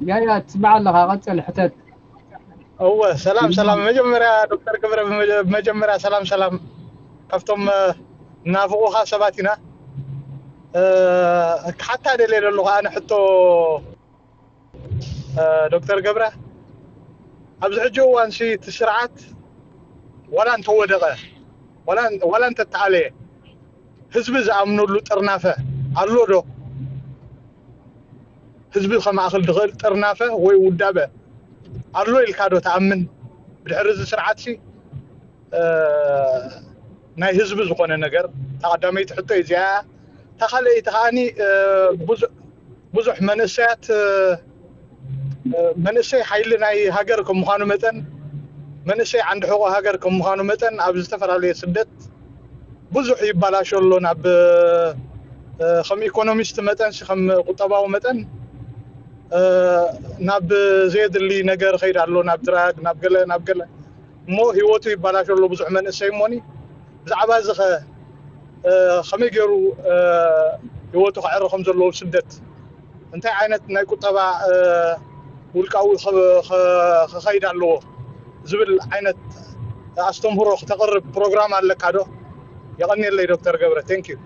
ያያ፣ ትስማዕ ኣለኻ? ቀጽል፣ ሕተት። እወ፣ ሰላም ሰላም። መጀመርያ ዶክተር ገብረ፣ ብመጀ- መጀመርያ ሰላም ሰላም። ካብቶም እ፣ ናፍቑኻ ሰባት ኢና። እ፣ ክሓታ ደልየ ዘለኹ ኣነ ሕቶ፣ እ፣ ዶክተር ገብረ፣ ኣብዚ ሕጂ እዋን ሲ እቲ ስርዓት ዋላ እንተወደቐ፣ ዋላ ዋላ እንተተኣለየ፣ ህዝቢ ዝኣምነሉ ጥርናፈ ኣሎ ዶ? ህዝቢ ከማእኽል ዝኽእል ጥርናፈ ወይ ውዳበ ኣሎ ኢልካ ዶ ትኣምን? ብድሕሪ እዚ ስርዓትሲ እ፣ ናይ ህዝቢ ዝኾነ ነገር፣ እታ ቀዳመይቲ ሕቶ እዚኣ። እታ ካልኣይቲ ከኣኒ እ፣ ብዙ- ብዙሕ መንእሰያት እ፣ እ፣ መንእሰይ ሓይሊ ናይ ሃገር ከም ምዃኑ መጠን፣ መንእሰይ ዓንዲ ሕቖ ሃገር ከም ምዃኑ መጠን ኣብ ዝተፈላለየ ስደት ብዙሕ ይባላሾ ኣሎ። ናብ እ፣ ከም ኢኮኖሚስት መጠን፣ ከም ቁጠባዊ መጠን እ፣ ናብ ዘየድሊ ነገር ኸይድ ኣሎ፣ ናብ ድራግ፣ ናብ ገለ ናብ ገለ፣ እሞ ህይወቱ ይባላሾ ኣሎ ብዙሕ መንእሰይ። እሞኒ ብዛዕባ እዚ ኸ እ፣ ከመይ ገይሩ እ፣ ህይወቱ ከዕሪ ከም ዘለዎ ስደት፣ እንታይ ዓይነት ናይ ቁጠባ እ፣ ውልቃዊ ኸ- ኸ- ክኸይድ ኣለዎ ዝብል ዓይነት ኣስተምህሮ ክተቕርብ ፕሮግራም ኣለካ ዶ? የቐንየለይ ዶክተር ገብረ። Thank you።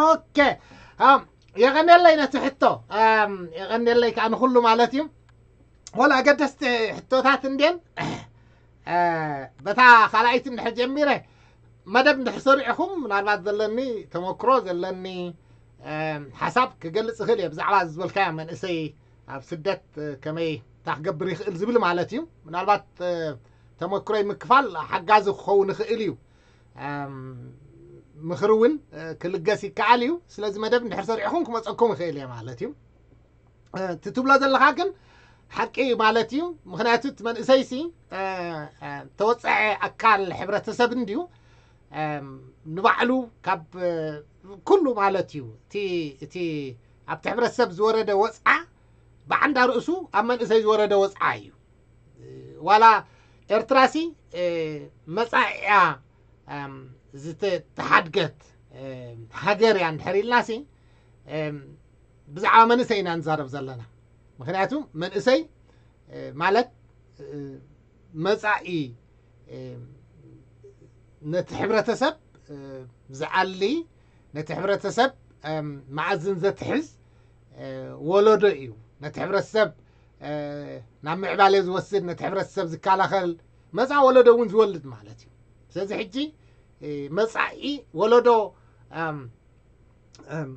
ኦኬ። ኣም፣ የቐንየለይ ነቲ ሕቶ። ኣም፣ የቐንየለይ ከዓ ንኹሉ ማለት እዩ። ወላ ኣገደስቲ ሕቶታት እንድየን። እ፣ በታ ካልኣይቲ እንድሕር ጀሚረ፣ መደብ እንድሕር ሰሪዕኹም፣ ምናልባት ዘለኒ ተመክሮ፣ ዘለኒ፣ ኣም፣ ሓሳብ ክገልጽ እኽእል እየ ብዛዕባ ዝበልካዮ መንእሰይ ኣብ ስደት እ፣ ከመይ እንታይ ክገብር ይኽእል ዝብል ማለት እዩ። ምናልባት እ፣ ተመክሮይ ምክፋል ሓጋዚ ክኸውን ይኽእል እዩ። ኣም፣ ምኽሪ እውን እ፣ ክልገስ ይከኣል እዩ። ስለዚ መደብ እንድሕር ሰሪዕኹም ክመፀኩም ይኽእል እየ ማለት እዩ። እ፣ እቲ ትብሎ ዘለኻ ግን ሓቂ እዩ ማለት እዩ። ምኽንያቱ እቲ መንእሰይሲ እ፣ እ፣ ተወፀዐ ኣካል ሕብረተሰብ እንድዩ። ኣም፣ ንባዕሉ ካብ እ፣ ኩሉ ማለት እዩ እቲ እቲ ኣብቲ ሕብረተሰብ ዝወረደ ወፅዓ ብዓንዳ ርእሱ ኣብ መንእሰይ ዝወረደ ወፅዓ እዩ። ዋላ ኤርትራሲ እ፣ መጻኢያ ኣም፣ ዝተሓድገት እ፣ ሃገር እያ እንድሕር ኢልናሲ፣ እም፣ ብዛዕባ መንእሰይ ኢና ንዛረብ ዘለና። ምኽንያቱ መንእሰይ እ፣ ማለት እ፣ መጻኢ እ፣ ነቲ ሕብረተሰብ እ፣ ዝኣሊ፣ ነቲ ሕብረተሰብ እም፣ መኣዝን ዘትሕዝ እ፣ ወለዶ እዩ። ነቲ ሕብረተሰብ እ፣ ናብ ምዕባለ ዝወስድ፣ ነቲ ሕብረተሰብ ዝከላኸል፣ መጻኢ ወለዶ እውን ዝወልድ ማለት እዩ። ስለዚ ሕጂ እ፣ መጻኢ ወለዶ እም፣ እም፣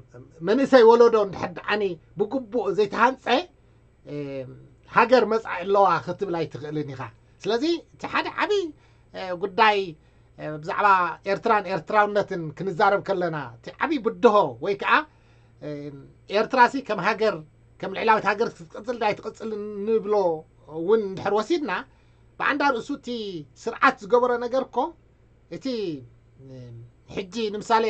መንእሰይ ወለዶ እንድሕር ደኣኒ ብግቡእ ዘይተሃንጸ፣ እም፣ ሃገር መጻኢ ኣለዋ ክትብል ኣይትኽእልን ኢኻ። ስለዚ እቲ ሓደ ዓብዪ እ፣ ጉዳይ እ፣ ብዛዕባ ኤርትራን ኤርትራውነትን ክንዛረብ ከለና፣ እቲ ዓብዪ ብድሆ ወይ ከዓ እ፣ ኤርትራሲ ከም ሃገር፣ ከም ልዕላዊት ሃገር ክትቅጽል ዳይ ትቕጽል ንብሎ እውን እንድሕር ወሲድና፣ ብዓንዳ ርእሱ እቲ ስርዓት ዝገበሮ ነገር እኮ፣ እቲ እ፣ ሕጂ ንምሳሌ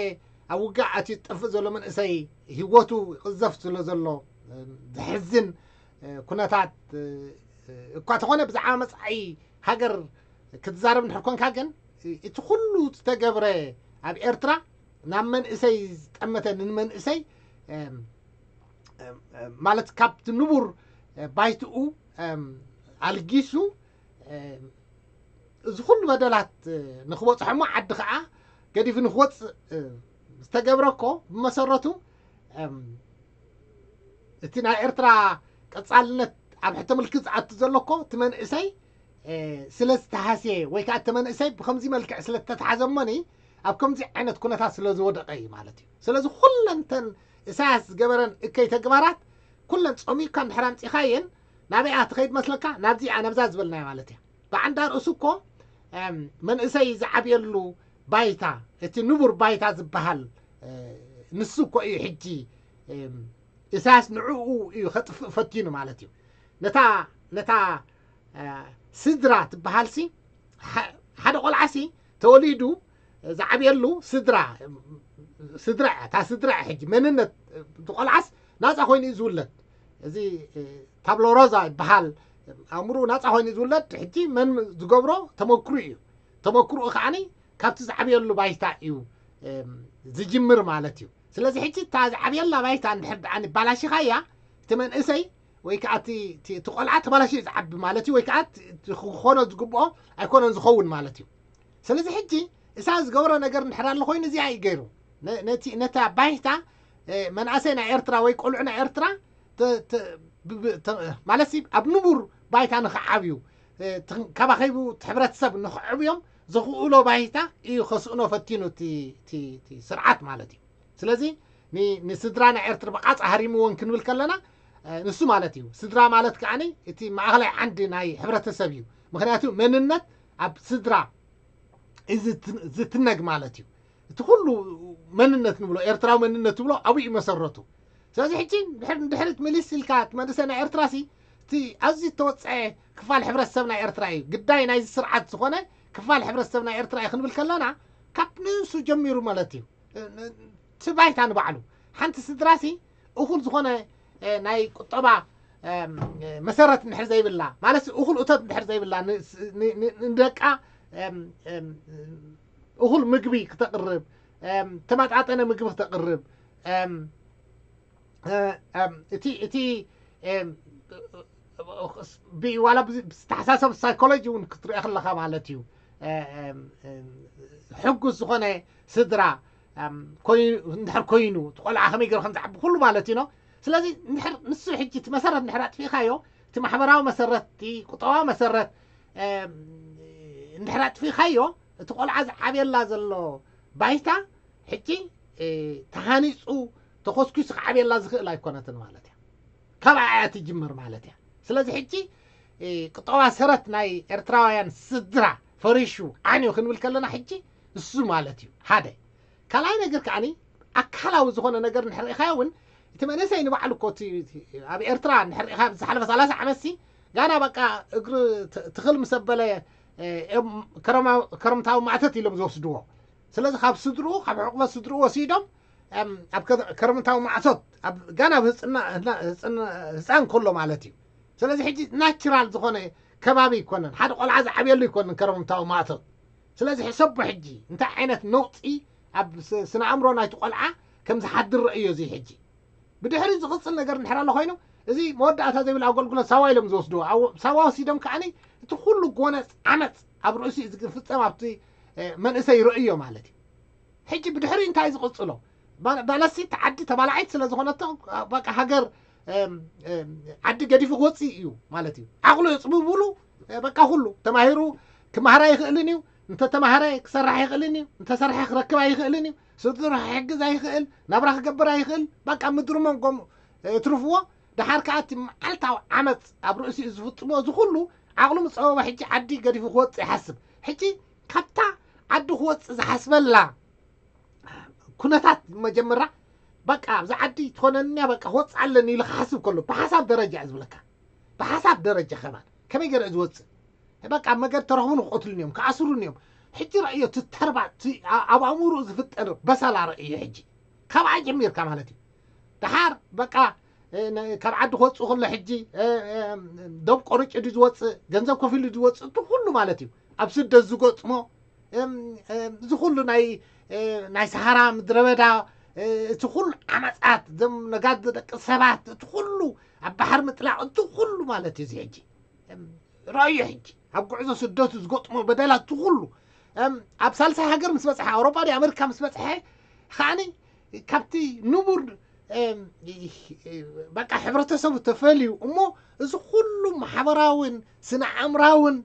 ኣብ ውግእ ኣትዩ ዝጠፍእ ዘሎ መንእሰይ፣ ህይወቱ ይቕዘፍ ስለ ዘሎ እ፣ ዘሕዝን እ፣ ኩነታት እ፣ እ፣ እኳ ተኾነ፣ ብዛዕባ መጻኢ ሃገር ክትዛረብ እንድሕር ኮንካ ግን፣ እ፣ እቲ ኩሉ ዝተገብረ ኣብ ኤርትራ ናብ መንእሰይ ዝጠመተ፣ ንመንእሰይ እም፣ እም፣ እም፣ ማለት ካብቲ ንቡር እ፣ ባይትኡ እም፣ ኣልጊሱ እም፣ እዚ ኩሉ በደላት እ፣ ንክበፅሖ እሞ ዓዲ ከዓ ገዲፉ ንክወፅእ እ፣ ዝተገብረ እኮ ብመሰረቱ እም፣ እቲ ናይ ኤርትራ ቀጻልነት ኣብ ሕቶ ምልክት ዝኣቱ ዘሎ እኮ እቲ መንእሰይ እ፣ ስለ ዝተሃስየ ወይ ከዓ እቲ መንእሰይ ብከምዚ መልክዕ ስለ ዝተትሓዘ እሞኒ ኣብ ከምዚ ዓይነት ኩነታት ስለ ዝወደቐ እዩ ማለት እዩ። ስለዚ ኩለን እተን ኢሳያስ ዝገበረን እከይ ተግባራት ኩለን ጸሚቕካ እንድሕር ኣምጺኻየን ናበይኣ ትኸይድ መስለካ? ናብዚኣ፣ ናብዛ ዝበልናያ ማለት እያ። ብዓንዳ ርእሱ እኮ እም፣ መንእሰይ ዝዓብየሉ ባይታ፣ እቲ ንቡር ባይታ ዝበሃል እ፣ ንሱ እኮ እዩ ሕጂ እም፣ ኢሳያስ ንዕኡ እዩ ከጥፍእ ፈቲኑ ማለት እዩ። ነታ ነታ እ፣ ስድራ ትበሃልሲ፣ ሓ- ሓደ ቆልዓሲ ተወሊዱ ዝዓብየሉ ስድራ፣ ስድራ እያ። እታ ስድራ እያ ሕጂ መንነት እቲ ቆልዓስ ናፃ ኮይኑ እዩ ዝውለድ። እዚ እ፣ ታብሎ ሮዛ ይበሃል። ኣእምርኡ ናፃ ኮይኑ እዩ ዝውለድ። ሕጂ መን ዝገብሮ ተመክሩ እዩ። ተመክርኡ ከዓኒ ካብቲ ዝዓብየሉ ባይታ እዩ እም፣ ዝጅምር ማለት እዩ። ስለዚ ሕጂ እታ ዝዓብየላ ባይታ እንድሕር ደኣ ባላሽኻያ፣ እቲ መንእሰይ ወይ ከዓ እቲ ቆልዓ ተባላሽ ዝዓቢ ማለት እዩ። ወይ ከዓ ክኾኖ ዝግብኦ ኣይኮነን ዝኸውን ማለት እዩ። ስለዚ ሕጂ እሳ ዝገብሮ ነገር እንድሕር ኣሎ ኮይኑ እዚኣ እዩ ገይሩ። ነታ ባይታ መናእሰይ ናይ ኤርትራ ወይ ቆልዑ ናይ ኤርትራ ማለት ኣብ ንቡር ባይታ ንክዓብዩ፣ ካባኸይቡ ሕብረተሰብ ንክዕብዮም ዝኽእሎ ባይታ እዩ ከስእኖ ፈቲኑ እቲ ስርዓት ማለት እዩ። ስለዚ ንስድራ ናይ ኤርትራ ብቓጻ ሃሪምዎን ክንብል ከለና ንሱ ማለት እዩ። ስድራ ማለት ከዓኒ እቲ ማእኸላይ ዓንዲ ናይ ሕብረተሰብ እዩ። ምክንያቱ መንነት ኣብ ስድራ እዩ ዝትነግ ማለት እዩ። እቲ ኩሉ መንነት ንብሎ፣ ኤርትራዊ መንነት ትብሎ ኣብኡ እዩ መሰረቱ። ስለዚ ሕጂ ድሕሪት ምልስ ኢልካ እቲ መንእሰይ ናይ ኤርትራ ሲ እቲ ኣዝዩ ዝተወፀዐ ክፋል ሕብረተሰብ ናይ ኤርትራ እዩ። ግዳይ ናይዚ ስርዓት ዝኾነ ክፋል ሕብረተሰብ ናይ ኤርትራ እዩ ክንብል ከለና ካብ ንሱ ጀሚሩ ማለት እዩ። እቲ ባይታ ንባዕሉ ሓንቲ ስድራ ሲ እኹል ዝኾነ ናይ ቁጠባ መሰረት እንድሕር ዘይብላ ማለት እኹል እቶት እንድሕር ዘይብላ ንደቃ እኹል ምግቢ ክተቕርብ፣ ተመጣጠነ ምግቢ ክተቕርብ፣ እቲ እቲ ዋላ ዝተሓሳሰብ ሳይኮሎጂ እውን ክትሪኦ ከለካ ማለት እዩ። ሕጉስ ዝኾነ ስድራ እንድሕር ኮይኑ እቲ ቆልዓ ከመይ ገይሩ ከም ዝዓቢ ኩሉ ማለት እዩ። ስለዚ ንሱ ሕጂ እቲ መሰረት እንድሕር ኣጥፊእካዮ፣ እቲ ማሕበራዊ መሰረት፣ እቲ ቁጠባዊ መሰረት እንድሕር ኣጥፊእካዮ፣ እቲ ቆልዓ ዝዓብየላ ዘሎ ባይታ ሕጂ ተሃኒፁ ተኾስኪሱ ክዓብየላ ዝኽእል ኣይኮነትን ማለት እያ። ካብኣ እያ ትጅምር ማለት እያ። ስለዚ ሕጂ ቁጠባ ሰረት ናይ ኤርትራውያን ስድራ ፈሪሹ ዓንዩ ክንብል ከለና ሕጂ እሱ ማለት እዩ ሓደ። ካልኣይ ነገር ከዓኒ ኣካላዊ ዝኾነ ነገር እንድሕር ርኢኻዮ እውን እቲ መንእሰይ ንባዕሉ እኮ እቲ ኣብ ኤርትራ እንድሕር ርኢኻ ዝሓለፈ ሰላሳ ዓመት ሲ ጋና በቃ እግሪ ትኽል ምስ ኣበለ ከረምታዊ ማዕተት ኢሎም ዝወስድዎ። ስለዚ ካብ ስድርኡ ካብ ሕቑፈት ስድርኡ ወሲዶም ኣብ ከረምታዊ ማዕተት ጋና ኣብ ህፃን ከሎ ማለት እዩ። ስለዚ ሕጂ ናቹራል ዝኾነ ከባቢ ይኮነን፣ ሓደ ቆልዓ ዝዓብየሉ ይኮነን ከረምታዊ ማዕተት። ስለዚ ሕሰቦ ሕጂ እንታይ ዓይነት ነውፂ ኣብ ስነ ኣእምሮ ናይቲ ቆልዓ ከም ዝሓድር ረእዮ እዚ ሕጂ። ብድሕሪ ዝቕፅል ነገር እንድሕር ኣሎ ኮይኑ እዚ መወዳእታ ዘይብል ኣገልግሎት ሳዋ ኢሎም ዝወስድዎ። ሳዋ ወሲዶም ከዓኒ እቲ ኩሉ ጎነፅ ዓመፅ ኣብ ርእሲ ዝፍፀም ኣብቲ መንእሰይ ረእዮ ማለት እዩ። ሕጂ ብድሕሪ እንታይ ዝቕፅሎ? ባለሲ እቲ ዓዲ ተባላዒት ስለ ዝኾነቶ በቃ ሃገር ዓዲ ገዲፉ ክወፅእ እዩ ማለት እዩ። ዓቕሉ የፅብብሉ። በቃ ኩሉ ተማሂሩ ክመሃር ኣይኽእልን እዩ። እንተተማሃረ ክሰርሕ ኣይኽእልን እዩ። እንተሰርሐ ክረክብ ኣይኽእልን እዩ። ስድርኡ ክሕግዝ ኣይኽእል፣ ናብራ ክገብር ኣይኽእል። በቃ ምድሪ መንጎም እትርፍዎ። ደሓር ከዓ እቲ መዓልታዊ ዓመፅ ኣብ ርእሲኡ ዝፍፅሞ እዚ ኩሉ ዓቕሉ ምፀበቦ ሕጂ ዓዲ ገዲፉ ክወፅእ ይሓስብ። ሕጂ ካብታ ዓዲ ክወፅእ ዝሓስበላ ኩነታት መጀመርያ በቃ ኣብዚ ዓዲ ትኾነንያ በቃ ክወፅእ ኣለኒ ኢሉ ክሓስብ ከሎ ብሓሳብ ደረጃ እዩ ዝብለካ። ብሓሳብ ደረጃ ከማን ከመይ ገይረ ዝወፅእ በቃ ኣብ መገዲ ተረኽቡን ክቐትሉን እዮም ክኣስሩን እዮም። ሕጂ ረእዮ እቲ ተርባ እቲ ኣብ ኣእምርኡ ዝፍጠር በሰላ ረእዮ ሕጂ ካብኣ ጀሚርካ ማለት እዩ። ደሓር በቃ ካብ ዓዲ ክወፅእ ከሎ ሕጂ ደም ቆርጭ ድዩ ዝወፅእ ገንዘብ ከፊሉ ዝወፅእ እቲ ኩሉ ማለት እዩ። ኣብ ስደት ዝገጥሞ እዚ ኩሉ ናይ ናይ ሰሃራ ምድረ በዳ እቲ ኩሉ ዓመፃት ዘም ነጋዶ ደቂ ሰባት እቲ ኩሉ ኣብ ባሕር ምጥላቕ እቲ ኩሉ ማለት እዩ። እዚ ሕጂ ረእዮ ሕጂ ኣብ ጉዕዞ ስደቱ ዝገጥሞ በደላት እቲ ኩሉ ኣብ ሳልሳይ ሃገር ምስ በፅሐ ኣውሮፓ ዲ ኣሜሪካ ምስ በፅሐ ከዓኒ ካብቲ ንቡር በቃ ሕብረተሰቡ ተፈልዩ እሞ እዚ ኩሉ ማሕበራውን ስነ ኣእምራውን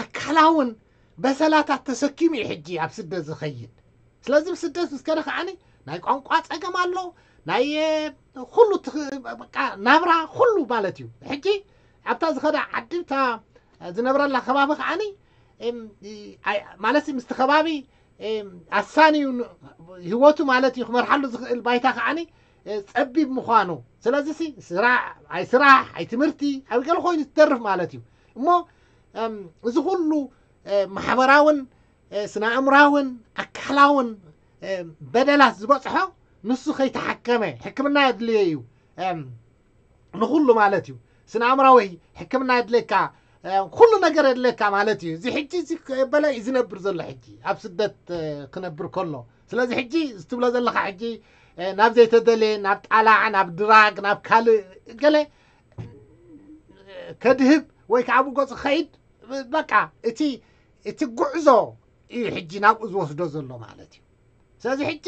ኣካላውን በሰላታት ተሰኪሙ እዩ ሕጂ ኣብ ስደት ዝኸይድ። ስለዚ ብስደት ምስ ከደ ከዓኒ ናይ ቋንቋ ፀገም ኣሎ ናይ ኩሉ ናብራ ኩሉ ማለት እዩ። ሕጂ ኣብታ ዝኸዳ ዓዲ ዝነብረላ ከባቢ ከዓኒ ማለት ምስቲ ከባቢ ኣሳንዩ ህይወቱ ማለት እዩ ክመርሓሉ ዝኽእል ባይታ ከዓኒ ፀቢብ ምዃኑ። ስለዚ ስራሕ ኣይ ስራሕ ኣይ ትምህርቲ ኣብ ገለ ኮይኑ ትተርፍ ማለት እዩ። እሞ እዚ ኩሉ ማሕበራውን ስነ ኣእምራውን ኣካላውን በደላት ዝበፅሖ ንሱ ከይተሓከመ ሕክምና የድልዮ እዩ። ንኩሉ ማለት እዩ። ስነ ኣእምራዊ ሕክምና የድልየካ ኩሉ ነገር የድልየካ ማለት እዩ። እዚ ሕጂ እዚ በለ እዩ ዝነብር ዘሎ ሕጂ ኣብ ስደት ክነብር ከሎ። ስለዚ ሕጂ ዝትብሎ ዘለካ ሕጂ ናብ ዘይተደለየ ናብ ጣላዕ ናብ ድራግ ናብ ካልእ ገለ ከድህብ ወይ ከዓ ብገፁ ክኸይድ በቃ እቲ እቲ ጉዕዞ እዩ ሕጂ ናብኡ ዝወስዶ ዘሎ ማለት እዩ። ስለዚ ሕጂ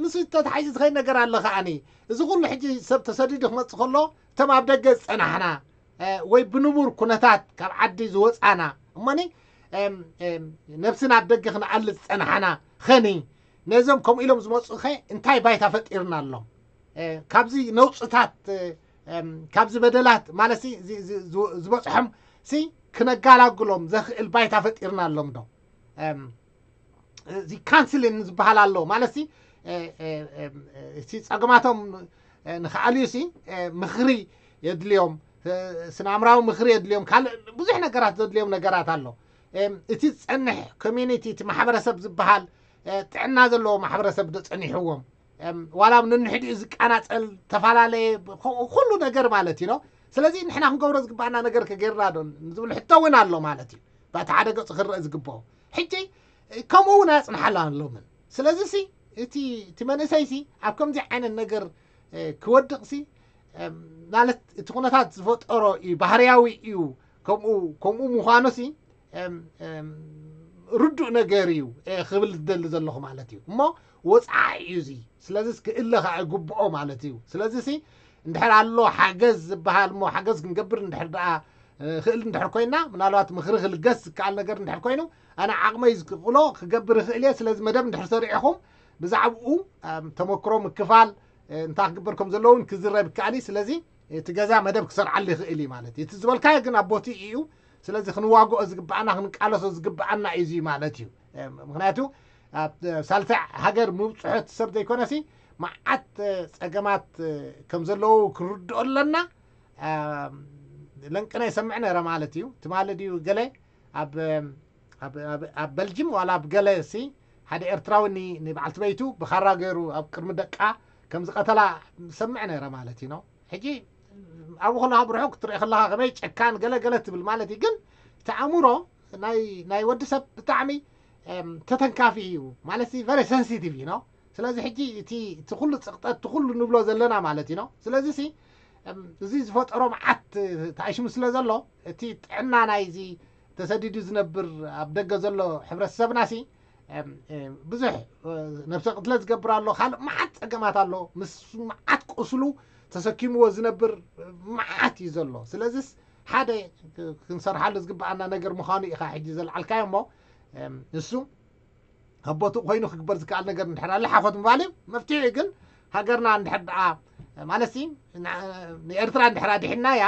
ምስ ተታሒዙ ዝኸይድ ነገር ኣሎ ከዓኒ እዚ ኩሉ ሕጂ ሰብ ተሰዲዱ ክመፅእ ከሎ እቶም ኣብ ደገ ዝፀናሕና ወይ ብንቡር ኩነታት ካብ ዓዲ ዝወፃና እሞኒ ነብስና ኣብ ደገ ክንኣልፅ ዝፀናሕና ኸኒ ነዞም ከምኡ ኢሎም ዝመፁ ኸ እንታይ ባይታ ፈጢርና ኣሎም? ካብዚ ነውፅታት ካብዚ በደላት ማለት ዝበፅሖም ሲ ክነጋላግሎም ዘኽእል ባይታ ፈጢርና ኣሎም ዶ? እዚ ካንስሊን ዝበሃል ኣሎ ማለት ሲ ሲ ፀገማቶም ንክኣልዩ ሲ ምኽሪ የድልዮም፣ ስናምራዊ ምኽሪ የድልዮም፣ ካልእ ብዙሕ ነገራት ዘድልዮም ነገራት ኣሎ። እቲ ዝፀንሕ ኮሚኒቲ እቲ ማሕበረሰብ ዝበሃል ጥዕና ዘለዎ ማሕበረሰብ ዶ ፀኒሕዎም ዋላ ኣብ ነንሕዲኡ ዝቃናፀል ተፈላለየ ኩሉ ነገር ማለት እዩ። ስለዚ ንሕና ክንገብሮ ዝግባኣና ነገር ከገይርና ዶ ዝብል ሕቶ እውን ኣሎ ማለት እዩ። በቲ ሓደ ገፁ ክረአ ዝግብኦ ሕጂ ከምኡ እውን ኣያፅንሓላ ኣሎምን። ስለዚ ሲ እቲ እቲ መንእሰይ ሲ ኣብ ከምዚ ዓይነት ነገር ክወድቕ ሲ ማለት እቲ ኩነታት ዝፈጠሮ እዩ ባህርያዊ እዩ። ከምኡ ከምኡ ምዃኑ ሲ ርዱእ ነገር እዩ ክብል ዝደሊ ዘለኹ ማለት እዩ። እሞ ወፃኢ እዩ እዚ። ስለዚ ክእለ ከዓ ይግብኦ ማለት እዩ። ስለዚ ሲ እንድሕር ኣሎ ሓገዝ ዝበሃል እሞ ሓገዝ ክንገብር እንድሕር ደኣ ክእል እንድሕር ኮይና ምናልባት ምኽሪ ክልገስ ዝከኣል ነገር እንድሕር ኮይኑ ኣነ ዓቕመይ ዝክእሎ ክገብር ይኽእል እየ። ስለዚ መደብ እንድሕር ሰሪዕኹም ብዛዕባኡ ተመክሮ ምክፋል እንታይ ክግበር ከም ዘለውን ክዝረብ ይከኣል እዩ። ስለዚ እቲ ገዛ መደብ ክሰርዓሉ ይኽእል እዩ ማለት እዩ። እቲ ዝበልካዮ ግን ኣብ ቦትኡ እዩ። ስለዚ ክንዋግኦ ዝግብኣና ክንቃለሶ ዝግብኣና እዩ እዚ ማለት እዩ። ምክንያቱ ኣብ ሳልሳይ ሃገር ምብፅሖ እቲ ሰብ ዘይኮነሲ መዓት ፀገማት ከም ዘለዉ ክርድኦ ኣለና። ለንቅነ ይሰምዕ ነረ ማለት እዩ። ትማሊ ድዩ ገለ ኣብ ኣብ በልጅም ዋላ ኣብ ገለ ሲ ሓደ ኤርትራዊ ንበዓልቲ በይቱ ብኻራ ገይሩ ኣብ ቅድሚ ደቃ ከም ዝቐተላ ሰምዕ ነረ ማለት እዩ። ሕጂ ኣብኡ ከለኻ ብርሑቕ ክትሪኦ ከለኻ ከመይ ጨካን ገለ ገለ ትብል ማለት እዩ። ግን እቲ ኣእምሮ ናይ ናይ ወዲ ሰብ ብጣዕሚ ተተንካፊ እዩ ማለት very sensitive እዩ። ስለዚ ሕጂ እቲ እቲ ኩሉ ፅቕጠት እቲ ኩሉ ንብሎ ዘለና ማለት እዩ። ስለዚ ሲ እዚ ዝፈጠሮ መዓት ተኣሽሙ ስለ ዘሎ እቲ ጥዕና ናይዚ ተሰዲዱ ዝነብር ኣብ ደገ ዘሎ ሕብረተሰብና ሲ ብዙሕ ነብሰ ቅትለት ዝገብር ኣሎ፣ ካልእ መዓት ፀገማት ኣሎ፣ ምስ መዓት ቁስሉ ተሰኪምዎ ዝነብር መዓት እዩ ዘሎ። ስለዚስ ሓደ ክንሰርሓሉ ዝግብኣና ነገር ምዃኑ ኢኻ ሕጂ ዘልዓልካዮ እሞ ንሱ ኣብ ቦትኡ ኮይኑ ክግበር ዝከኣል ነገር እንድሕር ኣሎ ሓኾት ምባል እዩ። መፍትሒ ግን ሃገርና እንድሕር ደኣ ማለት ንኤርትራ እንድሕር ኣድሒንናያ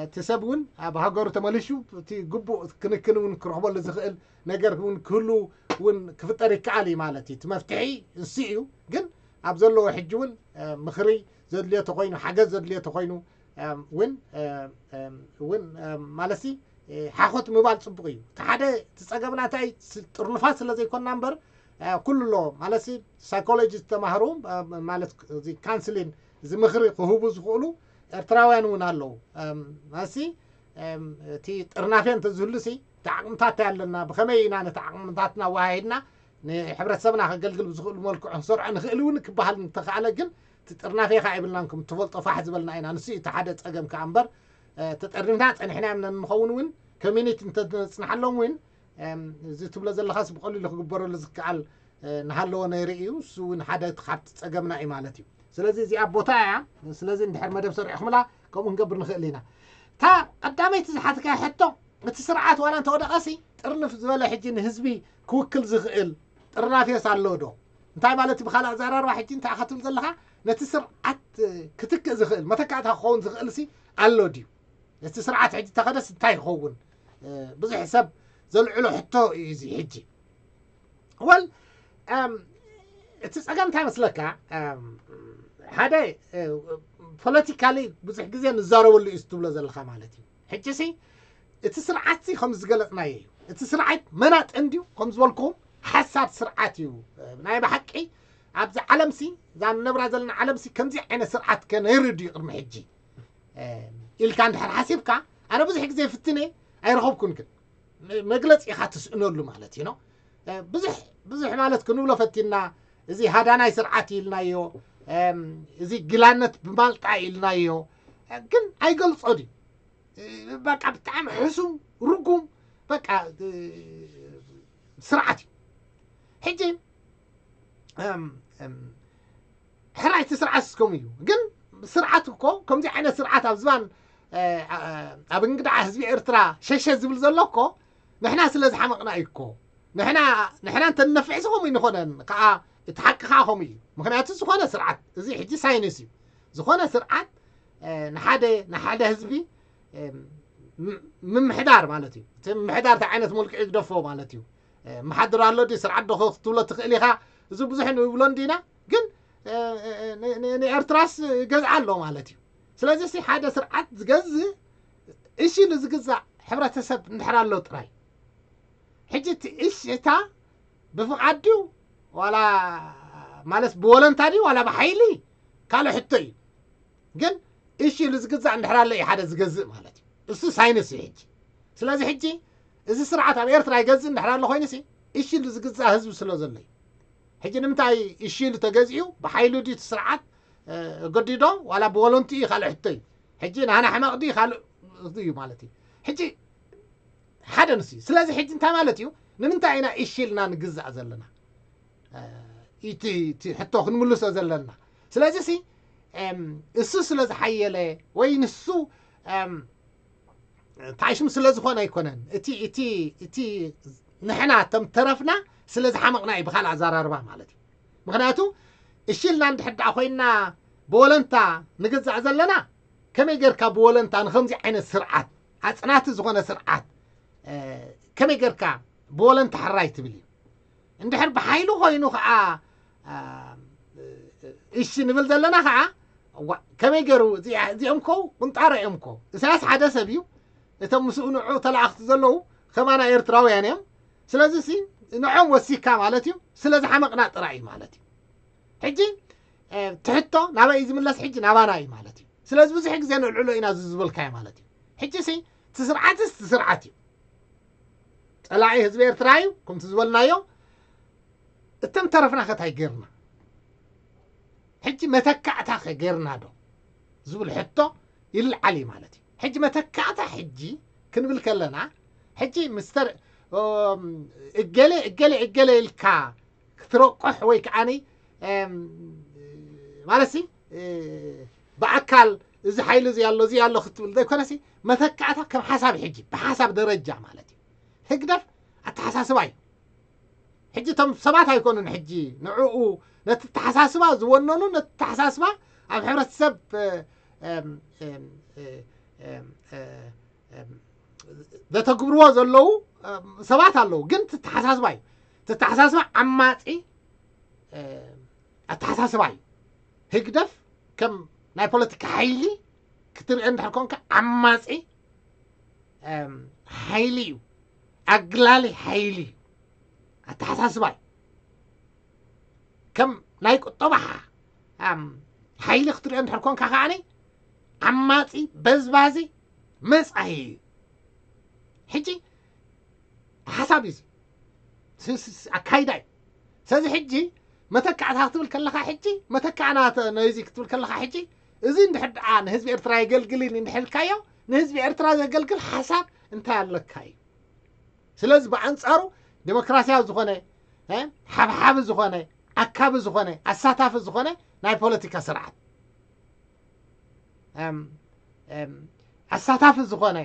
እቲ ሰብ እውን ኣብ ሃገሩ ተመሊሹ እቲ ግቡእ ክንክን እውን ክረኽበሉ ዝኽእል ነገር እውን ክህሉ እውን ክፍጠር ይከኣል እዩ ማለት እዩ። እቲ መፍትሒ እሱ እዩ። ግን ኣብ ዘለዎ ሕጂ እውን ምኽሪ ዘድልዮ ተኮይኑ ሓገዝ ዘድልዮ ተኮይኑ እውን እውን ማለት ሓኾት ምባል ፅቡቅ እዩ። እቲ ሓደ እቲ ፀገምና እንታይ ጥርኑፋት ስለ ዘይኮንና እምበር ኩሉ ኣሎ ማለት ሳይኮሎጂ ዝተማህሩ ማለት እዚ ካንስሊን እዚ ምኽሪ ክህቡ ዝኽእሉ ኤርትራውያን እውን ኣለዉ። ማለት እቲ ጥርናፌ እንተዝህሉ ሲ እቲ ዓቕምታት ኣለና ብኸመይ ኢና ነቲ ዓቕምታትና ኣወሃሂድና ንሕብረተሰብና ከገልግል ብዝኽእሉ መልክዑ ክንሰርዖ ንኽእል እውን ክበሃል እንተኽኣለ ግን እቲ ጥርናፌ ከዓ የብልናን ከም ትፈልጦ ፋሕ ዝበልና ኢና። ንሱ እቲ ሓደ ፀገም ከዓ እምበር ተጠርኒፍና ፀኒሕና እዮም ንኸውን እውን ኮሚኒቲ እንተነፅናሓሎም እውን እዚ ትብሎ ዘለኻስ ብቐሊሉ ክግበረሉ ዝከኣል ንሃለዎ ነይሩ እዩ። እሱ እውን ሓደ ካብቲ ፀገምና እዩ ማለት እዩ። ስለዚ እዚኣ ቦታ እያ። ስለዚ እንድሕር መደብ ሰሪዕኹምላ ከምኡ ክንገብር ንኽእል ኢና። እታ ቀዳመይቲ ዝሓትካ ሕቶ እቲ ስርዓት ዋላ እንተወደቐሲ ጥርንፍ ዝበለ ሕጂ ንህዝቢ ክውክል ዝኽእል ጥርናፌስ ኣሎ ዶ? እንታይ ማለት እዩ? ብካልእ ኣዘራርባ ሕጂ እንታይ ኢኻ ትብል ዘለኻ? ነቲ ስርዓት ክትክእ ዝኽእል መተካእታ ክኸውን ዝኽእል ሲ ኣሎ ድዩ? እቲ ስርዓት ሕጂ ተኸደስ እንታይ ይኸውን? ብዙሕ ሰብ ዘልዕሎ ሕቶ እዩ እዚ ሕጂ። ወል እቲ ጸገም እንታይ መስለካ? ሓደ ፖለቲካሊ ብዙሕ ግዜ ንዛረበሉ እዩ ትብሎ ዘለኻ ማለት እዩ። ሕጂ ሲ እቲ ስርዓት ሲ ከም ዝገለጽናዮ እዩ። እቲ ስርዓት መናጥን ድዩ ከም ዝበልኩም ሓሳድ ስርዓት እዩ። ናይ ብሓቂ ኣብዚ ዓለም ሲ እዛ ንነብራ ዘለና ዓለም ሲ ከምዚ ዓይነት ስርዓት ከ ነይሩ ድዩ ቅድሚ ሕጂ ኢልካ እንድሕር ሓሲብካ ኣነ ብዙሕ ግዜ ፍትነ ኣይረኸብኩን ግን መግለፂ ኢኻ ትስእነሉ ማለት እዩ። ብዙሕ ብዙሕ ማለት ክንብሎ ፈቲና እዚ ሃዳናይ ስርዓት ኢልናዮ እዚ ግላነት ብማልጣ ኢልናዮ፣ ግን ኣይገልጾ ድዩ? በቃ ብጣዕሚ ሕሱም ርጉም በቃ ስርዓት እዩ። ሕጂ ሕራይቲ ስርዓት እስከም እዩ፣ ግን ስርዓት እኮ ከምዚ ዓይነት ስርዓት ኣብ ዝባን ኣብ እንግዳዓ ህዝቢ ኤርትራ ሸሸ ዝብል ዘሎ እኮ ንሕና ስለ ዝሓመቕና እዩ እኮ። ንሕና ንሕና እንተንነፍሕሲ ከምኡ ይንኾነን ከዓ፣ እቲ ሓቂ ከዓ ከምኡ እዩ። ምክንያቱ ዝኾነ ስርዓት፣ እዚ ሕጂ ሳይንስ እዩ። ዝኾነ ስርዓት ንሓደ ንሓደ ህዝቢ ምምሕዳር ማለት እዩ። እቲ ምምሕዳር እንታይ ዓይነት መልክዑ ይግደፎ ማለት እዩ። መሓድር ኣሎ ድዩ፣ ስርዓት ዶ ክትብሎ ትኽእል ኢኻ። እዚ ብዙሕ ንብሎ እንዲና፣ ግን ንኤርትራስ ይገዝኣ ኣሎ ማለት እዩ። ስለዚ ሓደ ስርዓት ዝገዝእ እሺ ንዝግዛእ ሕብረተሰብ እንድሕር ኣሎ ጥራይ። ሕጂ እቲ እሺ እታ ብፍቓድ ድዩ ዋላ ማለት ብወለንታ ድዩ ዋላ ብሓይሊ ካልእ ሕቶ እዩ። ግን እሺ ኢሉ ዝግዛእ እንድሕር ኣሎ እዩ ሓደ ዝገዝእ ማለት እዩ። እሱ ሳይንስ እዩ ሕጂ። ስለዚ ሕጂ እዚ ስርዓት ኣብ ኤርትራ ይገዝእ እንድሕር ኣሎ ኮይኑ ሲ እሺ ኢሉ ዝግዛእ ህዝቢ ስለ ዘሎ እዩ። ሕጂ ንምንታይ እሺ ኢሉ ተገዚኡ ብሓይሉ ድዩ እቲ ስርዓት ገዲዶ ዋላ ብወለንቱ እዩ ካልእ ሕቶ እዩ። ሕጂ ናህና ሕመቕ ድዩ ካልእ እዩ ማለት እዩ። ሕጂ ሓደ ንሱ እዩ። ስለዚ ሕጂ እንታይ ማለት እዩ? ንምንታይ ኢና እሺ ኢልና ንግዛእ ዘለና? እቲ ሕቶ ክንምልሶ ዘለና። ስለዚ ሲ እሱ ስለ ዝሓየለ ወይ ንሱ ታሽም ስለ ዝኾነ ኣይኮነን። እቲ እቲ እቲ ንሕና ተም ተረፍና ስለ ዝሓመቕና እዩ ብካልእ ኣዘራርባ ማለት እዩ። ምክንያቱ እሺ ኢልና እንድሕር ደኣ ኮይንና ብወለንታ ንግዛእ ዘለና ከመይ ጌርካ ብወለንታ ንከምዚ ዓይነት ስርዓት ኣጽናቲ ዝኾነ ስርዓት ከመይ ጌርካ ብወለንታ ሕራይ ትብል እዩ? እንድሕር ብሓይሉ ኮይኑ ከዓ እሺ ንብል ዘለና ከዓ ከመይ ገይሩ እዚኦም ኮ ቁንጣሮ እዮም ኮ። ኢሳያስ ሓደ ሰብ እዩ። እቶም ምስኡ ንዑ ተላእኽቲ ዘለዉ ከማና ኤርትራውያን እዮም። ስለዚ ሲ ንዖም ወሲካ ማለት እዩ። ስለ ዝሓመቕና ጥራይ እዩ ማለት እዩ። ሕጂ ትሕቶ ናበይ እዩ ዝምለስ? ሕጂ ናባና እዩ ማለት እዩ። ስለዚ ብዙሕ ግዜ ንልዕሎ ኢና እዚ ዝበልካዮ ማለት እዩ። ሕጂ ሲ እቲ ስርዓትስ እቲ ስርዓት እዩ። ጸላኢ ህዝቢ ኤርትራ እዩ ከምቲ ዝበልናዮ። እቶም ተረፍና ከታይ ጌርና ሕጂ መተካእታ ከ ጌርና ዶ ዝብል ሕቶ ይልዓል እዩ ማለት እዩ። ሕጂ መተካእታ ሕጂ ክንብል ከለና ሕጂ ምስተር እገሌ እገሌ እገሌ ኢልካ ክትረቆሕ ወይ ከዓኒ ማለት ሲ ብኣካል እዚ ሓይሊ እዚ ኣሎ እዚ ኣሎ ክትብል ዘይኮነሲ መተካእታ ከም ሓሳብ ሕጂ ብሓሳብ ደረጃ ማለት እዩ። ህግደፍ ኣተሓሳስባ እዩ። ሕጂ እቶም ሰባት ኣይኮኑን ሕጂ ንዕኡ ነቲ ኣተሓሳስባ ዝወነኑ ነቲ ኣተሓሳስባ ኣብ ሕብረተሰብ ዘተግብርዎ ዘለዉ ሰባት ኣለዉ። ግን ትተሓሳስባ እዩ። ትተሓሳስባ ዓማፂ ኣተሓሳስባ እዩ። ህግደፍ ከም ናይ ፖለቲካ ሓይሊ ክትርኢ እንድሕር ኮንካ ዓማፂ ሓይሊ እዩ። ኣግላሊ ሓይሊ እዩ። ኣተሓሳስባ እዩ። ከም ናይ ቁጠባ ሓይሊ ክትሪኦ እንድሕር ኮንካ ከዓኒ ዓማፂ በዝባዚ መፃሂ እዩ። ሕጂ ሓሳብ እዩ ኣካይዳ እዩ። ስለዚ ሕጂ መተካዕታ ክትብል ከለካ ሕጂ መተካዕና ነዚ ክትብል ከለካ ሕጂ እዚ እንድሕር ደኣ ንህዝቢ ኤርትራ የገልግልን እንድሕር ኢልካዮ ንህዝቢ ኤርትራ ዘገልግል ሓሳብ እንታይ ኣለካ እዩ። ስለዚ ብኣንጻሩ ዴሞክራሲያዊ ዝኾነ ሓብሓቢ ዝኾነ ኣካቢ ዝኾነ ኣሳታፊ ዝኾነ ናይ ፖለቲካ ስርዓት ኣሳታፊ ዝኾነ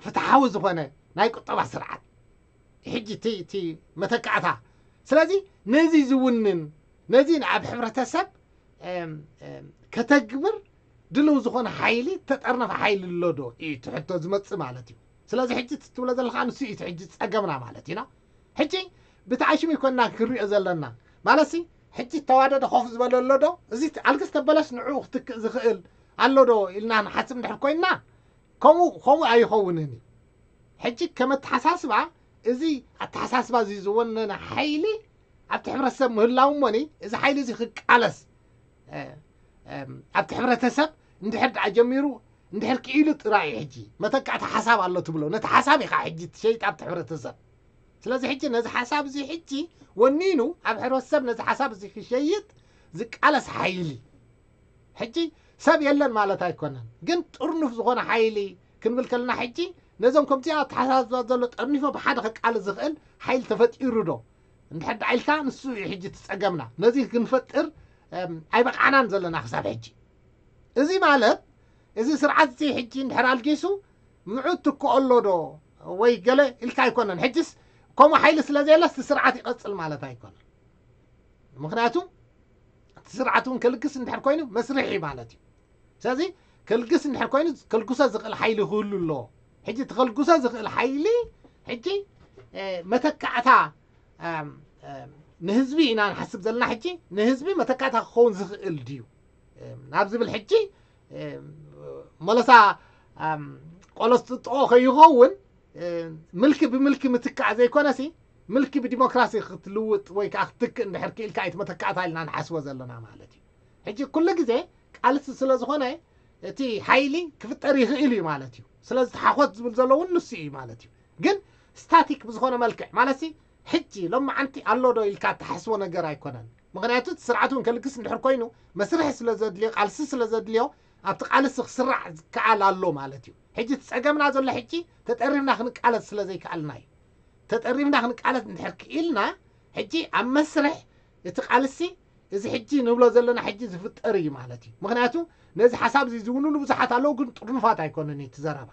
ፍትሓዊ ዝኾነ ናይ ቁጠባ ስርዓት ሕጂ እቲ መተካዕታ ስለዚ ነዚ ዝውንን ነዚ ኣብ ሕብረተሰብ ከተግብር ድልው ዝኾነ ሓይሊ ተጠርነፈ ሓይሊ ኣሎ ዶ እዩ እቲ ሕቶ ዝመፅእ ማለት እዩ። ስለዚ ሕጂ ትብሎ ዘለካ ንሱ እዩ ሕጂ ፀገምና ማለት እዩ። ሕጂ ብትዓሽም ይኮንና ክንሪኦ ዘለና ማለት ሲ ሕጂ ተዋደደ ኮፍ ዝበለ ኣሎ ዶ እዚ ኣልግስ ተበለስ ንዕኡ ክትክእ ዝኽእል ኣሎ ዶ ኢልና ንሓስብ እንድሕር ኮይንና ከምኡ ከምኡ ኣይኸውንን እዩ። ሕጂ ከም ኣተሓሳስባ እዚ ኣተሓሳስባ እዚ ዝወነነ ሓይሊ ኣብቲ ሕብረተሰብ ምህላው እሞኒ እዚ ሓይሊ እዚ ክቃለስ ኣብቲ ሕብረተሰብ እንድሕር ደኣ ጀሚሩ እንድሕር ክኢሉ ጥራይ እዩ። ሕጂ መተካእቲ ሓሳብ ኣሎ ትብሎ ነቲ ሓሳብ ኢኻ ሕጂ ትሸይጥ ኣብቲ ሕብረተሰብ። ስለዚ ሕጂ ነዚ ሓሳብ እዚ ሕጂ ወኒኑ ኣብ ሕብረተሰብ ነዚ ሓሳብ እዚ ክሸይጥ ዝቃለስ ሓይሊ። ሕጂ ሰብ የለን ማለት ኣይኮነን፣ ግን ጥርኑፍ ዝኾነ ሓይሊ ክንብል ከለና፣ ሕጂ ነዞም ከምዚኣ ኣተሓሳስባ ዘሎ ጠርኒፎ ብሓደ ከቃልስ ዝኽእል ሓይሊ ተፈጢሩ ዶ እንድሕር ደኣ ኢልካ፣ ንሱ እዩ ሕጂ እቲ ጸገምና። ነዚ ክንፈጥር ኣይበቃዕናን ዘለና ክሳብ ሕጂ። እዚ ማለት፣ እዚ ስርዓት እዚ ሕጂ እንድሕር ኣልጊሱ፣ ምዑት ትክኦ ኣሎ ዶ ወይ ገለ ኢልካ ኣይኮነን። ሕጅስ ከምኡ ሓይሊ ስለ ዘየለስ እቲ ስርዓት ይቐጽል ማለት ኣይኮነን። ምኽንያቱ እቲ ስርዓት እውን ከልግስ እንድሕር ኮይኑ መስርሒ ማለት እዩ። ስለዚ ከልግስ እንድሕር ኮይኑ ከልግሶ ዝኽእል ሓይሊ ክህሉ ኣለዎ። ሕጂ እቲ ከልግሶ ዝኽእል ሓይሊ ሕጂ መተካእታ ንህዝቢ ኢና ንሓስብ ዘለና። ሕጂ ንህዝቢ መተካእታ ክኸውን ዝኽእል ድዩ ናብ ዝብል ሕጂ መለሳ ቆሎ ዝጥጥቆ ከይኸውን ምልኪ ብምልኪ ምትካእ ዘይኮነሲ፣ ምልኪ ብዲሞክራሲ ክትልውጥ ወይ ከዓ ክትክእ እንድሕር ክኢልካ እዩ መተካእታ ኢልና ንሓስቦ ዘለና ማለት እዩ። ሕጂ ኩሉ ግዜ ቃልሲ ስለ ዝኾነ እቲ ሓይሊ ክፍጠር ይኽእል እዩ ማለት እዩ። ስለዚ ተሓኾት ዝብል ዘሎ እውን ንሱ እዩ ማለት እዩ። ግን ስታቲክ ብዝኾነ መልክዕ ማለት ሕጂ ሎማዓንቲ ኣሎ ዶ ኢልካ እትሓስቦ ነገር ኣይኮነን። ምኽንያቱ እቲ ስርዓት እውን ከልግስ እንድሕር ኮይኑ መስርሒ ስለ ዘድልዮ፣ ቃልሲ ስለ ዘድልዮ ኣብቲ ቃልሲ ክስራዕ ዝከኣል ኣሎ ማለት እዩ። ሕጂ እቲ ጸገምና ዘሎ ሕጂ ተጠሪምና ክንቃለስ ስለ ዘይከኣልና እዩ። ተጠሪምና ክንቃለስ እንድሕር ክኢልና ሕጂ ኣብ መስርሕ እቲ ቃልሲ እዚ ሕጂ ንብሎ ዘለና ሕጂ ዝፍጠር እዩ ማለት እዩ። ምኽንያቱ ነዚ ሓሳብ እዚ ዝውንኑ ብዙሓት ኣለዉ፣ ግን ጥርኑፋት ኣይኮነን እቲ ዘረባ።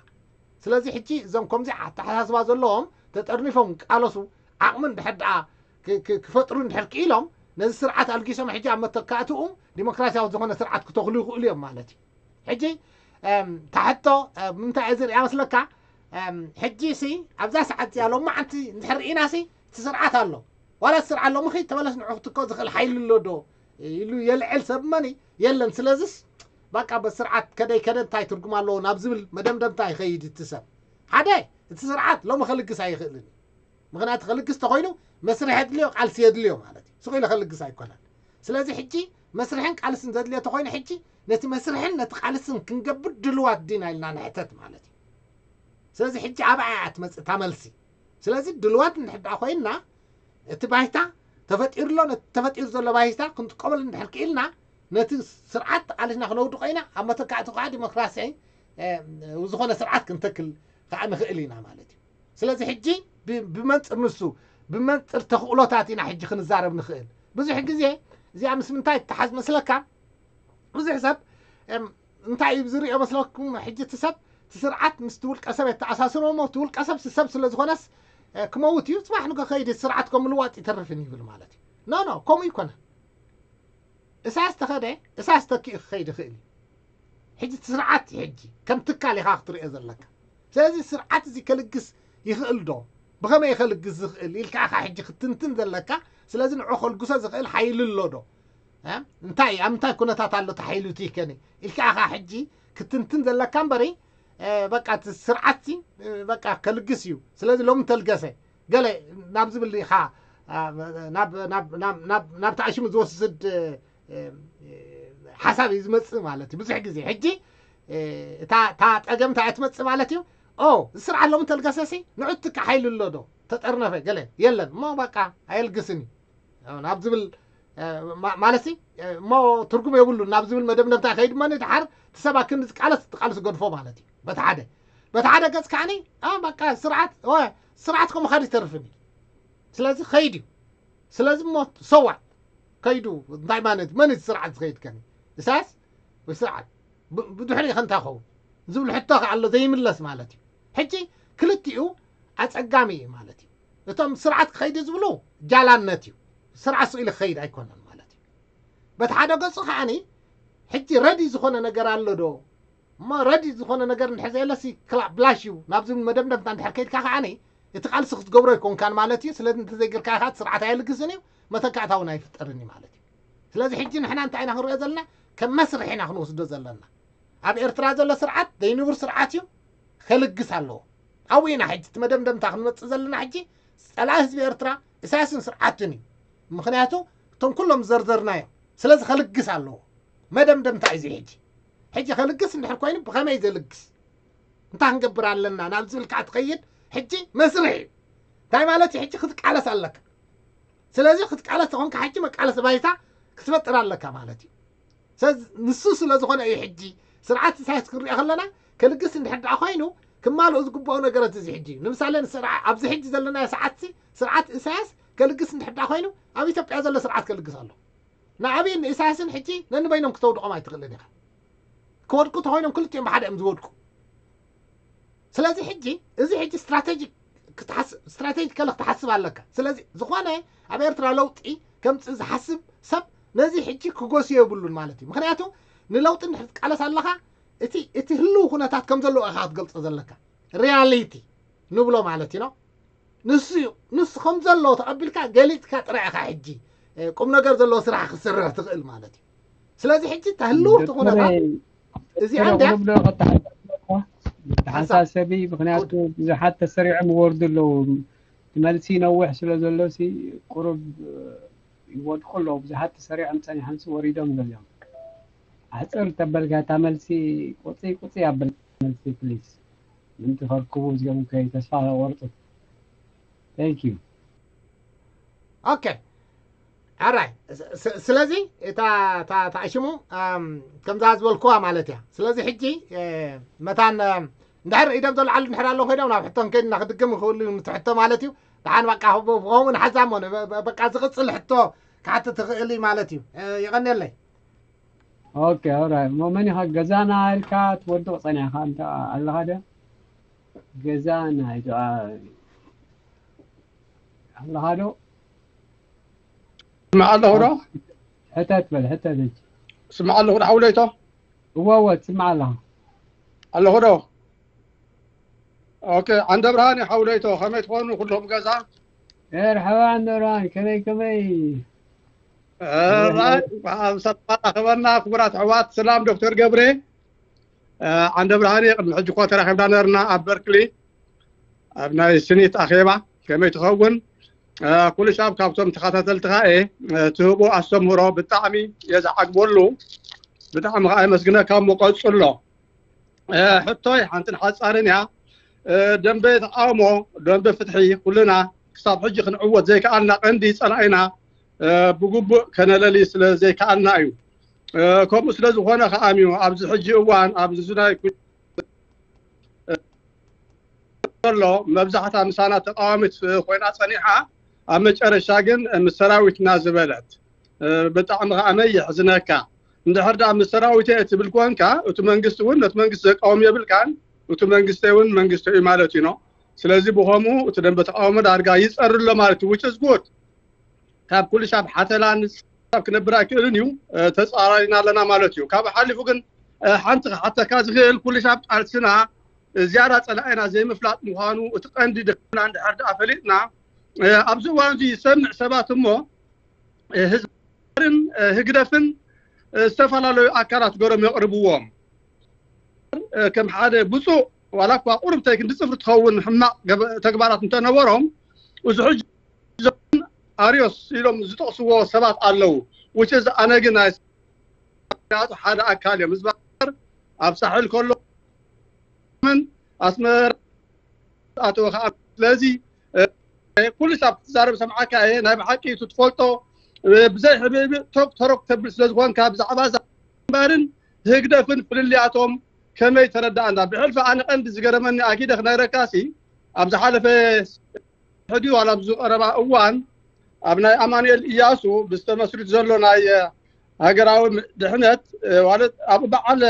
ስለዚ ሕጂ እዞም ከምዚ ኣተሓሳስባ ዘለዎም ተጠርኒፎም ቃለሱ ዓቕሚ እንድሕር ደኣ ክፈጥሩ እንድሕር ክኢሎም ነዚ ስርዓት ኣልጊሶም ሕጂ ኣብ መተካእትኡ ዲሞክራሲያዊ ዝኾነ ስርዓት ክተኽሉ ይኽእሉ እዮም ማለት እዩ። ሕጂ ታሕቶ ምንታይ እየ ዝርያ መስለካ? ሕጂ ሲ ኣብዛ ሰዓት እዚኣ ሎማዓንቲ እንድሕር ርኢና ሲ እቲ ስርዓት ኣሎ፣ ዋላ እቲ ስርዓት ሎምኺ ተመለስ ንዑ ክትኮ ዝኽእል ሓይሊ ኣሎ ዶ ኢሉ የልዕል ሰብ መን የለን። ስለዚስ በቃ በስርዓት ከደይ ከደ እንታይ ትርጉም ኣለዎ ናብ ዝብል መደምደምታ ይኸይድ እቲ ሰብ። ሓደ እቲ ስርዓት ሎሚ ከልግስ ኣይኽእልን እዩ። ምኽንያቱ ከልግስ ተኾይኑ መስርሕ የድልዮ፣ ቃልሲ የድልዮ ማለት እዩ። ስቕ ኢሉ ከልግስ ኣይኮነን። ስለዚ ሕጂ መስርሕን ቃልስን ዘድልዮ ተኾይኑ ሕጂ ነቲ መስርሕን ነቲ ቃልስን ክንገብር ድልዋት ዲና ኢልና ንሕተት ማለት እዩ። ስለዚ ሕጂ ኣብኣ እያ ትመጽእ እታ መልሲ። ስለዚ ድልዋት እንድሕር ደኣ ኮይንና እቲ ባይታ ተፈጢሩ ኣሎ፣ ነቲ ተፈጢሩ ዘሎ ባይታ ክንጥቀመሉ እንድሕር ክኢልና ነቲ ስርዓት ተቓሊስና ክነውድቆ ኢና። ኣብ መተካእቲ ከዓ ዲሞክራሲ ዝኾነ ስርዓት ክንተክል ከዓ ንኽእል ኢና ማለት እዩ። ስለዚ ሕጂ ብመንፅር ንሱ ብመንፅር ተኽእሎታት ኢና ሕጂ ክንዛረብ ንኽእል። ብዙሕ ግዜ እዚኣ ምስ ምንታይ ትተሓዝ መስለካ? ብዙሕ ሰብ እንታይ እዩ ዝሪኦ መስለኩም? ሕጂ እቲ ሰብ እቲ ስርዓት ምስ ውልቀ ሰብ የተኣሳስሮ እሞ እቲ ውልቀ ሰብ ሰብ ስለ ዝኾነስ ክመውት እዩ፣ ፅባሕ ንጎ ከይድ ስርዓት ከም ምልዋጥ ይተርፍን ይብል ማለት እዩ። ኖ ኖ፣ ከምኡ ይኮነ። እሳያስ ተኸደ እሳያስ ተኪኡ ክኸይድ ይኽእል እዩ። ሕጂ እቲ ስርዓት እዩ ሕጂ ከም ትካል ኢኻ ክትሪኦ ዘለካ። ስለዚ ስርዓት እዚ ከልግስ ይኽእል ዶ? ብኸመይ ከልግስ ዝኽእል ኢልካ ኢኻ ሕጂ ክትንትን ዘለካ። ስለዚ ንዑ ከልግሶ ዝኽእል ሓይሊ ኣሎ ዶ? እንታይ ኣብ ምንታይ ኩነታት ኣሎ ተሓይሉ ትይከኒ ኢልካ ኢኻ ሕጂ ክትንትን ዘለካ እምበሪ፣ በቃ እቲ ስርዓት በቃ ከልግስ እዩ። ስለዚ ሎሚ ተልገሰ ገለ ናብ ዝብል ኢኻ ናብ ተኣሽሙ ዝወስድ ሓሳብ እዩ ዝመፅእ ማለት እዩ። ብዙሕ ግዜ ሕጂ እታ ጸገም እንታይ እያ ትመፅእ ማለት እዩ? ኦ፣ እዚ ስርዓት ሎሚ ተልገሰሲ ንዑ ትካ ሓይሊ ኣሎ ዶ ተጠርነፈ ገለ የለን እሞ በቃ ኣየልግስን እዩ ናብ ዝብል ማለት እሞ ትርጉም የብሉን ናብ ዝብል መደምደምታ ይኸይድ እሞ ንድሓር እቲ ሰብ ኣክንዲ ዝቃለስ ትቃልስ ገድፎ ማለት እዩ። በቲ ሓደ በቲ ሓደ ገፅ ከዓኒ በቃ ስርዓት ስርዓት ከምኡ ካድ ይተርፍን እዩ። ስለዚ ኸይድ እዩ። ስለዚ እሞ ሰዋት ከይዱ እንታይ ማለት እዩ? መን እቲ ስርዓት ዝኸይድ ከኒ እሳያስ ወይ ስርዓት ብድሕሪ ከንታ ኸውን ዝብል ሕቶ ከ ኣሎ ዘይምለስ ማለት እዩ። ሕጂ ክልቲኡ ኣጸጋሚ እዩ ማለት እዩ። እቶም ስርዓት ክኸይድ ዝብሉ ጃላነት እዩ። ስርዓት ስኢሉ ክኸይድ ኣይኮነን ማለት እዩ። በቲ ሓደ ገጹ ከዓኒ ሕጂ ረዲ ዝኾነ ነገር ኣሎ ዶ እሞ ረዲ ዝኾነ ነገር እንድሕር ዘየለሲ ክላ ብላሽ እዩ ናብ ዝብል መደምደምታ እንድሕር ከይድካ ከዓኒ እቲ ቃልሲ ክትገብሮ ኣይኮንካን ማለት እዩ። ስለዚ እንተዘይገርካ ኢኻ እቲ ስርዓት ኣየልግስን እዩ፣ መተካእታ እውን ኣይፍጠርን እዩ ማለት እዩ። ስለዚ ሕጂ ንሕና እንታይ ኢና ክንሪኦ ዘለና? ከም መስርሕ ኢና ክንወስዶ ዘለና። ኣብ ኤርትራ ዘሎ ስርዓት ዘይንቡር ስርዓት እዩ፣ ከልግስ ኣለዎ። ኣብኡ ኢና ሕጂ እቲ መደምደምታ ክንመፅእ ዘለና። ሕጂ ፀላኢ ህዝቢ ኤርትራ እሳያስን ስርዓቱን እዩ። ምክንያቱ እቶም ኩሎም ዝዘርዘርናዮም። ስለዚ ከልግስ ኣለዎ። መደምደምታ እዩ እዚ ሕጂ። ሕጂ ከልግስ እንድሕር ኮይኑ ብኸመይ ዘልግስ እንታይ ክንገብር ኣለና ናብ ዝብል ከዓ ትኸይድ። ሕጂ መስርሕ እዩ። እንታይ ማለት እዩ? ሕጂ ክትቃለስ ኣለካ። ስለዚ ክትቃለስ ተኾንካ ሕጂ መቃለሲ ባይታ ክትፈጥር ኣለካ ማለት እዩ። ስለዚ ንሱ ስለ ዝኾነ እዩ ሕጂ ስርዓት ኢሳያስ ክንሪኦ ከለና ከልግስ እንድሕር ደኣ ኮይኑ ክማልኡ ዝግብኦ ነገራት እዚ ሕጂ እዩ። ንምሳሌ ንስርዓ-፣ ኣብዚ ሕጂ ዘለናዮ ሰዓትሲ ስርዓት ኢሳያስ ከልግስ እንድሕር ደኣ ኮይኑ ኣብ ኢትዮጵያ ዘሎ ስርዓት ከልግስ ኣሎ። ንኣብይን ንኢሳያስን ሕጂ ነንበይኖም ክተውድቖም ኣይትኽእልን ኢኻ። ክወድቁ ተኾይኖም ክልቲኦም ብሓደ እዮም ዝወድቁ። ስለዚ ሕጂ እዚ ሕጂ ስትራቴጂክ ክትሓስ-፣ ስትራቴጂካሊ ክትሓስብ ኣለካ። ስለዚ ዝኾነ ኣብ ኤርትራ ለውጢ ከምፅእ ዝሓስብ ሰብ ነዚ ሕጂ ክጎስዮ የብሉን ማለት እዩ። ምክንያቱ ንለውጢ እንድሕር ትቃለስ ኣለኻ እቲ፣ እቲ ህልው ኩነታት ከም ዘለዎ ኢኻ ክትገልፆ ዘለካ። ሪያሊቲ ንብሎ ማለት እዩ ነው። ንሱ እዩ። ንሱ ከም ዘሎ ተቐቢልካ ገሊጽካ ጥራይ ኢኻ ሕጂ፣ እ፣ ቁም ነገር ዘለዎ ስራሕ ክትሰርሕ ትኽእል ማለት እዩ። ስለዚ ሕጂ እታ ህልውቲ ኩነታት እዚኣ እንድያ ቁሩብ ዶ ከተሓሳስበካ? ሓሳብ። ተሓሳሰቢ፣ ምክንያቱ ብዙሓት ተሰሪዖም ይወርዱ ኣለዉ። እቲ መልሲ ነዊሕ ስለ ዘሎ ሲ ቁሩብ፣ እ፣ ይወድቁ ኣለዉ። ብዙሓት ተሰሪዖም ጸኒሖም ሲ ወሪዶም ገሊኦም። ኣሕጽር ተበልካ እታ መልሲ ቁጽይ ቁጽይ ኣብል መልሲ ፕሊዝ። ምንቲ ከርክቡ እዚኦም ከይ ተስፋ ቆርጡ። Thank you። ኦኬ። ኣራይ። ስ-፣ ስ-፣ ስለዚ እታ፣ እታ፣ እታ ሽሙ፣ ኣም፣ ከምዛ ዝበልኩዋ ማለት እያ። ስለዚ ሕጂ፣ እ፣ መታን፣ እ፣ እንድሕር ኢዶም ዘልዓሉ እንድሕር ኣለዉ ኮይኖም ናብ ሕቶ እንከይድና ክድግም ይኽእሉ እዩ፣ ምትሕቶ ማለት እዩ። ደሓን በቃ ብ-፣ ብኸምኡ ንሓዛ እሞ ን-፣ በ-፣ በ-፣ በቃ ዝቕጽል ሕቶ ክሓትት ትኽእል እዩ ማለት እዩ። እ፣ የቐንየለይ። ኦኬ፣ ኦራይት። እሞ መን ኢኻ ገዛና ኢልካ ትወድቕ ጸኒሕካ እንተ ኣለኻ ዶ? ገዛና ኢልካ ኣለኻ ዶ? ስማዕ ኣለኹ ዶ? ሕተት በል፣ ሕተት እንጂ። ስማዕ ኣለኹ ዶ ሓውለይቶ? እወ፣ እወ፣ ትስማዕ ኣለኻ። ኣለኹ ዶ? ኦኬ፣ ዓንደ ብርሃን ሓውለይቶ፣ ከመይ ትኾኑ ኩሎም ገዛ? መርሓባ ዓንደ ብርሃን፣ ከመይ፣ ከመይ? ራይ፣ ኣብ ሰላም ኣራኸበና፣ ክቡራት ኣሕዋት። ሰላም ዶክተር ገብሬ። እ፣ ዓንደ ብርሃን፣ ቅድሚ ሕጂ እኳ ተራኺብና ነርና ኣብ በርክሊ፣ ኣብ ናይ ስኒት ኣኼባ። ከመይ ትኸውን? እ፣ ኩሉ ሻብ ካብቶም ተኸታተልትኻ እየ። እ፣ ትህቦ ኣስተምህሮ ብጣዕሚ እየ ዝዓግበሉ። ብጣዕሚ ኸዓ የመስግነካ እሞ ቀጽሎ። እ፣ ሕቶይ ሓንትን ሓጻርን እያ። እ፣ ደንበ ተቃውሞ፣ ደንበ ፍትሒ ኩልና ክሳብ ሕጂ ክንዕወት ዘይከኣልና ቀንዲ ጸላኢና፣ እ፣ ብግቡእ ከነለሊ ስለ ዘይከኣልና እዩ። እ፣ ከምኡ ስለ ዝኾነ ከኣ እዩ ኣብዚ ሕጂ እዋን ኣብዚ ናይ ኩ-፣ እ፣ ዘሎ መብዛሕታ ምሳና ተቃዋሚት ኮይና ጸኒሓ፣ ኣብ መጨረሻ ግን ምስ ሰራዊትና ዝበለት። እ፣ ብጣዕሚ ከኣ መ የሕዝነካ። እንድሕር ደኣ ምስ ሰራዊት እየ እትብል ኮንካ፣ እቲ መንግስቲ እውን ነቲ መንግስቲ ዘቃውም የብልካን፣ እቲ መንግስቲ እውን መንግስቲ እዩ ማለት እዩ ነው። ስለዚ ብኸምኡ እቲ ደንበ ተቃውሞ ዳርጋ ይጸሪ ኣሎ ማለት እዩ፣ which is good። ካብ ኩሉ ሻብ ሓተላ ንሳብ ክነብር ኣይክእልን እዩ፣ እ፣ ተጻራሪና ኣለና ማለት እዩ። ካብ ሓሊፉ ግን፣ እ፣ ሓንቲ ክሓተካ ዝኽእል ኩሉ ሻብ ቃልስና፣ እ፣ ዝያዳ ጸላኢና ዘይምፍላጥ ምዃኑ እቲ ቀንዲ ድሕና እንድሕር ደኣ ፈሊጥና፣ እ፣ ኣብዚ እዋን እዚ ዝሰምዕ ሰባት እሞ፣ እ፣ ህዝብን፣ እ፣ ህግደፍን፣ እ፣ ዝተፈላለዩ ኣካላት ገሮም የቕርብዎም። እ፣ ከም ሓደ ብፁዕ ዋላ እኳ ቁሩብ ተይ ክንዲ ጽፍሪ ትኸውን ሕማቕ ገበ-፣ ተግባራት እንተነበሮም፣ እዚ ሕጂ ኣርዮስ ኢሎም ዝጠቕስዎ ሰባት ኣለዉ። Which is ኣነ ግን ናይ ሓደ ኣካል እዮም። ህዝቢ ኣብ ሳሕል ከሎ ምን ኣስመራ ኣተወ ከዓ። ስለዚ፣ እ፣ ኩሉ ሳብ ትዛረብ ሰምዓካ እየ። ናይ ብሓቂ እቲ ትፈልጦ፣ እ፣ ብዘይ ሕብእብእ ቶክ ተረክ ተብል ስለ ዝኾንካ ብዛዕባ እዛ ግንባርን ህግደፍን ፍልልያቶም ከመይ ተረዳእና? ብሕልፊ ኣነ ቀንዲ ዝገረመኒ ኣኪደ ክነግረካሲ ኣብ ዝሓለፈ ሕዲ ዋላ ኣብዚ ቀረባ እዋን ኣብ ናይ ኣማኑኤል እያሱ ብዝተመስሪት ዘሎ ናይ ሃገራዊ ድሕነት፣ እ፣ ማለት ኣብ በዓል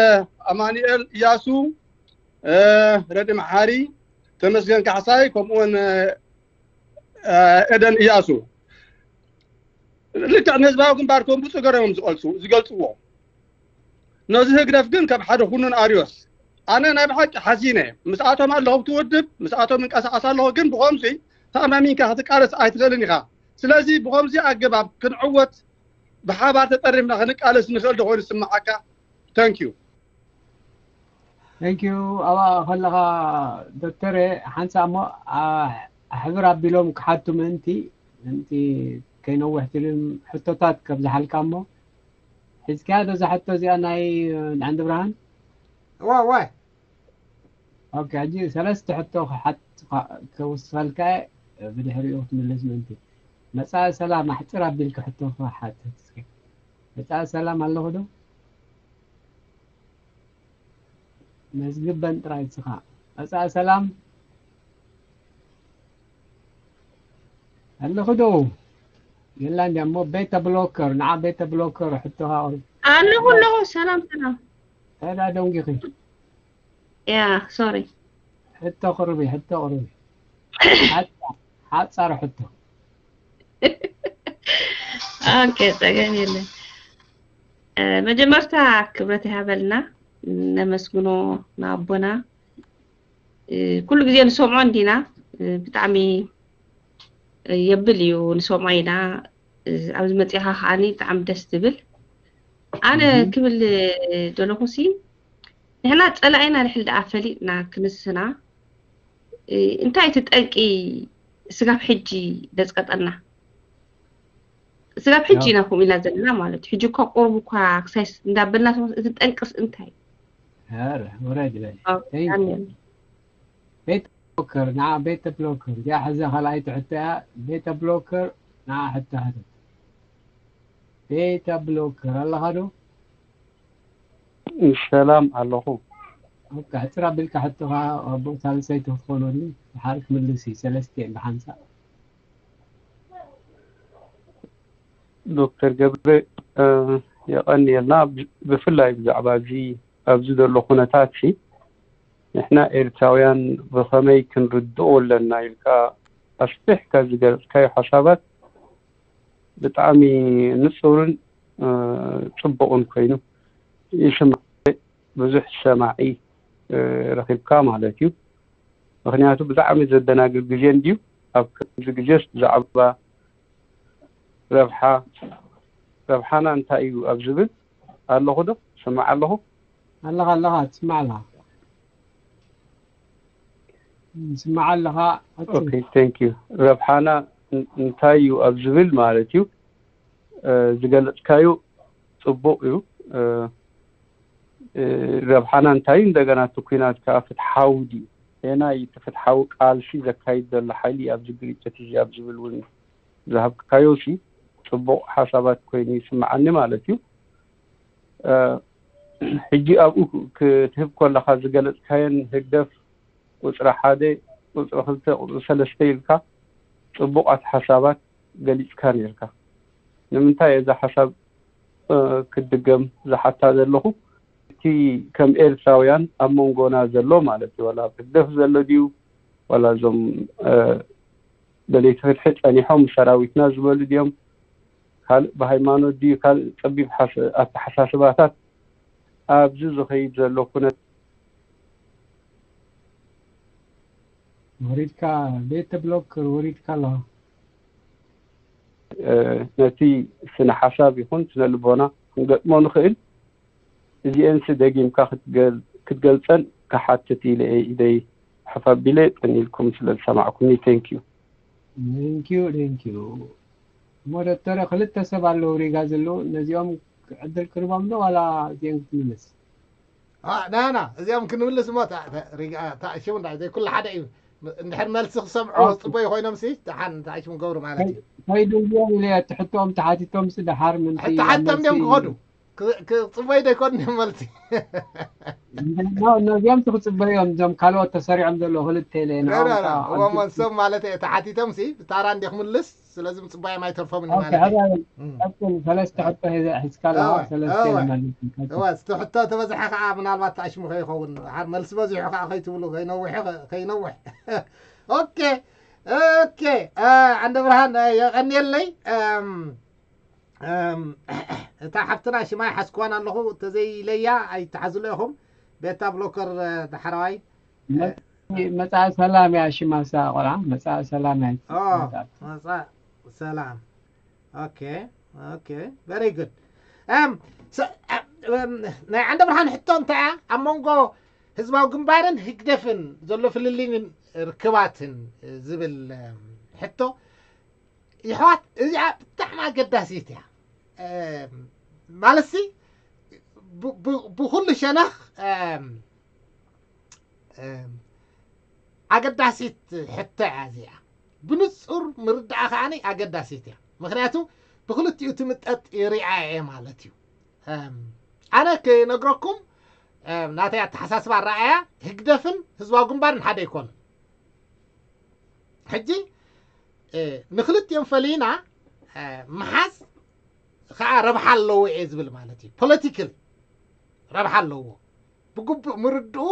ኣማኑኤል እያሱ፣ እ፣ ረዲ መሓሪ፣ ተመስገን ካሕሳይ፣ ከምኡውን፣ እ፣ ኤደን እያሱ ልክዕ ንህዝባዊ ግንባር ከም ብፁዕ ገረሞም ዝቐልሱ-፣ ዝገልጽዎ። ነዚ ህግደፍ ግን ከም ሓደ ኩኑን ኣርዮስ። ኣነ ናይ ብሓቂ ሓዚነ። ምስኣቶም ኣለኹ ኣብቲ ውድብ፣ ምስኣቶም እንቀሳቐስ ኣለኹ፣ ግን ብኸምዚ ተኣማሚንካ ክትቃለስ ኣይትኽእልን ኢኻ። ስለዚ ብኸምዚ ኣገባብ ክንዕወት ብሓባር ተጠሪምና ክንቃለስ ንኽእል ዶ ኮይኑ ዝስምዓካ? Thank you። Thank you። ኣብኣ ከለኻ ዶክተረ ሓንሳእ እሞ ኣ-፣ ኣሕብር ኣቢሎም ክሓቱ ምእንቲ፣ ምእንቲ ከይነውሕ ትልም ሕቶታት ከብዝሓልካ እሞ ሒዝካያ ዶ እዛ ሕቶ እዚኣ ናይ ዓንዲ ብርሃን? እወ፣ እወ። ኦኬ፣ ሕጂ ሰለስተ ሕቶ ክሓት-፣ ከውስኸልካ እየ፣ ብድሕሪኡ ክትምልስ ምእንቲ። መጻኢ ሰላም ኣሕጽር ኣቢልካ ሕቶ ክሓትት እስከ። መጻኢ ሰላም ኣለኹ ዶ? መዝግበን ጥራይ እስኻ። መጻኢ ሰላም ኣለኹ ዶ? የላ እንድያ እሞ ቤተ ብሎከር፣ ንዓ ቤተ ብሎከር ሕቶኻ ኣቕርብ። ኣለኹ ኣለኹ። ሰላም ሰላም። እንታይ ደኣ ደንጊኺ? ያ ሶሪ። ሕቶ ቅርቢ፣ ሕቶ ቅርቢ። ሓጻ- ሓጻር ሕቶ። ኦኬ፣ ጸገም የለን። እ፣ መጀመርታ ክብረት ይሃበልና፣ ነመስግኖ ንኣቦና። እ፣ ኩሉ ግዜ ንሰምዖ እንዲና፣ እ፣ ብጣዕሚ የብል እዩ፣ ንሰምዖ ኢና። እ፣ ኣብዚ መጺኻ ከዓኒ ብጣዕሚ ደስ ትብል። ኣነ እህ። ክብል ደለኹሲ፣ ንሕና ጸላኢና ድሕል ደኣ ፈሊጥና ክንስና፣ እ፣ እንታይ እቲ ጠንቂ ስጋብ ሕጂ ደጽቀጠና? ስጋብ ሕጂ ያው- ኢና ከምኡ ኢልና ዘለና ማለት እዩ። ሕጂ እኳ ቁሩብ እኳ ክሳይ ስ- እንዳበልና ስሞስ እቲ ጠንቅስ እንታይ? ኧረ፣ ወረድ በል። ኣው፣ ተይ። ዳንኤል። ቤተ ብሎከር፣ ንዓ ቤተ ብሎከር። እዚኣ ሕዚ ካልኣይቲ ሕቶ እያ። ቤተ ብሎከር፣ ንዓ ሕቶ ሕተት። ቤተ ብሎከር፣ ኣለኻ ዶ? ሰላም ኣለኹ። ኦኬ፣ ሕጽር ኣቢልካ ሕቶኻ፣ ኣቦ ሳልሰይቲ ክትኾነሉ፣ ድሓር ክምልስ እዩ፣ ሰለስተ እየን ብሓንሳእ። ዶክተር ገብረ፣ እ፣ የቐንየልና። ብ-፣ ብፍላይ ብዛዕባ እዚ፣ ኣብዚ ዘሎ ኩነታት ሲ፣ ንሕና ኤርትራውያን ብኸመይ ክንርድኦ ኣለና ኢልካ ኣስፊሕካ ዝገለጽካዮ ሓሳባት ብጣዕሚ ንጹርን፣ እ፣ ጽቡቕን ኮይኑ ይስማዕ። ብዙሕ ሰማዒ፣ እ፣ ረኺብካ ማለት እዩ። ምኽንያቱ ብጣዕሚ ዘደናግር ግዜ እንድዩ። ኣብ ከምዚ ግዜስ ብዛዕባ ረብሓ፣ ረብሓና እንታይ እዩ ኣብ ዝብል ኣለኹ ዶ? ስማዕ ኣለኹ? ኣለኻ፣ ኣለኻ፣ ትስማዕ ኣለኻ። ትስማዕ ኣለኻ። ቀጽል። ኦኬ፣ thank you። ረብሓና ን-፣ እንታይ እዩ ኣብ ዝብል ማለት እዩ። እ፣ ዝገለጽካዩ ጽቡቕ እዩ። እ፣ እ፣ ረብሓና እንታይ እዩ? እንደገና እቲ ኲናት ከኣ ፍትሓዊ ድዩ? ሄና እዩ እቲ ፍትሓዊ ቃልሲ ዘካይድ ዘሎ ሓይሊ ኣብዚ ግርጭት እዚ ኣብ ዝብል እውን ዝሃብካዮ ሲ ጽቡቕ ሓሳባት ኮይኑ ይስምዓኒ ማለት እዩ። እ፣ ሕጂ ኣብኡ ክትህብ ከለኻ ዝገለጽካየን ህግደፍ ቁጽሪ ሓደ፣ ቁጽሪ ክልተ፣ ቁጽሪ ሰለስተ ኢልካ ጽቡቓት ሓሳባት ገሊጽካ ነይርካ። ንምንታይ እዛ ሓሳብ፣ እ፣ ክትድገም ዝሓታ ዘለኹ? እቲ ከም ኤርትራውያን ኣብ መንጎና ዘሎ ማለት እዩ፣ ዋላ ኣብ ህግደፍ ዘሎ ድዩ፣ ዋላ እዞም፣ እ፣ ደለይቲ ፍትሒ ጸኒሖም ምስ ሰራዊትና ዝበሉ ድዮም፣ ካልእ ብሃይማኖት ድዩ፣ ካልእ ጸቢብ ሓስ-፣ ኣተሓሳስባታት ኣብዚ ዝኸይድ ዘሎ ኩነት ወሪድካ፣ ቤተ ብሎክ ወሪድካ ኣለኻ። እ፣ ነቲ ስነ ሓሳብ ይኹን ስነ ልቦና ክንገጥሞ ንኽእል። እዚኤንሲ ደጊምካ ክትገል-፣ ክትገልጸን ክሓትት ኢለ እየ ኢደይ ሕፍ ኣቢለ። ቀኒልኩም ስለ ዝሰማዕኩምኒ thank you። Thank you፣ thank you። እሞ ዶክተር፣ ክልተ ሰብ ኣለዉ ሪጋ ዘለዉ፣ ነዚኦም ዕድል ክርቦም ዶ ዋላ እዚኦም ክትምልስ? ኣ፣ ና፣ ና፣ እዚኦም ክንምልስ እሞ፣ ታ-፣ ታ-፣ ሪጋ-፣ ታ-፣ ሽሙ እንዳ-፣ ዘይ ኩሉ ሓደ እዩ። እንድሕር መልሲ ክሰምዑ ኦኬ። ጽበዩ ኮይኖም ሲ፣ ደሓን እንታይ ሽሙ ገብሩ ማለት እዩ። ከይዱ እዮም ኢለ፣ እቲ ሕቶኦም ተሓቲቶም ሲ ደሓር ምንቲ ተሓቲቶም ድዮም መልሲ ክኸዱ? ክ-፣ ክጽበዩ ዶ ይኮኑ እዮም መልሲ? እንዳ-፣ ነዚኦም ሲ ክጽበዮም፣ እዞም ካልኦት ተሰሪዖም ዘለዉ ክልተ ኢለ፣ ረ-፣ ንዕኦም ረ-፣ ረ-፣ ከዓ እዎም ኣንቱ-፣ እሶም ማለት እየ፣ ተሓቲቶም ሲ፣ ብታራ እንዲ ክምልስ፣ ስለዚ ምጽባዮም ኣይተርፎምን ኦኬ፣ ማለት እዩ። ሕራይ፣ እም። ቀጽል፣ ሰለስተ ሕቶ ሒዘ፣ ሒዝካ ኣለኻ፣ እወ፣ ሰለስተ እወ። ኢለ መልስ፣ ቀጽል። እወ፣ እቲ ሕቶ ተበዝሐ ከዓ ምናልባት ታሽሙ ከይኸውን፣ ሓር መልሲ በዚሑ ከዓ ከይትብሉ፣ ከይነውሕ፣ ከይነውሕ። ኦኬ፣ ኦኬ፣ እ፣ ዓንደ ብርሃን፣ እ፣ የቐንየለይ። እም፣ እም፣ እታ ሓፍትና ሽማ ይሓዝክዋን ኣለኹ፣ ተዘይለያ ኣይትሓዝሎ ኢኹም። ቤታ ብሎከር፣ እ፣ ዳሕረዋይ። መ-፣ መጻኢ ሰላም እያ ሽማ እሳ ቆልዓ፣ መጻኢ ሰላም እያ። ኦ፣ መጻኢ ሰላም። ኦኬ፣ ኦኬ፣ very good። እም፣ ሰ-፣ እም፣ ናይ ዓንደ ብርሃን ሕቶ እንታይ እያ? ኣብ መንጎ ህዝባዊ ግንባርን ህግደፍን ዘሎ ፍልልይን ርክባትን ዝብል፣ እም፣ ሕቶ፣ ይሕዋት፣ እዚኣ ብጣዕሚ ኣገዳሲት እያ። እም፣ ማለትሲ፣ ብ-፣ ብ-፣ ብኹሉ ሸነኽ፣ እም፣ እም፣ ኣገዳሲት ሕቶ እያ እዚኣ። ብንጹር ምርዳኣ ከዓኒ ኣገዳሲት እያ። ምኽንያቱ፣ ብክልቲኡ ትምጠጥ ይሪኣ እየ ማለት እዩ። ኣነ ክነግረኩም ናተይ ኣተሓሳስባ ኣረኣያ ህግደፍን ህዝባዊ ግንባርን ሓደ ኣይኮኑን። ሕጂ ንክልቲኦም ፈሊና ምሓዝ ከዓ ረብሓ ኣለዎ እየ ዝብል ማለት እዩ። ፖለቲካል ረብሓ ኣለዎ። ብግቡእ ምርድኡ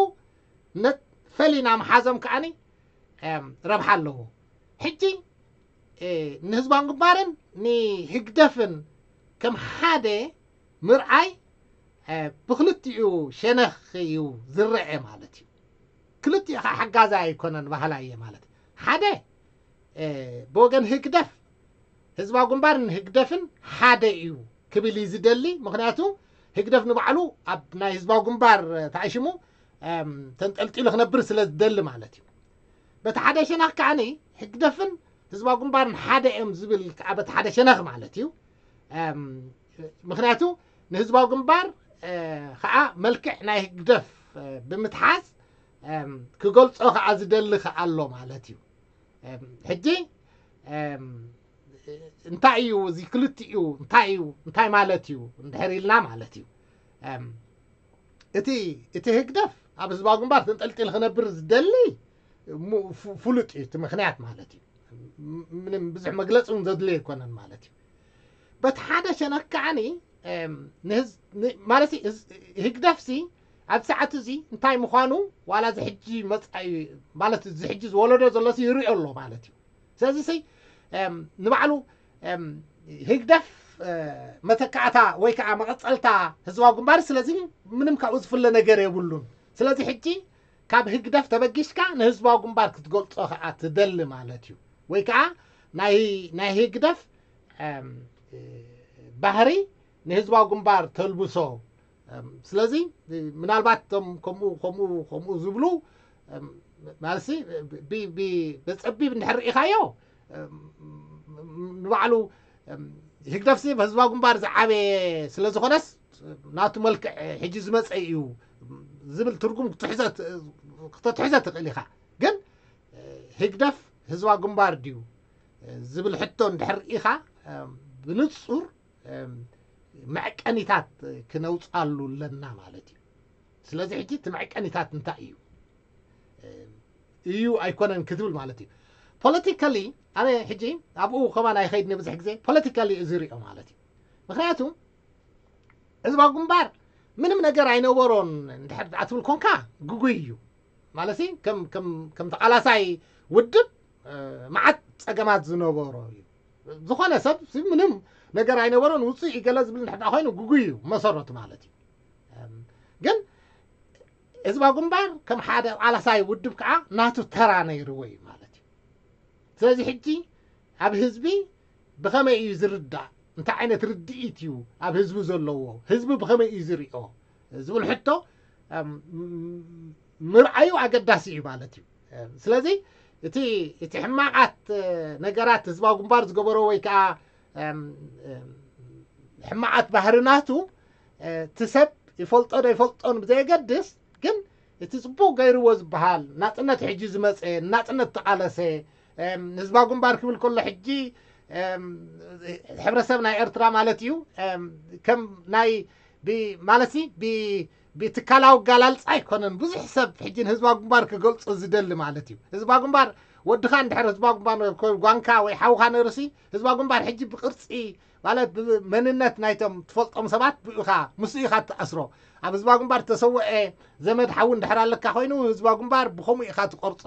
ፈሊና ምሓዞም ከዓኒ ረብሓ ኣለዎ። ሕጂ ንህዝባዊ ግንባርን ንህግደፍን ከም ሓደ ምርኣይ ብክልቲኡ ሸነኽ እዩ ዝረአ ማለት እዩ። ክልቲኡ ከዓ ሓጋዛይ ኣይኮነን ባህላ እየ ማለት ሓደ ብወገን ህግደፍ ህዝባዊ ግንባር ንህግደፍን ሓደ እዩ ክብል እዩ ዝደሊ። ምክንያቱ ህግደፍ ንባዕሉ ኣብ ናይ ህዝባዊ ግንባር ተኣሽሙ ተንጠልጢሉ ክነብር ስለ ዝደሊ ማለት እዩ። በቲ ሓደ ሸነኽ ከዓኒ ህግደፍን ህዝባዊ ግንባርን ሓደ እዮም ዝብል ከዓ በቲ ሓደ ሸነኽ ማለት እዩ። ምክንያቱ ንህዝባዊ ግንባር ከዓ መልክዕ ናይ ህግደፍ ብምትሓዝ ክገልፆ ከዓ ዝደሊ ከዓ ኣሎ ማለት እዩ። ሕጂ እንታይ እዩ እዚ ክልቲኡ እንታይ እዩ እንታይ ማለት እዩ እንድሕር ኢልና ማለት እዩ። እቲ እቲ ህግደፍ ኣብ ህዝባዊ ግንባር ተንጠልጢሉ ክነብር ዝደሊ ፍሉጥ እዩ እቲ ምክንያት ማለት እዩ። ምንም ብዙሕ መግለፂ እውን ዘድልዮ ኣይኮነን ማለት እዩ። በቲ ሓደ ሸነክ ከዓኒ ማለት ህግደፍሲ ኣብ ሰዓት እዚ እንታይ ምዃኑ ዋላ ዝሕጂ መፃኢ ማለት ዝሕጂ ዝወለዶ ዘሎሲ ይሪኦ ኣሎ ማለት እዩ። ስለዚ ንባዕሉ ህግደፍ መተካእታ ወይ ከዓ መቐፀልታ ህዝባዊ ግንባር ስለዚ ምንም ካብኡ ዝፍለ ነገር የብሉን። ስለዚ ሕጂ ካብ ህግደፍ ተበጊስካ ንህዝባዊ ግንባር ክትገልፆ ከዓ ትደሊ ማለት እዩ። ወይ ከዓ ናይ ህግደፍ ባህሪ ንህዝባዊ ግንባር ተልብሶ። ስለዚ ምናልባት ቶም ከምኡ ከምኡ ከምኡ ዝብሉ ማለት በፀቢብ እንድሕር ርኢኻዮ ንባዕሉ ህግደፍሲ ህዝባዊ ግንባር ዝዓበየ ስለ ዝኾነስ ናቱ መልክዕ ሕጂ ዝመፀ እዩ ዝብል ትርጉም ክተትሕዞ ትኽእል ኢኻ። ግን ህግደፍ ህዝባዊ ግንባር ድዩ ዝብል ሕቶ እንድሕር ርኢኻ ብንፁር መዐቀኒታት ክነውፃሉ ኣለና ማለት እዩ። ስለዚ ሕጂ እቲ መዐቀኒታት እንታይ እዩ? እዩ ኣይኮነን ክትብል ማለት እዩ። ፖለቲካሊ ኣነ ሕጂ ኣብኡ ከማን ኣይኸይድኒ ብዙሕ ግዜ ፖለቲካሊ እዚ ሪኦ ማለት እዩ። ምክንያቱ ህዝባዊ ግንባር ምንም ነገር ኣይነበሮን እንድሕር ደኣ ትብል ኮንካ ግጉይ እዩ ማለት ከም ከም ከም ተቃላሳይ ውድብ መዓት ፀገማት ዝነበሮ እዩ። ዝኾነ ሰብ ምንም ነገር ኣይነበሮን ውፅእ ይገለ ዝብል እንድሕር ኮይኑ ግጉይ እዩ መሰረቱ ማለት እዩ። ግን ህዝባዊ ግንባር ከም ሓደ ቃላሳይ ውድብ ከዓ ናቱ ተራ ነይርዎ እዩ ማለት እዩ። ስለዚ ሕጂ ኣብ ህዝቢ ብኸመይ እዩ ዝርዳእ እንታይ ዓይነት ርድኢት እዩ ኣብ ህዝቢ ዘለዎ ህዝቢ ብኸመይ እዩ ዝሪኦ ዝብል ሕቶ ምርኣዩ ኣገዳሲ እዩ ማለት እዩ። ስለዚ እቲ እቲ ሕማቓት ነገራት ህዝባዊ ግንባር ዝገበሮ ወይ ከዓ ሕማቓት ባህርናቱ እቲ ሰብ ይፈልጦ ዶ ይፈልጦን ብዘየገድስ ግን እቲ ፅቡቅ ገይርዎ ዝበሃል ናፅነት ሕጂ ዝመፀ ናፅነት ተቃለሰ ህዝባዊ ግንባር ክብል ከሎ ሕጂ ሕብረተሰብ ናይ ኤርትራ ማለት እዩ ከም ናይ ማለት ብትካላዊ ኣጋላልፃ ኣይኮነን ብዙሕ ሰብ ሕጂ ንህዝባዊ ግንባር ክገልፆ ዝደሊ ማለት እዩ። ህዝባዊ ግንባር ወድኻ እንድሕር ህዝባዊ ግንባር ጓንካ ወይ ሓውካ ነርሲ ህዝባዊ ግንባር ሕጂ ብቅርፂ ማለት ብመንነት ናይቶም ትፈልጦም ሰባት ብኡ ኢኻ ምስኡ ኢኻ ትኣስሮ። ኣብ ህዝባዊ ግንባር ተሰውአ ዘመድ ሓዊ እንድሕር ኣለካ ኮይኑ ህዝባዊ ግንባር ብኸምኡ ኢኻ ትቆርፆ።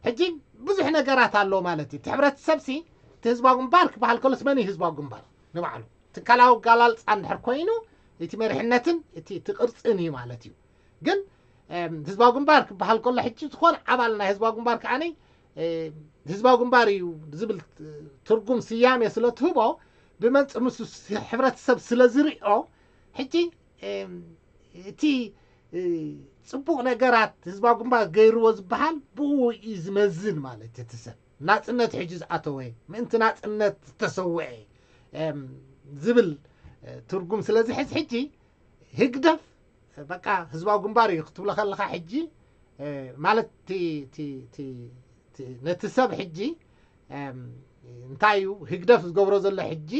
ሕጂ ብዙሕ ነገራት ኣሎ ማለት እዩ። እቲ ሕብረተሰብ ሲ እቲ ህዝባዊ ግንባር ክበሃል ከሎስ መን እዩ ህዝባዊ ግንባር ንባዕሉ ትካላዊ ኣጋላልፃ እንድሕር ኮይኑ እቲ መሪሕነትን እቲ እቲ ቅርፅን እዩ ማለት እዩ። ግን ህዝባዊ ግንባር ክበሃል ከሎ ሕጂ ዝኾነ ኣባል ናይ ህዝባዊ ግንባር ከዓኒ ህዝባዊ ግንባር እዩ ዝብል ትርጉም ስያሜ ስለ ትህቦ ብመንፅር ምስ ሕብረተሰብ ስለ ዝሪኦ ሕጂ እቲ ፅቡቕ ነገራት ህዝባዊ ግንባር ገይርዎ ዝበሃል ብኡ እዩ ዝመዝን ማለት እቲ ሰብ ናፅነት ሕጂ ዝኣተወ ምእንቲ ናፅነት ዝተሰወአ ዝብል ትርጉም ስለ ዝሕዝ ሕጂ ህግደፍ በቃ ህዝባዊ ግንባር እዩ ክትብሎ ከለኻ ሕጂ ማለት ነቲ ሰብ ሕጂ እንታይ እዩ ህግደፍ ዝገብሮ ዘሎ ሕጂ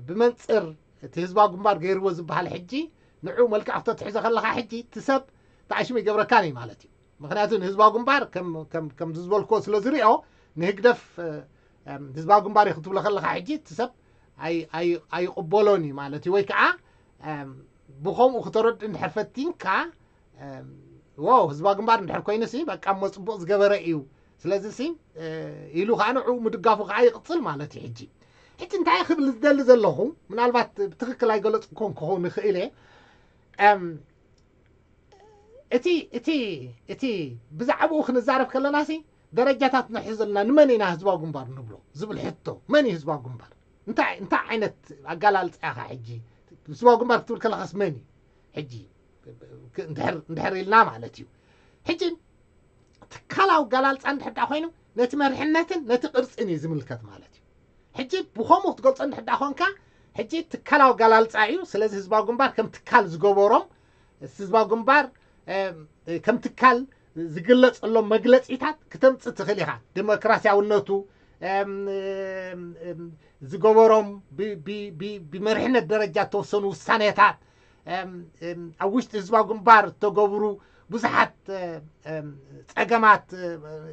ብመንፅር እቲ ህዝባዊ ግንባር ገይርዎ ዝበሃል ሕጂ ንዑ መልክዕ ክተትሕዞ ከለኻ ሕጂ እቲ ሰብ ተኣሽሙ ይገብረካን እዩ ማለት እዩ። ምክንያቱ ንህዝባዊ ግንባር ከም ዝበልክዎ ስለ ዝሪኦ ንህግደፍ ህዝባዊ ግንባር እዩ ክትብሎ ከለካ ሕጂ እቲ ሰብ ኣይቅበሎን እዩ ማለት እዩ። ወይ ከዓ ብከምኡ ክተረድእ እንድሕር ፈቲንካ፣ ዎ ህዝባዊ ግንባር እንድሕር ኮይኑ ሲ በቃ እሞ ፅቡቅ ዝገበረ እዩ፣ ስለዚ ሲ ኢሉ ከዓ ንዕኡ ምድጋፉ ከዓ ይቅፅል ማለት እዩ። ሕጂ ሕጂ እንታይ ክብል ዝደሊ ዘለኹ፣ ምናልባት ብትክክል ኣይገለፅኩን ክኸውን ይኽእል እየ። እቲ እቲ እቲ ብዛዕባኡ ክንዛረብ ከለና ሲ ደረጃታት ንሕዝ ዘለና፣ ንመን ኢና ህዝባዊ ግንባር ንብሎ ዝብል ሕቶ፣ መን እዩ ህዝባዊ ግንባር? እንታይ እንታይ ዓይነት ኣጋላልፃ ኢኻ ሕጂ? ህዝባዊ ግንባር ክትብል ከለኻስ መን እዩ ሕጂ? እንድሕር ኢልና ማለት እዩ። ሕጂ ትካላዊ ኣጋላልፃ እንድሕር ዳ ኮይኑ ነቲ መርሕነትን ነቲ ቅርፅን እዩ ዝምልከት ማለት እዩ። ሕጂ ብኸምኡ ክትገልፆ እንድሕር ዳ ኮንካ፣ ሕጂ ትካላዊ ኣጋላልፃ እዩ። ስለዚ ህዝባዊ ግንባር ከም ትካል ዝገበሮም፣ ህዝባዊ ግንባር ከም ትካል ዝግለፀሎም መግለፂታት ክተምፅእ ትኽእል ኢኻ። ዲሞክራሲያውነቱ፣ ዝገበሮም ብመሪሕነት ደረጃ እተወሰኑ ውሳኔታት፣ ኣብ ውሽጢ ህዝባዊ ግንባር እተገብሩ ብዙሓት ፀገማት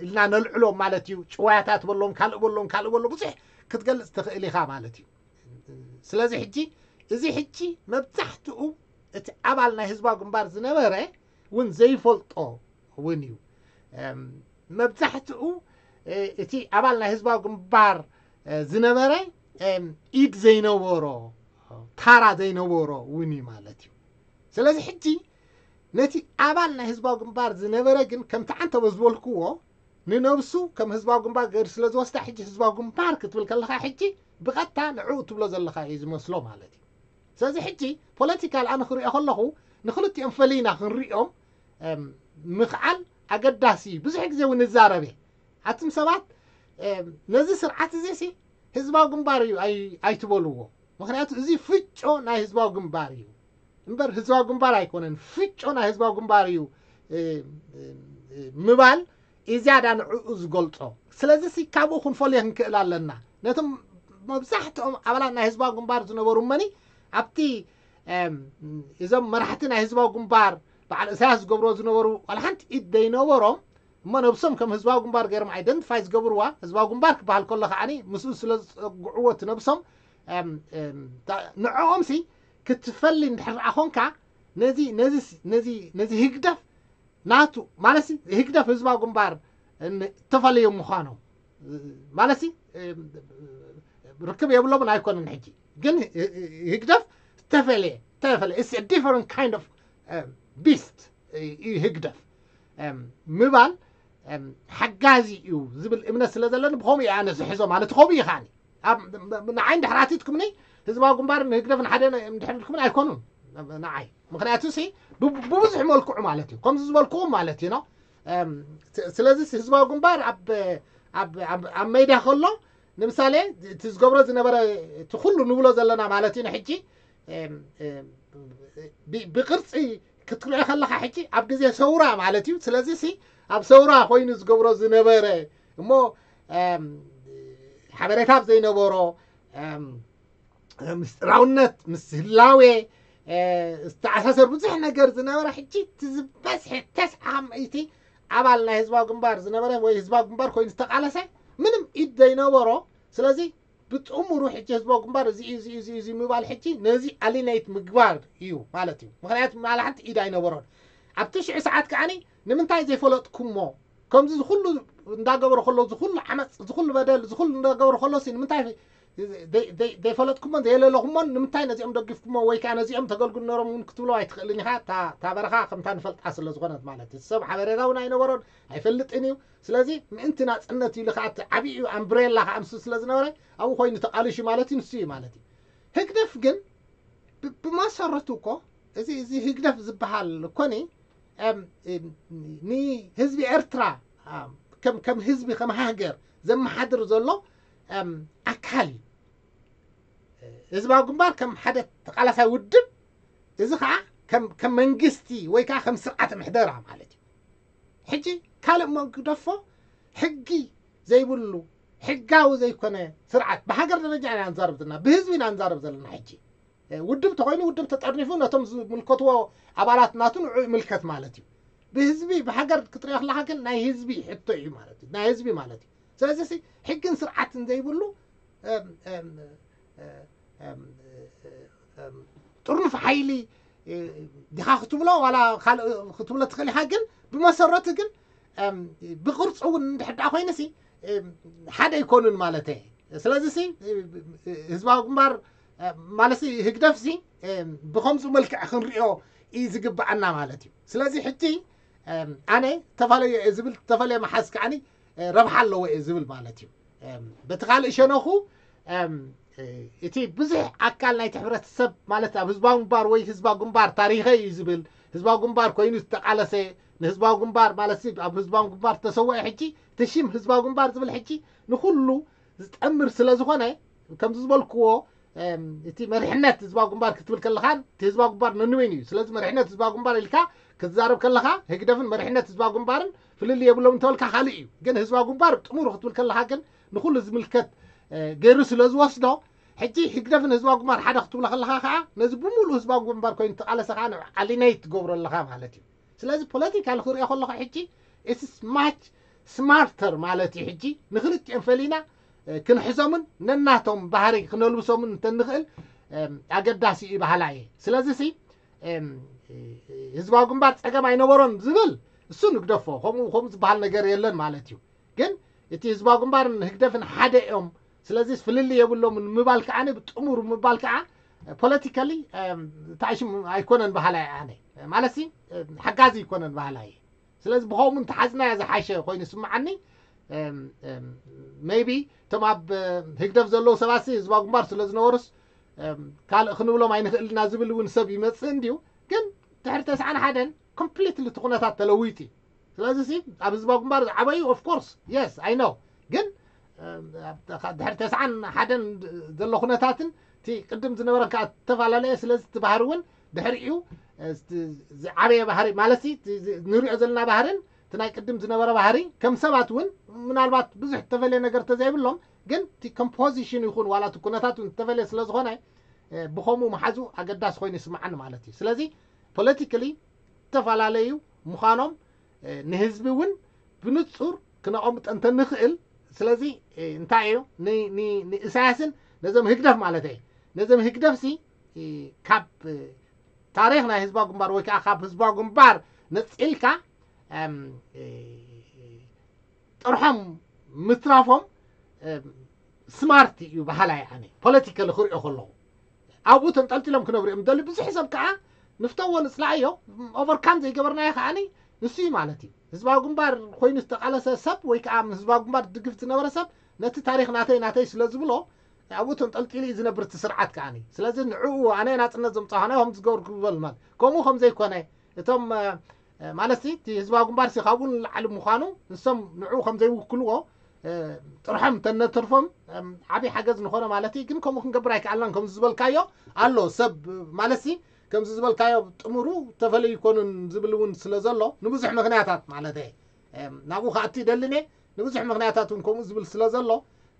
ኢልና ነልዕሎም ማለት እዩ። ጭዋያታት በሎም፣ ካልእ በሎም፣ ካልእ በሎ፣ ብዙሕ ክትገልፅ ትኽእል ኢኻ ማለት እዩ። ስለዚ ሕጂ እዚ ሕጂ መብዛሕትኡ እቲ ኣባል ናይ ህዝባዊ ግንባር ዝነበረ እውን ዘይፈልጦ እውን እዩ። መብዛሕትኡ እቲ ኣባል ናይ ህዝባዊ ግንባር ዝነበረ ኢድ ዘይነበሮ፣ ታራ ዘይነበሮ እውን እዩ ማለት እዩ። ስለዚ ሕጂ ነቲ ኣባል ናይ ህዝባዊ ግንባር ዝነበረ ግን ከምቲ ዓንተቦ ዝበልክዎ ንነብሱ ከም ህዝባዊ ግንባር ገይሩ ስለ ዝወስዳ፣ ሕጂ ህዝባዊ ግንባር ክትብል ከለኻ ሕጂ ብቐጥታ ንዕኡ ትብሎ ዘለኻ እዩ ዝመስሎ ማለት እዩ። ስለዚ ሕጂ ፖለቲካል ኣነ ክሪኦ ከለኹ ንክልቲኦም ፈሊና ክንሪኦም ምኽኣል ኣገዳሲ እዩ። ብዙሕ ግዜ እውን ንዛረብ እየ። ኣቱም ሰባት ነዚ ስርዓት እዚ ሲ ህዝባዊ ግንባር እዩ ኣይትበልዎ። ምክንያቱ እዚ ፍጮ ናይ ህዝባዊ ግንባር እዩ እምበር ህዝባዊ ግንባር ኣይኮነን። ፍጮ ናይ ህዝባዊ ግንባር እዩ ምባል እዩ ዝያዳ ንዕኡ ዝገልጾ። ስለዚ ሲ ካብኡ ክንፈልዮ ክንክእል ኣለና። ነቶም መብዛሕትኦም ኣባላት ናይ ህዝባዊ ግንባር ዝነበሩ እመኒ ኣብቲ እዞም መራሕቲ ናይ ህዝባዊ ግንባር በዓል እሳያስ ዝገብርዎ ዝነበሩ ዋላ ሓንቲ ኢድ ዘይነበሮም እሞ ነብሶም ከም ህዝባዊ ግንባር ገይሮም ኣይደንቲፋይ ዝገብርዋ ህዝባዊ ግንባር ክበሃል ከሎ ከዓኒ ምስኡ ስለ ዝፀግዕዎ እቲ ነብሶም ንዕኦም ሲ ክትፈሊ እንድሕር ደኣ ኮንካ ነዚ ነዚ ነዚ ነዚ ህግደፍ ናቱ ማለት ሲ ህግደፍ ህዝባዊ ግንባር ተፈለዮም ምዃኖም ማለት ሲ ርክብ የብሎምን ኣይኮነን። ሕጂ ግን ህግደፍ ተፈለየ ተፈለየ it's a different kind of beast እዩ ህግደፍ ምባል ሓጋዚ እዩ ዝብል እምነት ስለ ዘለኒ ብከምኡ እየ ኣነ ዝሕዞ ማለት ከምኡ እዩ ከዓኒ ንዓይ እንድሕር ኣቲትኩምኒ ህዝባዊ ግንባር ንህግደፍ ንሓደ እንድሕር ኢልኩምኒ ኣይኮኑን ንዓይ ምክንያቱ ሲ ብብዙሕ መልክዑ ማለት እዩ ከምዚ ዝበልኩኹም ማለት እዩ ስለዚ ህዝባዊ ግንባር ኣብ ሜዳ ከሎ ንምሳሌ እቲ ዝገብሮ ዝነበረ እቲ ኩሉ ንብሎ ዘለና ማለት እዩ ንሕጂ ብቅርፂ ክትሪኦ ከለካ ሕጂ ኣብ ግዜ ሰውራ ማለት እዩ ስለዚ ሲ ኣብ ሰውራ ኮይኑ ዝገብሮ ዝነበረ እሞ ሓበሬታ ዘይነበሮ ምስጢራውነት ምስ ህላዌ ዝተኣሳሰር ብዙሕ ነገር ዝነበረ ሕጂ እቲ ዝበዝሐ ተስዓ ምእቲ ኣባል ናይ ህዝባዊ ግንባር ዝነበረ ወይ ህዝባዊ ግንባር ኮይኑ ዝተቃለሰ ምንም ኢድ ዘይነበሮ ስለዚ ብጥሙሩ ሕጂ ህዝባዊ ግንባር እዚ እዩ እዚ እዩ እዚ እዩ እዚ ምባል ሕጂ ነዚ ኣሊነይት ምግባር እዩ ማለት እዩ ምክንያቱ ማላ ሓንቲ ኢድ ኣይነበሮን ኣብቲ ሽዑ ሰዓት ከዓኒ ንምንታይ ዘይፈለጥኩሞ ከምዚ ዝኩሉ እንዳገበሩ ከለዉ ዝኩሉ ዓመፅ ዝኩሉ በደል ዝኩሉ እንዳገበሩ ከለዉ ሲ ንምንታይ ዘይፈለጥኩሞን ዘየለለኹሞን ንምንታይ ነዚኦም ደጊፍኩሞ ወይ ከዓ ነዚኦም ተገልግሉ ነሮም እውን ክትብሎ ኣይትኽእልን ኢኻ እታ በረኻ ከምታ ንፈልጣ ስለ ዝኾነት ማለት እዩ ሰብ ሓበሬታ እውን ኣይነበሮን ኣይፈልጥን እዩ ስለዚ ምእንቲ ናፅነት ኢሉ ከዓ እቲ ዓብዩ ኣምብሬላ ከዓ ንሱ ስለ ዝነበረ ኣብኡ ኮይኑ ተቃሊሹ ማለት እዩ ንሱ እዩ ማለት እዩ ህግደፍ ግን ብመሰረቱ እኮ እዚ እዚ ህግደፍ ዝበሃል እኮኒ ንህዝቢ ኤርትራ ከም ህዝቢ ከም ሃገር ዘመሓድር ዘሎ ኣካል እዩ ህዝባዊ ግንባር ከም ሓደ ተቃላሳይ ውድብ እዚ ከዓ ከም መንግስቲ ወይ ከዓ ከም ስርዓተ ምሕደራ ማለት እዩ ሕጂ ካልእ መግደፎ ሕጊ ዘይብሉ ሕጋዊ ዘይኮነ ስርዓት ብሃገር ደረጃ ኢና ንዛረብ ዘለና፣ ብህዝቢ ኢና ንዛረብ ዘለና። ሕጂ ውድብ ተኮይኑ ውድብ ተጠርኒፉ ነቶም ዝምልከትዎ ኣባላት ናቱ ንዑ ይምልከት ማለት እዩ። ብህዝቢ ብሃገር ክትሪኦ ከለካ ግን ናይ ህዝቢ ሕቶ እዩ ማለት እዩ፣ ናይ ህዝቢ ማለት እዩ። ስለዚ ሕግን ስርዓትን ዘይብሉ ጥርኑፍ ሓይሊ ዲኻ ክትብሎ ዋላ ካልእ ክትብሎ ትኽእል ኢኻ። ግን ብመሰረቱ ግን ብቕርፂ እውን እንድሕር ደኣ ኮይኑሲ ሓደ ኣይኮኑን ማለት እየ። ስለዚ ህዝባዊ ግንባር ማለት ህግደፍ ሲ ብከምዚ መልክዕ ክንሪኦ እዩ ዝግብኣና ማለት እዩ። ስለዚ ሕጂ ኣነ ተፋለዮ እየ ዝብል፣ ተፈለየ መሓዝ ከዓኒ ረብሓ ኣለዎ እየ ዝብል ማለት እዩ። በቲ ካልእ ሸነኹ እቲ ብዙሕ ኣካል ናይቲ ሕብረተሰብ ማለት ኣብ ህዝባዊ ግንባር ወይ ህዝባዊ ግንባር ታሪኸ እዩ ዝብል፣ ህዝባዊ ግንባር ኮይኑ ዝተቃለሰ፣ ንህዝባዊ ግንባር ማለት ኣብ ህዝባዊ ግንባር ዝተሰወአ ሕጂ እቲ ሽም ህዝባዊ ግንባር ዝብል ሕጂ ንኩሉ ዝጠምር ስለ ዝኾነ ከምዚ ዝበልክዎ እቲ መሪሕነት ህዝባዊ ግንባር ክትብል ከለኻን እቲ ህዝባዊ ግንባር ነንበይኑ እዩ። ስለዚ መሪሕነት ህዝባዊ ግንባር ኢልካ ክትዛረብ ከለኻ ህግደፍን መሪሕነት ህዝባዊ ግንባርን ፍልልይ የብሎም እንተበልካ ካልእ እዩ። ግን ህዝባዊ ግንባር ጥሙር ክትብል ከለኻ ግን ንኩሉ ዝምልከት ገይሩ ስለ ዝወስዶ ሕጂ ህግደፍን ህዝባዊ ግንባር ሓደ ክትብሎ ከለኻ ከዓ ነዚ ብምሉእ ህዝባዊ ግንባር ኮይኑ ተቃለሰ ከዓ ንዑ ኣሊነይት ትገብሮ ኣለኻ ማለት እዩ። ስለዚ ፖለቲካ ንክሪኦ ከለኹ ሕጂ it's much smarter ማለት እዩ። ሕጂ ንክልቲኦም ፈሊና ክንሕዞምን ነናቶም ባህሪ ክነልብሶምን እንተንኽእል ኣገዳሲ እዩ በሃላ እየ። ስለዚ ሲ ህዝባዊ ግንባር ፀገም ኣይነበሮን ዝብል እሱ ንግደፎ፣ ከምኡ ከምኡ ዝበሃል ነገር የለን ማለት እዩ። ግን እቲ ህዝባዊ ግንባርን ህግደፍን ሓደ እዮም። ስለዚ ፍልልይ የብሎምን ምባል ከዓ ብጥሙር ምባል ከዓ ፖለቲካሊ ታሽም ኣይኮነን በሃላ እየ ኣነ። ማለት ሓጋዚ ኣይኮነን በሃላ እየ። ስለዚ ብኸምኡ እንተሓዝናዮ ዝሓሸ ኮይኑ ይስምዓኒ። ሜቢ እቶም ኣብ ህግደፍ ዘለዉ ሰባት ህዝባዊ ግንባር ስለ ዝነበሩስ ካልእ ክንብሎም ኣይንኽእልና ዝብል እውን ሰብ ይመፅእ እንድዩ። ግን ድሕሪ ተስዓን ሓደን ኮምፕሊትሊ እቲ ኩነታት ተለዊጡ እዩ። ስለዚ ሲ ኣብ ህዝባዊ ግንባር ዝዓበዩ ኦፍኮርስ የስ ኣይ ኖ። ግን ድሕሪ ተስዓን ሓደን ዘሎ ኩነታትን እቲ ቅድም ዝነበረን ከዓ ዝተፈላለየ። ስለዚ እቲ ባህሪ እውን ድሕሪኡ ዝዓበየ ባህሪ ማለት ንሪኦ ዘለና ባህርን እቲ ናይ ቅድም ዝነበረ ባህሪ ከም ሰባት እውን ምናልባት ብዙሕ ተፈለየ ነገር ተዘይብሎም ግን እቲ ኮምፖዚሽን ይኹን ዋላ እቲ ኩነታት እውን ዝተፈለየ ስለ ዝኾነ ብኸምኡ መሓዙ ኣገዳሲ ኮይኑ ይስምዓኒ ማለት እዩ። ስለዚ ፖለቲካሊ ዝተፈላለዩ ምዃኖም ንህዝቢ እውን ብንፁር ክነቐምጦ እንተንኽእል። ስለዚ እንታይ እዩ ንእሳያስን ነዞም ህግደፍ ማለት እየ ነዞም ህግደፍ ሲ ካብ ታሪኽ ናይ ህዝባዊ ግንባር ወይ ከዓ ካብ ህዝባዊ ግንባር ነፂልካ ጥርሖም ምትራፎም ስማርት እዩ በሃላይ ኣነ ፖለቲካሊ ክሪኦ ከለኹ። ኣብኡ ተንጠልጢሎም ክነብሩ እዮም ደሊ ብዙሕ ሰብ ከዓ ንፍተዎ ንፅላእዮ ኦቨርካም ዘይገበርናዮ ከዓኒ ንሱ እዩ ማለት እዩ። ህዝባዊ ግንባር ኮይኑ ዝተቃለሰ ሰብ ወይ ከዓ ህዝባዊ ግንባር ድግፍ ዝነበረ ሰብ ነቲ ታሪክ ናተይ ናተይ ስለ ዝብሎ ኣብኡ ተንጠልጢሉ እዩ ዝነብር እቲ ስርዓት ከዓኒ። ስለዚ ንዕኡ ኣነ ናፅነት ዘምፃ ኾነ ከም ዝገብር ክበል ማለት ከምኡ ከም ዘይኮነ እቶም ማለት እቲ ህዝባዊ ግንባር ሲ ካብኡ ንላዕሊ ምዃኑ ንሶም ንዕኡ ከም ዘይውክልዎ ጥርሖም ተነተርፎም ዓብዪ ሓገዝ ንኾነ ማለት እዩ። ግን ከምኡ ክንገብር ኣይከኣልናን ከምዚ ዝበልካዮ ኣሎ ሰብ ማለት ሲ ከምዚ ዝበልካዮ ጥሙሩ ተፈለዩ ይኮኑን ዝብል እውን ስለ ዘሎ ንብዙሕ ምክንያታት ማለት እየ ናብኡ ክኣቱ ይደልን እየ። ንብዙሕ ምክንያታት እውን ከምኡ ዝብል ስለ ዘሎ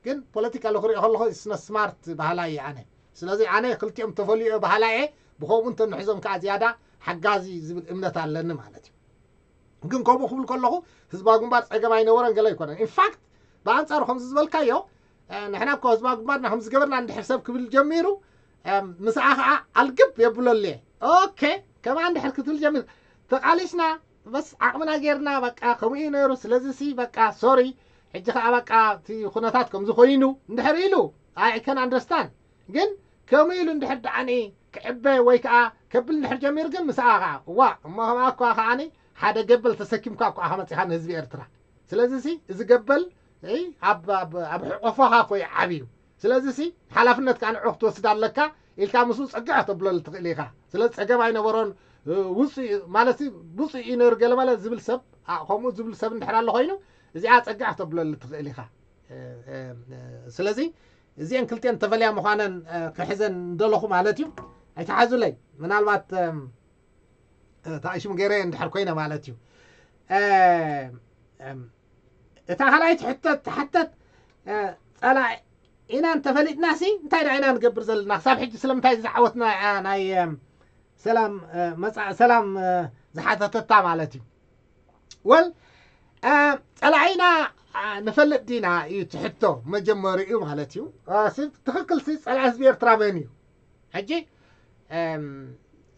ግን ፖለቲካ ክሪኦ ከለኹ ስነ ስማርት በሃላይ እየ ኣነ። ስለዚ ኣነ ክልቲኦም ተፈልዮ በሃላይ እየ። ብከምኡ እንተንሕዞም ከዓ ዝያዳ ሓጋዚ ዝብል እምነት ኣለኒ ማለት እዩ። ግን ከምኡ ክብል ከለኹ ህዝባዊ ግንባር ፀገም ኣይነበረን ገለ ኣይኮነን። ኢንፋክት ብኣንፃሩ ከምዚ ዝበልካዮ ንሕና እኮ ህዝባዊ ግንባርና ከምዚ ገበርና እንድሕር ሰብ ክብል ጀሚሩ ምስኣ ከዓ ኣልግብ የብለሉ እየ። ኦኬ ከማን እንድሕር ክትብል ጀሚር ተቃሊስና በስ ዓቕምና ጌርና በቃ ከምኡ እዩ ነይሩ። ስለዚ ሲ በቃ ሶሪ ሕጂ ከዓ በቃ እቲ ኩነታት ከምዚ ኮይኑ እንድሕር ኢሉ I can understand። ግን ከምኡ ኢሉ እንድሕር ደኣኒ ክዕበ ወይ ከዓ ከብል እንድሕር ጀሚሩ ግን ምስኣ ከዓ እዋ እሞ ከምኣ እኳ ከዓኒ ሓደ ገበል ተሰኪምካ እኳ ኢኻ መፂኻ ንህዝቢ ኤርትራ። ስለዚ ሲ እዚ ገበል ኣብ ሕቆፋኻ እኮ እዩ ዓብዩ። ስለዚ ሲ ሓላፍነት ከዓ ንዑ ክትወስድ ኣለካ ኢልካ ምስኡ ፀግዕ ተብለሉ ትኽእል ኢኻ። ስለዚ ፀገም ኣይነበሮን ውፅእ ማለት ውፅእ እዩ ነይሩ ገለ ማለት ዝብል ሰብ ከምኡ ዝብል ሰብ እንድሕር ኣሎ ኮይኑ እዚኣ ፀግዕ ተብለሉ ትኽእል ኢኻ። ስለዚ እዚአን ክልቲአን ተፈለያ ምዃነን ክሕዘን እንደለኹ ማለት እዩ። ኣይተሓዙለይ ምናልባት ተኣሽሙ ገይረ እንድሕር ኮይነ ማለት እዩ። እታ ካልኣይቲ ሕተት ተሓተት ጸላኢ ኢና እንተፈሊጥናሲ እንታይ ደኣ ኢና ንገብር ዘለና? ክሳብ ሕጂ ስለምንታይ ዝዓወትና እያ ናይ ሰላም መፃ ሰላም ዝሓተተታ ማለት እዩ። ወል ጸላኢና ንፈልጥ ዲና እዩ ትሕቶ መጀመሪኡ ማለት እዩ። ትክክል ሲ ጸላኢ ህዝቢ ኤርትራ መን እዩ? ሕጂ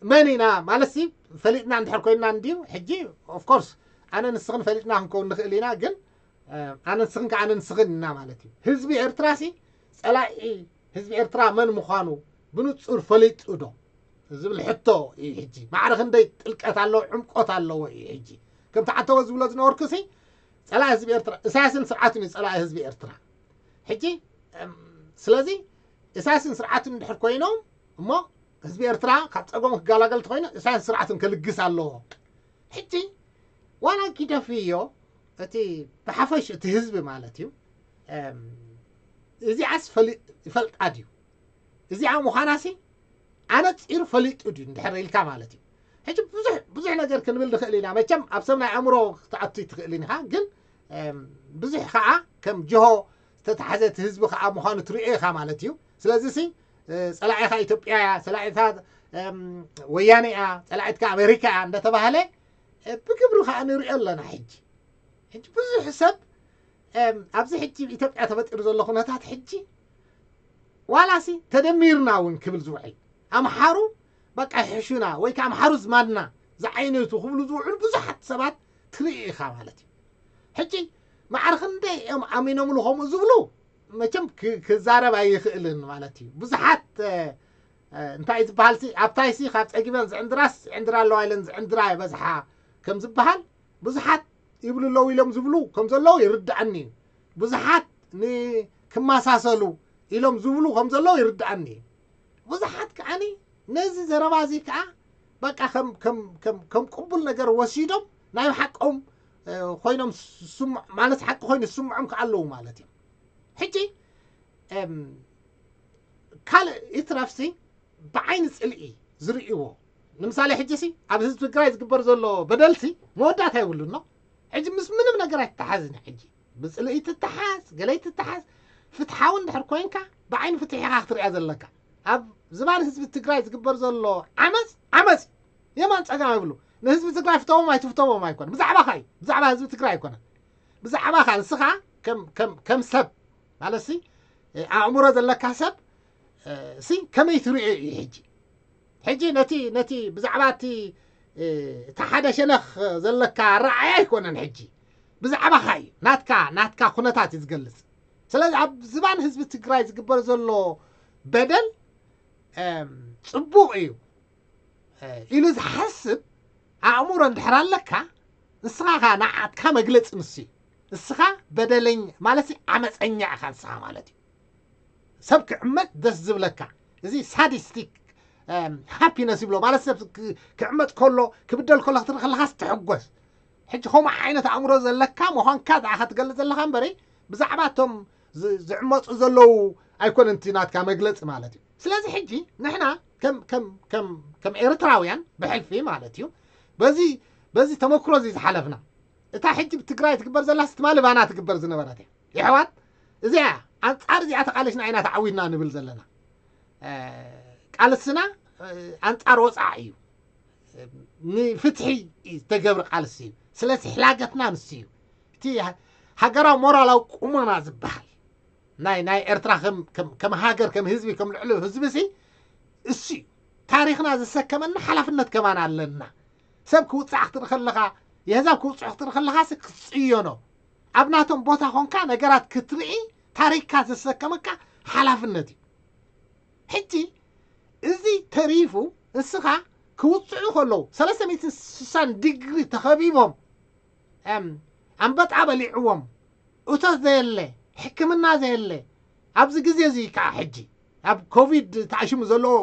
መን ኢና ማለት ሲ ፈሊጥና እንድሕር ኮይንና እንድዩ። ሕጂ ኦፍኮርስ ኣነ ንስኽን ፈሊጥና ክንከውን ንኽእል ኢና፣ ግን ኣነ ንስኽን ከ ኣነ ንስኽን ኢና ማለት እዩ። ህዝቢ ኤርትራ ሲ ጸላኢ ህዝቢ ኤርትራ መን ምዃኑ ብንጹር ፈሊጡ ዶ ዝብል ሕቶ እዩ። ሕጂ ማዕረ ክንደይ ጥልቀት ኣለዎ ዕምቆት ኣለዎ እዩ። ሕጂ ከምቲ ዓተወ ዝብሎ ዝነበርኩ ሲ ጸላኢ ህዝቢ ኤርትራ እሳያስን ስርዓቱን እዩ ጸላኢ ህዝቢ ኤርትራ። ሕጂ ስለዚ እሳያስን ስርዓቱን እንድሕር ኮይኖም እሞ ህዝቢ ኤርትራ ካብ ጸገሙ ክገላገል ተኮይኑ እሳያስ ስርዓቱን ክልግስ ኣለዎ። ሕጂ ዋላ ጊደፍዮ እቲ ብሓፈሽ እቲ ህዝቢ ማለት እዩ እዚኣስ ይፈልጣ ድዩ? እዚኣ ምዃናሲ ኣነፂሩ ፈሊጡ ድዩ እንድሕር ኢልካ ማለት እዩ። ሕጂ ብዙሕ ብዙሕ ነገር ክንብል ንኽእል ኢና። መቸም ኣብ ሰብ ናይ ኣእምሮ ክትኣቱ ትኽእል ኢኻ፣ ግን ብዙሕ ከዓ ከም ጅሆ ዝተታሕዘ እቲ ህዝቢ ከዓ ምዃኑ ትሪኦ ኢኻ ማለት እዩ። ስለዚ ሲ ጸላኢኻ ኢትዮጵያ እያ፣ ጸላኢታ ወያነ እያ፣ ጸላኢትካ ኣሜሪካ እያ እንዳተባሃለ ብግብሪ ከዓ ንሪኦ ኣለና። ሕጂ ሕጂ ብዙሕ ሰብ ኣብዚ ሕጂ ኢትዮጵያ ተፈጢሩ ዘሎ ኩነታት ሕጂ ዋላሲ ተደሚርና እውን ክብል ዝውዕል ኣምሓሩ በቃ ይሕሹና ወይ ከዓ ኣምሓሩ ዝማድና ዝዓይነቱ ክብሉ ዝውዕሉ ብዙሓት ሰባት ትርኢ ኢኻ ማለት እዩ። ሕጂ ማዕረ ክንደይ እዮም ኣሚኖምሉ ከምኡ ዝብሉ መቸም ክዛረብ ኣይኽእልን ማለት እዩ። ብዙሓት እንታይ ዝበሃል ሲ ኣብታይ ሲ ካብ ጸጊበን ዝዕንድራስ ዝዕንድራ ኣለዋ ኢለን ዝዕንድራ ይበዝሓ ከም ዝበሃል ብዙሓት ይብሉ ኣለዉ ኢሎም ዝብሉ ከም ዘለዉ ይርድኣኒ እዩ። ብዙሓት ንክመሳሰሉ ኢሎም ዝብሉ ከም ዘለዉ ይርድኣኒ እዩ። ብዙሓት ከዓኒ ነዚ ዘረባ እዚ ከዓ በቃ ከም ከም ከም ከም ቅቡል ነገር ወሲዶም ናይ ሓቆም ኮይኖም ማለት ሓቂ ኮይኑ ዝስምዖም ከዓ ኣለዉ ማለት እዮም። ሕጂ ካልእ ይትረፍሲ ብዓይኒ ፅልኢ ዝርእይዎ ንምሳሌ ሕጂ ሲ ኣብ ህዝቢ ትግራይ ዝግበር ዘሎ በደልሲ መወዳእታ የብሉን ነው። ሕጂ ምስ ምንም ነገር ኣይተሓዝን። ሕጂ ብፅልኢ ትተሓዝ ገለይ ትተሓዝ ፍትሓዊ እንድሕር ኮይንካ ብዓይኒ ፍትሒ ኢኻ ክትሪኣ ዘለካ። ኣብ ዝባን ህዝቢ ትግራይ ዝግበር ዘሎ ዓመፅ ዓመፅ የማን ፀጋም ይብሉ። ንህዝቢ ትግራይ ፍተዎም ኣይትፍተዎም ኣይኮነ ብዛዕባኻ እዩ፣ ብዛዕባ ህዝቢ ትግራይ ኣይኮነ ብዛዕባኻ ንስኻ ከም ሰብ ማለት ሲ ኣእምሮ ዘለካ ሰብ ሲ ከመይ ትሪኦ እዩ ሕጂ? ሕጂ ነቲ ነቲ ብዛዕባ እቲ እቲ ሓደ ሸነኽ ዘለካ ረኣያ ኣይኮነን። ሕጂ ብዛዕባኻ እዩ ናትካ ናትካ ኩነታት እዩ ዝገልጽ። ስለዚ ኣብ ዝባን ህዝቢ ትግራይ ዝግበር ዘሎ በደል ጽቡቕ እዩ ኢሉ ዝሓስብ ኣእምሮ እንድሕር ኣለካ ንስኻ ኸዓ ንዓትካ መግለፂ ንሱ እዩ። ንስኻ በደለኛ ማለት ዓመፀኛ ኢኻ ንስኻ ማለት እዩ። ሰብ ክዕመፅ ደስ ዝብለካ እዚ ሳዲስቲክ ሃፒነስ ይብሎ ማለት ሰብ ክዕመፅ ከሎ ክብደል ከሎ ክትርኢ ከለኻስ ትሕጎስ። ሕጂ ከምኡ ዓይነት ኣእምሮ ዘለካ ምዃንካ ደኣ ክትገልፅ ዘለኻ እምበሪ ብዛዕባ እቶም ዝዕመፁ ዘለዉ ኣይኮነን እቲ ናትካ መግለፂ ማለት እዩ። ስለዚ ሕጂ ንሕና ከም ኤርትራውያን ብሕልፊ ማለት እዩ በዚ ተመክሮ እዚ ዝሓለፍና እታ ሕጂ ብትግራይ ትግበር ዘላ ስትማሊ ባና ትግበር ዝነበረት እያ። የሕዋት እዚኣ ኣንፃር እዚኣ ተቃለሽና ኢና ተዓዊድና ንብል ዘለና። ቃልስና ኣንፃር ወፃዓ እዩ። ንፍትሒ ዝተገብረ ቃልሲ እዩ። ስለዚ ሕላገትና ንሱ እዩ። እቲ ሃገራዊ ሞራላዊ ቁመና ዝበሃል ናይ ናይ ኤርትራ ከም ሃገር ከም ህዝቢ ከም ልዕሊ ህዝቢ ሲ እሱ እዩ። ታሪኽና ዘሰከመና ሓላፍነት ከማን ኣለና። ሰብ ክውፃዕ ክትርኢ ከለኻ የህዛብ ክውፅዑ ክትርኢ ከለኻ ክትፅየኖ ኣብ ናቶም ቦታ ኮንካ ነገራት ክትርኢ ታሪክካ ዘሰከመካ ሓላፍነት እዩ። ሕጂ እዚ ተሪፉ ንስኻ ክውፅዑ ከለዉ ሰለስተ ሚእትን ስሳን ዲግሪ ተኸቢቦም ኣንበጣ በሊዕዎም እቶት ዘየለ ሕክምና ዘየለ ኣብዚ ግዜ እዚ ከዓ ሕጂ ኣብ ኮቪድ ተኣሽሙ ዘለዎ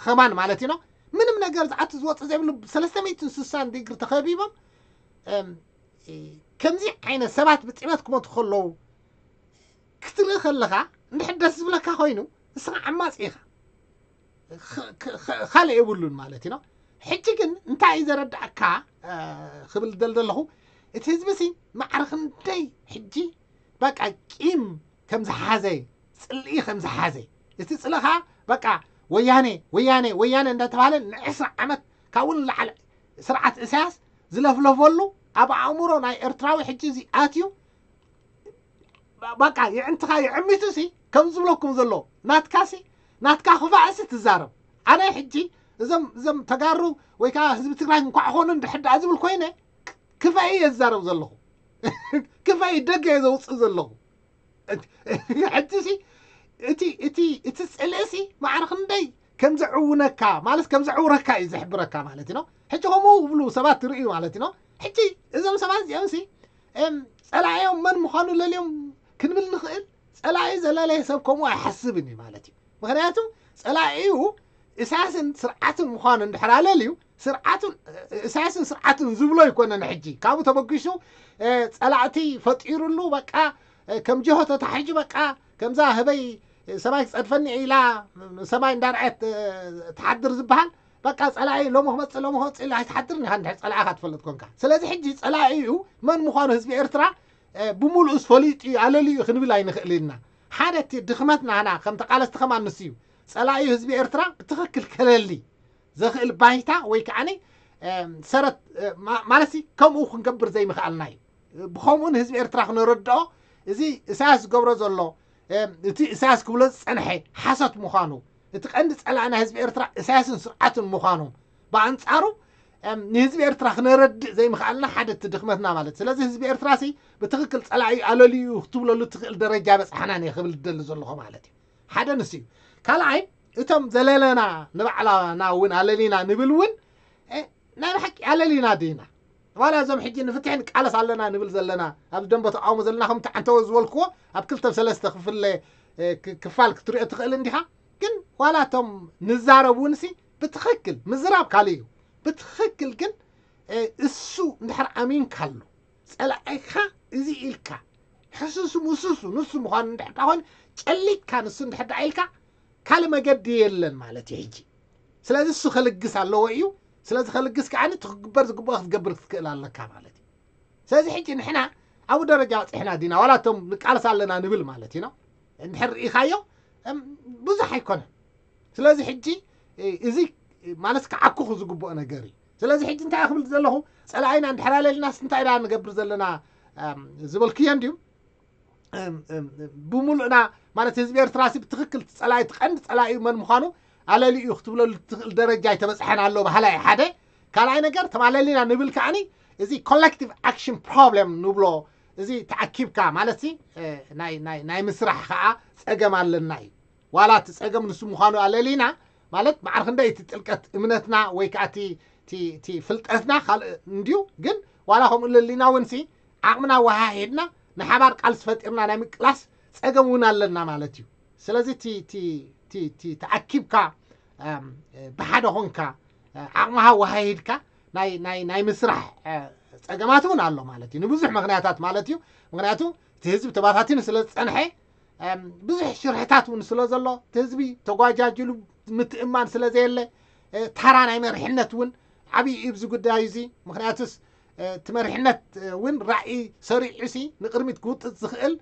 ከማን ማለት ኢና ምንም ነገር ዝኣቱ ዝወፅእ ዘይብሉ ሰለስተ ሚእትን ስሳን ዲግሪ ተኸቢቦም ከምዚ ዓይነት ሰባት ብጥሜት ክሞቱ ከለዉ ክትርኢ ከለኻ እንድሕር ደስ ዝብለካ ኮይኑ ንስኻ ዓማፂ ኢኻ። ካልእ የብሉን ማለት ኢና። ሕጂ ግን እንታይ እዩ ዘረዳእካ ክብል ደል ዘለኹ እቲ ህዝቢ ሲ ማዕረ ክንደይ ሕጂ በቃ ቂም ከም ዝሓዘ፣ ጽልኢ ከም ዝሓዘ፣ እቲ ጽልኢ ኸዓ በቃ ወያነ ወያነ ወያነ እንዳተባሃለ ንዕስራ ዓመት ካብኡ ንላዕሊ ስርዓት እሳያስ ዝለፍለፈሉ ኣብ ኣእምሮ ናይ ኤርትራዊ ሕጂ እዚ ኣትዩ በቃ የዕንትኻ የዕሚቱ ሲ ከም ዝብለኩም ዘሎ ናትካ ሲ ናትካ ክፋእ ሲ ትዛረብ። ኣነ ሕጂ እዞም እዞም ተጋሩ ወይ ከዓ ህዝቢ ትግራይ እንኳዕ ኾኑ እንድሕር ደኣ ዝብል ኮይነ ክፋእ እየ ዝዛረብ ዘለኹ። ክፋእ ደገ እየ ዘውፅእ ዘለኹ። ሕጂ ሲ እቲ እቲ እቲ ፅልኢ ሲ ማዕረ ክንደይ ከም ዘዕውነካ ማለት ከም ዘዕውረካ እዩ ዝሕብረካ ማለት ነው። ሕጂ ከምኡ ብሉ ሰባት ትርእዩ ማለት ነው። ሕጂ እዞም ሰባት እዚኦም ሲ ጸላኢኦም መን ምዃኑ ለልዮም ክንብል ንኽእል። ጸላኢ ዘለለየ ሰብ ከምኡ ኣይሓስብን እዩ ማለት እዩ። ምክንያቱ ጸላኢኡ እሳያስን ስርዓትን ምዃኑ እንድሕር ኣለልዩ ስርዓቱን እሳያስን ስርዓቱን ዝብሎ ኣይኮነን። ሕጂ ካብኡ ተበጊሱ ጸላእቲ ፈጢሩሉ በቃ ከም ጀሆ ተታሒዙ በቃ ከምዛ ህበይ ሰማይ ክጸድፈኒ ኢላ ሰማይ እንዳርኣየት ትሓድር ዝበሃል በቃ ጸላኢ ሎሚ ክመጽእ ሎሚ ክመጽእ ኢላ ኣይትሓድርን ኢኻ እንድሕር ጸላኢኻ ትፈልጥ ኮንካ። ስለዚ ሕጂ ጸላኢኡ መን ምዃኑ ህዝቢ ኤርትራ ብምሉእስ ፈሊጡ እዩ ኣለልዩ ክንብል ኣይንኽእል ኢና። ሓደ እቲ ድኽመትና ህና ከም ተቓለስቲ ከማን ንሱ እዩ። ጸላኢ ህዝቢ ኤርትራ ብትኽክል ከለሊ ዘኽእል ባይታ ወይ ከዓኒ ሰረት ማለት ከምኡ ክንገብር ዘይምኽኣልና እዩ። ብኸምኡ ንህዝቢ ኤርትራ ክነረድኦ እዚ እሳያስ ዝገብሮ ዘሎ እቲ እሳያስ ክብሎ ዝጸንሐ ሓሶት ምዃኑ እቲ ቀንዲ ጸላኢ ናይ ህዝቢ ኤርትራ እሳያስን ስርዓቱን ምዃኑ ብኣንጻሩ ንህዝቢ ኤርትራ ክነረድእ ዘይምኽኣልና ሓደ እቲ ድኽመትና ማለት። ስለዚ ህዝቢ ኤርትራ ሲ ብትኽክል ጸላኢ ኣለልዩ ክትብለሉ ትኽእል ደረጃ በጽሓና እየ ክብል ዝደሊ ዘለኹ ማለት እዩ። ሓደ ንሱ እዩ። ካልኣይ እቶም ዘለለና ንባዕላና እውን ኣለሊና ንብል እውን ናይ ብሓቂ ኣለሊና ዲና ዋላ እዞም ሕጂ ንፍትሒ ንቃለስ ኣለና ንብል ዘለና ኣብዚ ደንበ ተቃውሞ ዘለና ከም ተዓንተወ ዝበልክዎ ኣብ ክልተ ሰለስተ ክፍለ ክፋል ክትሪኦ ትኽእል እንዲኻ። ግን ዋላ እቶም ንዛረብ እውን ሲ ብትኽክል ምዝራብ ካልእ እዩ። ብትኽክል ግን እሱ እንድሕር ኣሚንካሉ ጸላኢኻ እዚ ኢልካ ሕሱሱ ምሱሱ ንሱ ምዃኑ እንድሕር ኮይኑ ጨሊጥካ ንሱ እንድሕር ኢልካ ካልእ መገዲ የለን ማለት እዩ። ሕጂ ስለዚ እሱ ከልግስ ኣለዎ እዩ። ስለዚ ከልግስ ከዓ እቲ ክግበር ዝግብኦ ክትገብር ክትክእል ኣለካ ማለት እዩ። ስለዚ ሕጂ ንሕና ኣብኡ ደረጃ በፂሕና ዲና ዋላ እቶም ንቃለስ ኣለና ንብል ማለት ኢና እንድሕር ርኢኻዮ ብዙሕ ኣይኮነን። ስለዚ ሕጂ እዚ ማለት ክዓኩኹ ዝግብኦ ነገር እዩ። ስለዚ ሕጂ እንታይ ክብል ዘለኹ ጸላኢና እንድሕር ኣለልናስ እንታይ ኢና ንገብር ዘለና ዝበልክዮ እንድዩ። ብምሉእና ማለት ህዝቢ ኤርትራ ሲ ብትኽክል ጸላኢ እቲ ቀንዲ ጸላኢ መን ምዃኑ ኣለሊኡ ክትብለሉ ትኽእል ደረጃ ኣይተበጽሐን ኣሎ ባህላ እዩ ሓደ። ካልኣይ ነገር ተማለሊና ንብል ከዓኒ እዚ ኮሌክቲቭ ኣክሽን ፕሮብለም ንብሎ እዚ ተኣኪብካ ማለት ሲ ናይ ምስራሕ ከዓ ጸገም ኣለና እዩ። ዋላ እቲ ጸገም ንሱ ምዃኑ ኣለሊና ማለት ማዕረ ክንደይ እቲ ጥልቀት እምነትና ወይ ከዓ እቲ ፍልጠትና ካልእ እንድዩ ግን ዋላ ከምኡ ለሊና እውን ሲ ዓቕምና ወሃሂድና ንሓባር ቃልሲ ፈጢርና ናይ ምቅላስ ጸገም እውን ኣለና ማለት እዩ። ስለዚ እቲ ተኣኪብካ ብሓደ ኾንካ ዓቕምኻ ወሃሂድካ ናይ ምስራሕ ጸገማት እውን ኣሎ ማለት እዩ። ንብዙሕ ምክንያታት ማለት እዩ። ምክንያቱ እቲ ህዝቢ ተባታቲኑ ስለ ዝጸንሐ ብዙሕ ሽርሕታት እውን ስለ ዘሎ እቲ ህዝቢ ተጓጃጅሉ ምትእማን ስለ ዘየለ ታራ ናይ መሪሕነት እውን ዓብዪ እዩ ኣብዚ ጉዳይ እዚ። ምክንያቱስ እቲ መሪሕነት እውን ራእይ ሰሪዑ ሲ ንቅድሚት ክውጥጥ ዝኽእል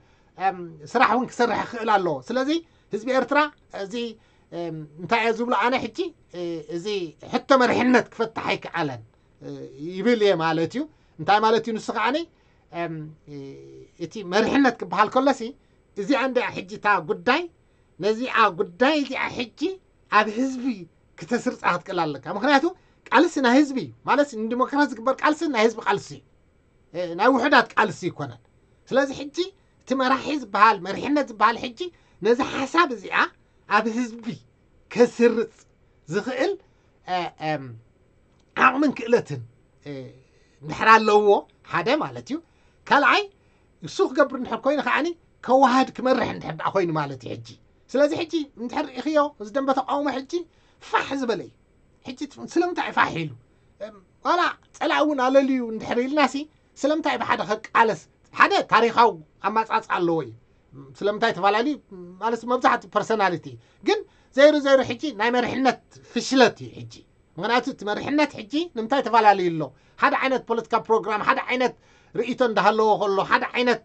ስራሕ እውን ክሰርሕ ክኽእል ኣለዎ። ስለዚ ህዝቢ ኤርትራ እዚ እንታይ እየ ዝብሎ ኣነ ሕጂ እዚ ሕቶ መሪሕነት ክፈትሕ ኣይከኣለን ይብል እየ ማለት እዩ። እንታይ ማለት እዩ ንሱ ከዓኒ እቲ መሪሕነት ክበሃል ከሎሲ እዚኣ እንዲኣ ሕጂ እታ ጉዳይ ነዚኣ ጉዳይ እዚኣ ሕጂ ኣብ ህዝቢ ክተስርፃ ክትክእል ኣለካ። ምክንያቱ ቃልሲ ናይ ህዝቢ እዩ ማለት ንዲሞክራሲ ዝግበር ቃልሲ ናይ ህዝቢ ቃልሲ እዩ። ናይ ውሑዳት ቃልሲ ይኮነን። ስለዚ ሕጂ እቲ መራሒ ዝበሃል መሪሕነት ዝበሃል ሕጂ ነዚ ሓሳብ እዚኣ ኣብ ህዝቢ ከስርፅ ዝኽእል ዓቕምን ክእለትን እንድሕር ኣለዎ ሓደ ማለት እዩ። ካልኣይ እሱ ክገብር እንድሕር ኮይኑ ከዓኒ ከዋህድ ክመርሕ እንድሕር ደኣ ኮይኑ ማለት እዩ። ሕጂ ስለዚ ሕጂ እንድሕር ርኢኽዮ እዚ ደንበ ተቃውሞ ሕጂ ፋሕ ዝበለ እዩ። ሕጂ ስለምንታይ ፋሕ ኢሉ ዋላ ጸላእ እውን ኣለልዩ እንድሕር ኢልና ሲ ስለምንታይ ብሓደ ከቃለስ ሓደ ታሪኻዊ ኣማጻጽ ኣለዎ እዩ። ስለምንታይ ተፈላለዩ ማለት መብዛሕትኡ ፐርሶናሊቲ ግን ዘይሩ ዘይሩ ሕጂ ናይ መሪሕነት ፍሽለት እዩ። ሕጂ ምክንያቱ እቲ መሪሕነት ሕጂ ንምንታይ ተፈላለዩ ኣሎ ሓደ ዓይነት ፖለቲካ ፕሮግራም ሓደ ዓይነት ርእይቶ እንዳሃለዎ ከሎ ሓደ ዓይነት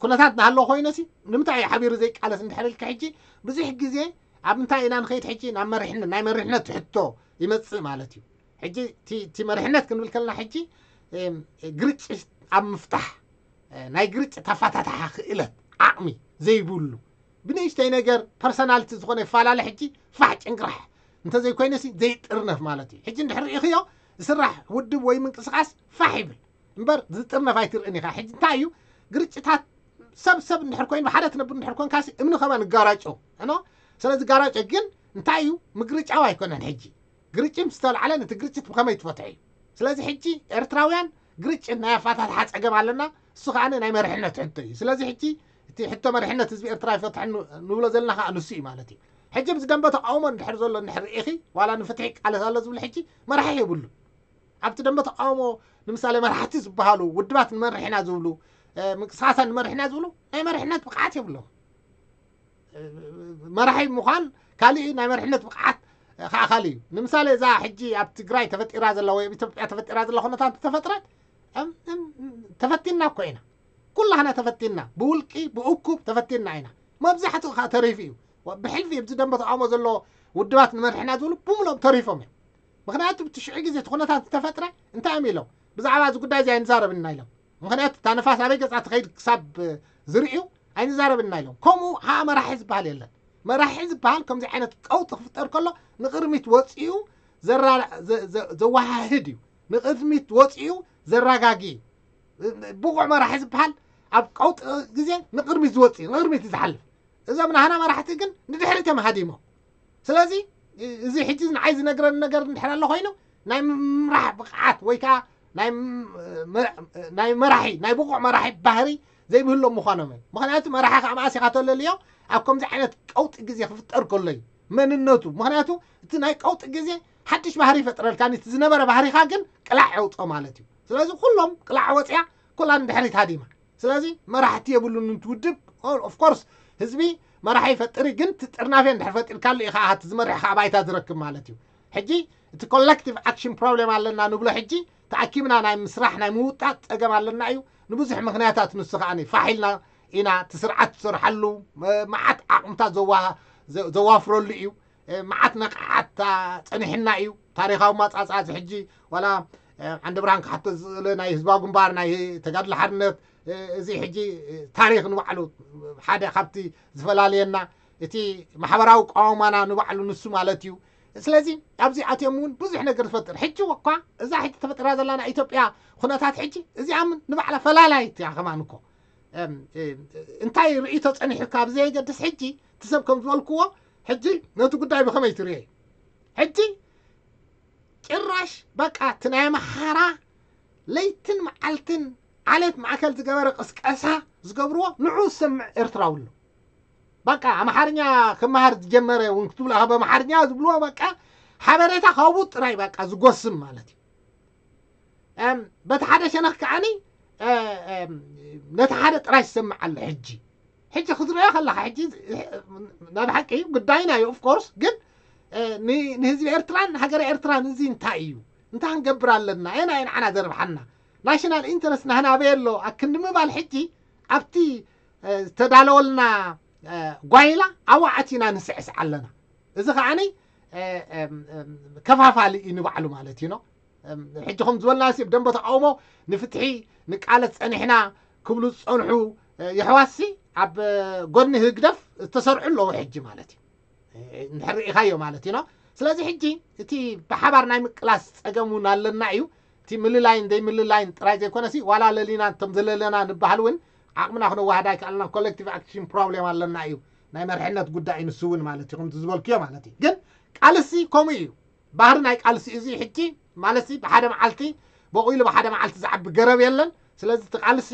ኩነታት ናሃሎ ኮይነሲ ንምንታይ እዩ ሓቢሩ ዘይቃለስ እንድሕር ኢልካ ሕጂ ብዙሕ ግዜ ኣብ እንታይ ኢና ንኸይድ ሕጂ ናብ መሪሕነት ናይ መሪሕነት ሕቶ ይመፅእ ማለት እዩ። ሕጂ እቲ መሪሕነት ክንብል ከለና ሕጂ ግርጭት ኣብ ምፍታሕ ናይ ግርጭት ኣፋታትሓ ክእለት ዓቕሚ ዘይብሉ ብንእሽተይ ነገር ፐርሰናልቲ ዝኾነ ይፈላለ ሕጂ ፋሕ ጭንቅራሕ እንተዘይኮይነሲ ዘይጥርነፍ ማለት እዩ። ሕጂ እንድሕር ርኢኽዮ ዝስራሕ ውድብ ወይ ምንቅስቃስ ፋሕ ይብል እምበር ዝጥርነፍ ኣይትርእን ኢኻ። ሕጂ እንታይ እዩ ግርጭታት ሰብ ሰብ እንድሕር ኮይኑ ብሓደ ትነብር እንድሕር ኮንካሲ እምኒ ከማን ጋራጮ እኖ ስለዚ ጋራጮ ግን እንታይ እዩ ምግርጫው ኣይኮነን። ሕጂ ግርጭት ምስ ተልዓለ ነቲ ግርጭት ብኸመይ ትፈትሑ እዩ። ስለዚ ሕጂ ኤርትራውያን ግርጭት ናይ ኣፋታትሓ ጸገም ኣለና። እሱ ከዓ ናይ መርሕነት ሕቶ እዩ። ስለዚ ሕጂ እቲ ሕቶ መርሕነት ህዝቢ ኤርትራ ይፈትሐ ንብሎ ዘለና ከዓ ንሱ እዩ ማለት እዩ። ሕጂ ብዚ ደንበ ተቃውሞ እንድሕር ዘሎ እንድሕር ርኢኺ ዋላ ንፍትሒ ይቃለስ ኣሎ ዝብል ሕጂ መራሒ የብሉ። ኣብቲ ደንበ ተቃውሞ ንምሳሌ መራሕቲ ዝበሃሉ ውድባት ንመርሕ ኢና ዝብሉ ምንቅስቃሳት ንመርሕ ኢና ዝብሉ ናይ መርሕነት ብቅዓት የብሎም። መራሒ ምዃን ካሊእ ናይ መርሕነት ብቅዓት ከዓ ካሊእ እዩ። ንምሳሌ እዛ ሕጂ ኣብ ትግራይ ተፈጢራ ዘላ ወይ ኣብ ኢትዮጵያ ተፈጢራ ዘላ ኩነታት ተፈጥረት ተፈቲና እኮ ኢና። ኩላህና ተፈቲና ብውልቂ ብእኩብ ተፈቲና ኢና። መብዛሕትኡ ከዓ ተሪፉ እዩ። ብሕልፊ ኣብዚ ደንበ ተቃውሞ ዘሎ ውድባት ንመርሕና ዝብሉ ብምሎም ተሪፎም እዮም። ምክንያቱ ብቲ ሽዑ ግዜ እቲ ኩነታት ዝተፈጥረ እንታይ እዮም ኢሎም ብዛዕባ እዚ ጉዳይ እዚ ኣይንዛረብና ኢሎም። ምክንያቱ እታ ነፋስ ኣበይ ገፃ ትኸይድ ክሳብ ዝርእዩ ኣይንዛረብና ኢሎም። ከምኡ ከዓ መራሒ ዝበሃል የለን። መራሒ ዝበሃል ከምዚ ዓይነት ቀውጢ ክፍጠር ከሎ ንቅድሚት ወፂኡ ዘዋሃህድ እዩ። ንቅድሚት ወፂኡ ዘረጋጊ እዩ። ብቑዕ መራሒ ዝበሃል ኣብ ቀውጢ ግዜ ንቅድሚት ዝወፅእ ንቅድሚት ዝሓልፍ እዞም ናህና መራሕቲ ግን ንድሕሪት እዮም ሃዲሞም። ስለዚ እዚ ሕጂ ንዓይ ዝነግረኒ ነገር እንድሕር ኣሎ ኮይኑ ናይ ምምራሕ ብቕዓት ወይ ከዓ ናይ መራሒ ናይ ብቑዕ መራሒ ባህሪ ዘይብህሎም ምዃኖም እዮም። ምክንያቱ መራሒ ከዓ መኣስ ኢኻ ተለልዮ ኣብ ከምዚ ዓይነት ቀውጢ ግዜ ክፍጠር ከሎ እዩ መንነቱ። ምክንያቱ እቲ ናይ ቀውጢ ግዜ ሓድሽ ባህሪ ይፈጥረልካ እቲ ዝነበረ ባህሪኻ ግን ቅላዕ የውፅኦ ማለት እዩ። ስለዚ ኩሎም ቅላዕ ወፅያ ኩላ ንድሕሪት ሃዲማ ስለዚ መራሕቲ የብሉን እንትውድብ ኦፍኮርስ ህዝቢ መራሒ ይፈጥር ግን ትጥርናፌ እንድሕር ፈጢርካሉ ኢኻ ኣሃት ዝመርሕ ከዓ ባይታ ዝረክብ ማለት እዩ። ሕጂ እቲ ኮሌክቲቭ ኣክሽን ፕሮብሌም ኣለና ንብሎ ሕጂ ተኣኪብና ናይ ምስራሕ ናይ ምውጣጥ ፀገም ኣለና እዩ። ንብዙሕ ምክንያታት ንሱ ከዓ ፋሒልና ኢና እቲ ስርዓት ትሰርሓሉ መዓት ዓቕምታት ዘዋፍረሉ እዩ። መዓት ነቕዓት ጸኒሕና እዩ። ታሪኻዊ ማጻጻ እዚ ሕጂ ዋላ ዓንደ ብርሃን ክሓቶ ዝኽእል ናይ ህዝባዊ ግንባር ናይ ተጋድሎ ሓርነት እዚ ሕጂ ታሪኽ ንባዕሉ ሓደ ካብቲ ዝፈላልየና እቲ ማሕበራዊ ቃውማና ንባዕሉ ንሱ ማለት እዩ። ስለዚ ኣብዚ ኣትዮም እውን ብዙሕ ነገር ዝፈጥር ሕጂ እኳ እዛ ሕጂ ተፈጢራ ዘላ ናይ ኢትዮጵያ ኩነታት ሕጂ እዚኣ ንባዕላ ፈላላይት እያ ከማን እኮ እንታይ ርእይቶ ጸኒሑካ ብዘየገድስ ሕጂ እቲ ሰብ ከም ዝበልክዎ ሕጂ ነቲ ጉዳይ ብኸመይ ትርእዮ እዩ? ሕጂ ጭራሽ በቃ እቲ ናይ ኣምሓራ ለይትን መዓልትን ዓሌት ማእከል ዝገበረ ቅስቀሳ ዝገብርዎ ንዑ ዝሰምዕ ኤርትራዊ ኣሎ። በቃ ኣምሓርኛ ክመሃር ዝጀመረ እውን ክትብሎ ካብ ኣምሓርኛ ዝብልዎ በቃ ሓበሬታ ካብኡ ጥራይ በቃ ዝጎስም ማለት እዩ። በቲ ሓደ ሸነኽ ከዓኒ ነቲ ሓደ ጥራይ ዝሰምዕ ኣሎ። ሕጂ ሕጂ ክትሪኦ ከለካ ሕጂ ናይ ብሓቂ ጉዳይና እዩ ኦፍኮርስ ግን ንህዝቢ ኤርትራን ሃገረ ኤርትራን እዚ እንታይ እዩ እንታይ ክንገብር ኣለና ኢና ንዓና ዘርብሓና ናሽናል ኢንተረስት ናህና ኣበይ ኣሎ ኣክንዲ ምባል ሕጂ ኣብቲ ዝተዳለወልና ጓይላ ኣብኡ ኣቲና ንስዕስዕ ኣለና። እዚ ከዓኒ ከፋፋሊ እዩ ንባዕሉ ማለት እዩ። ሕጂ ከም ዝበልና ሲ ብደንበ ተቃውሞ ንፍትሒ ንቃለስ ጸኒሕና ክብሉ ዝጸንሑ የሕዋትሲ ኣብ ጎኒ ህግደፍ ዝተሰርዑ ኣለዉ ሕጂ ማለት እዩ። እንድሕር ርኢኻዮ ማለት እዩ። ስለዚ ሕጂ እቲ ብሓባር ናይ ምቅላስ ጸገም እውን ኣለና እዩ። እቲ ምልላይን ዘይምልላይን ጥራይ ዘይኮነሲ ዋላ ለሊና እንቶም ዘለለና ንበሃል እውን ዓቕምና ክነዋህዳ ኣይከኣልና ኮሌክቲቭ ኣክሽን ፕሮብሌም ኣለና እዩ። ናይ መርሕነት ጉዳይ ንሱ እውን ማለት እዩ ከምቲ ዝበልክዮ ማለት እዩ። ግን ቃልሲ ከምኡ እዩ። ባህሪ ናይ ቃልሲ እዚ ሕጂ ማለትሲ ብሓደ መዓልቲ በቑሉ ብሓደ መዓልቲ ዝዓቢ ገረብ የለን። ስለዚ እቲ ቃልሲ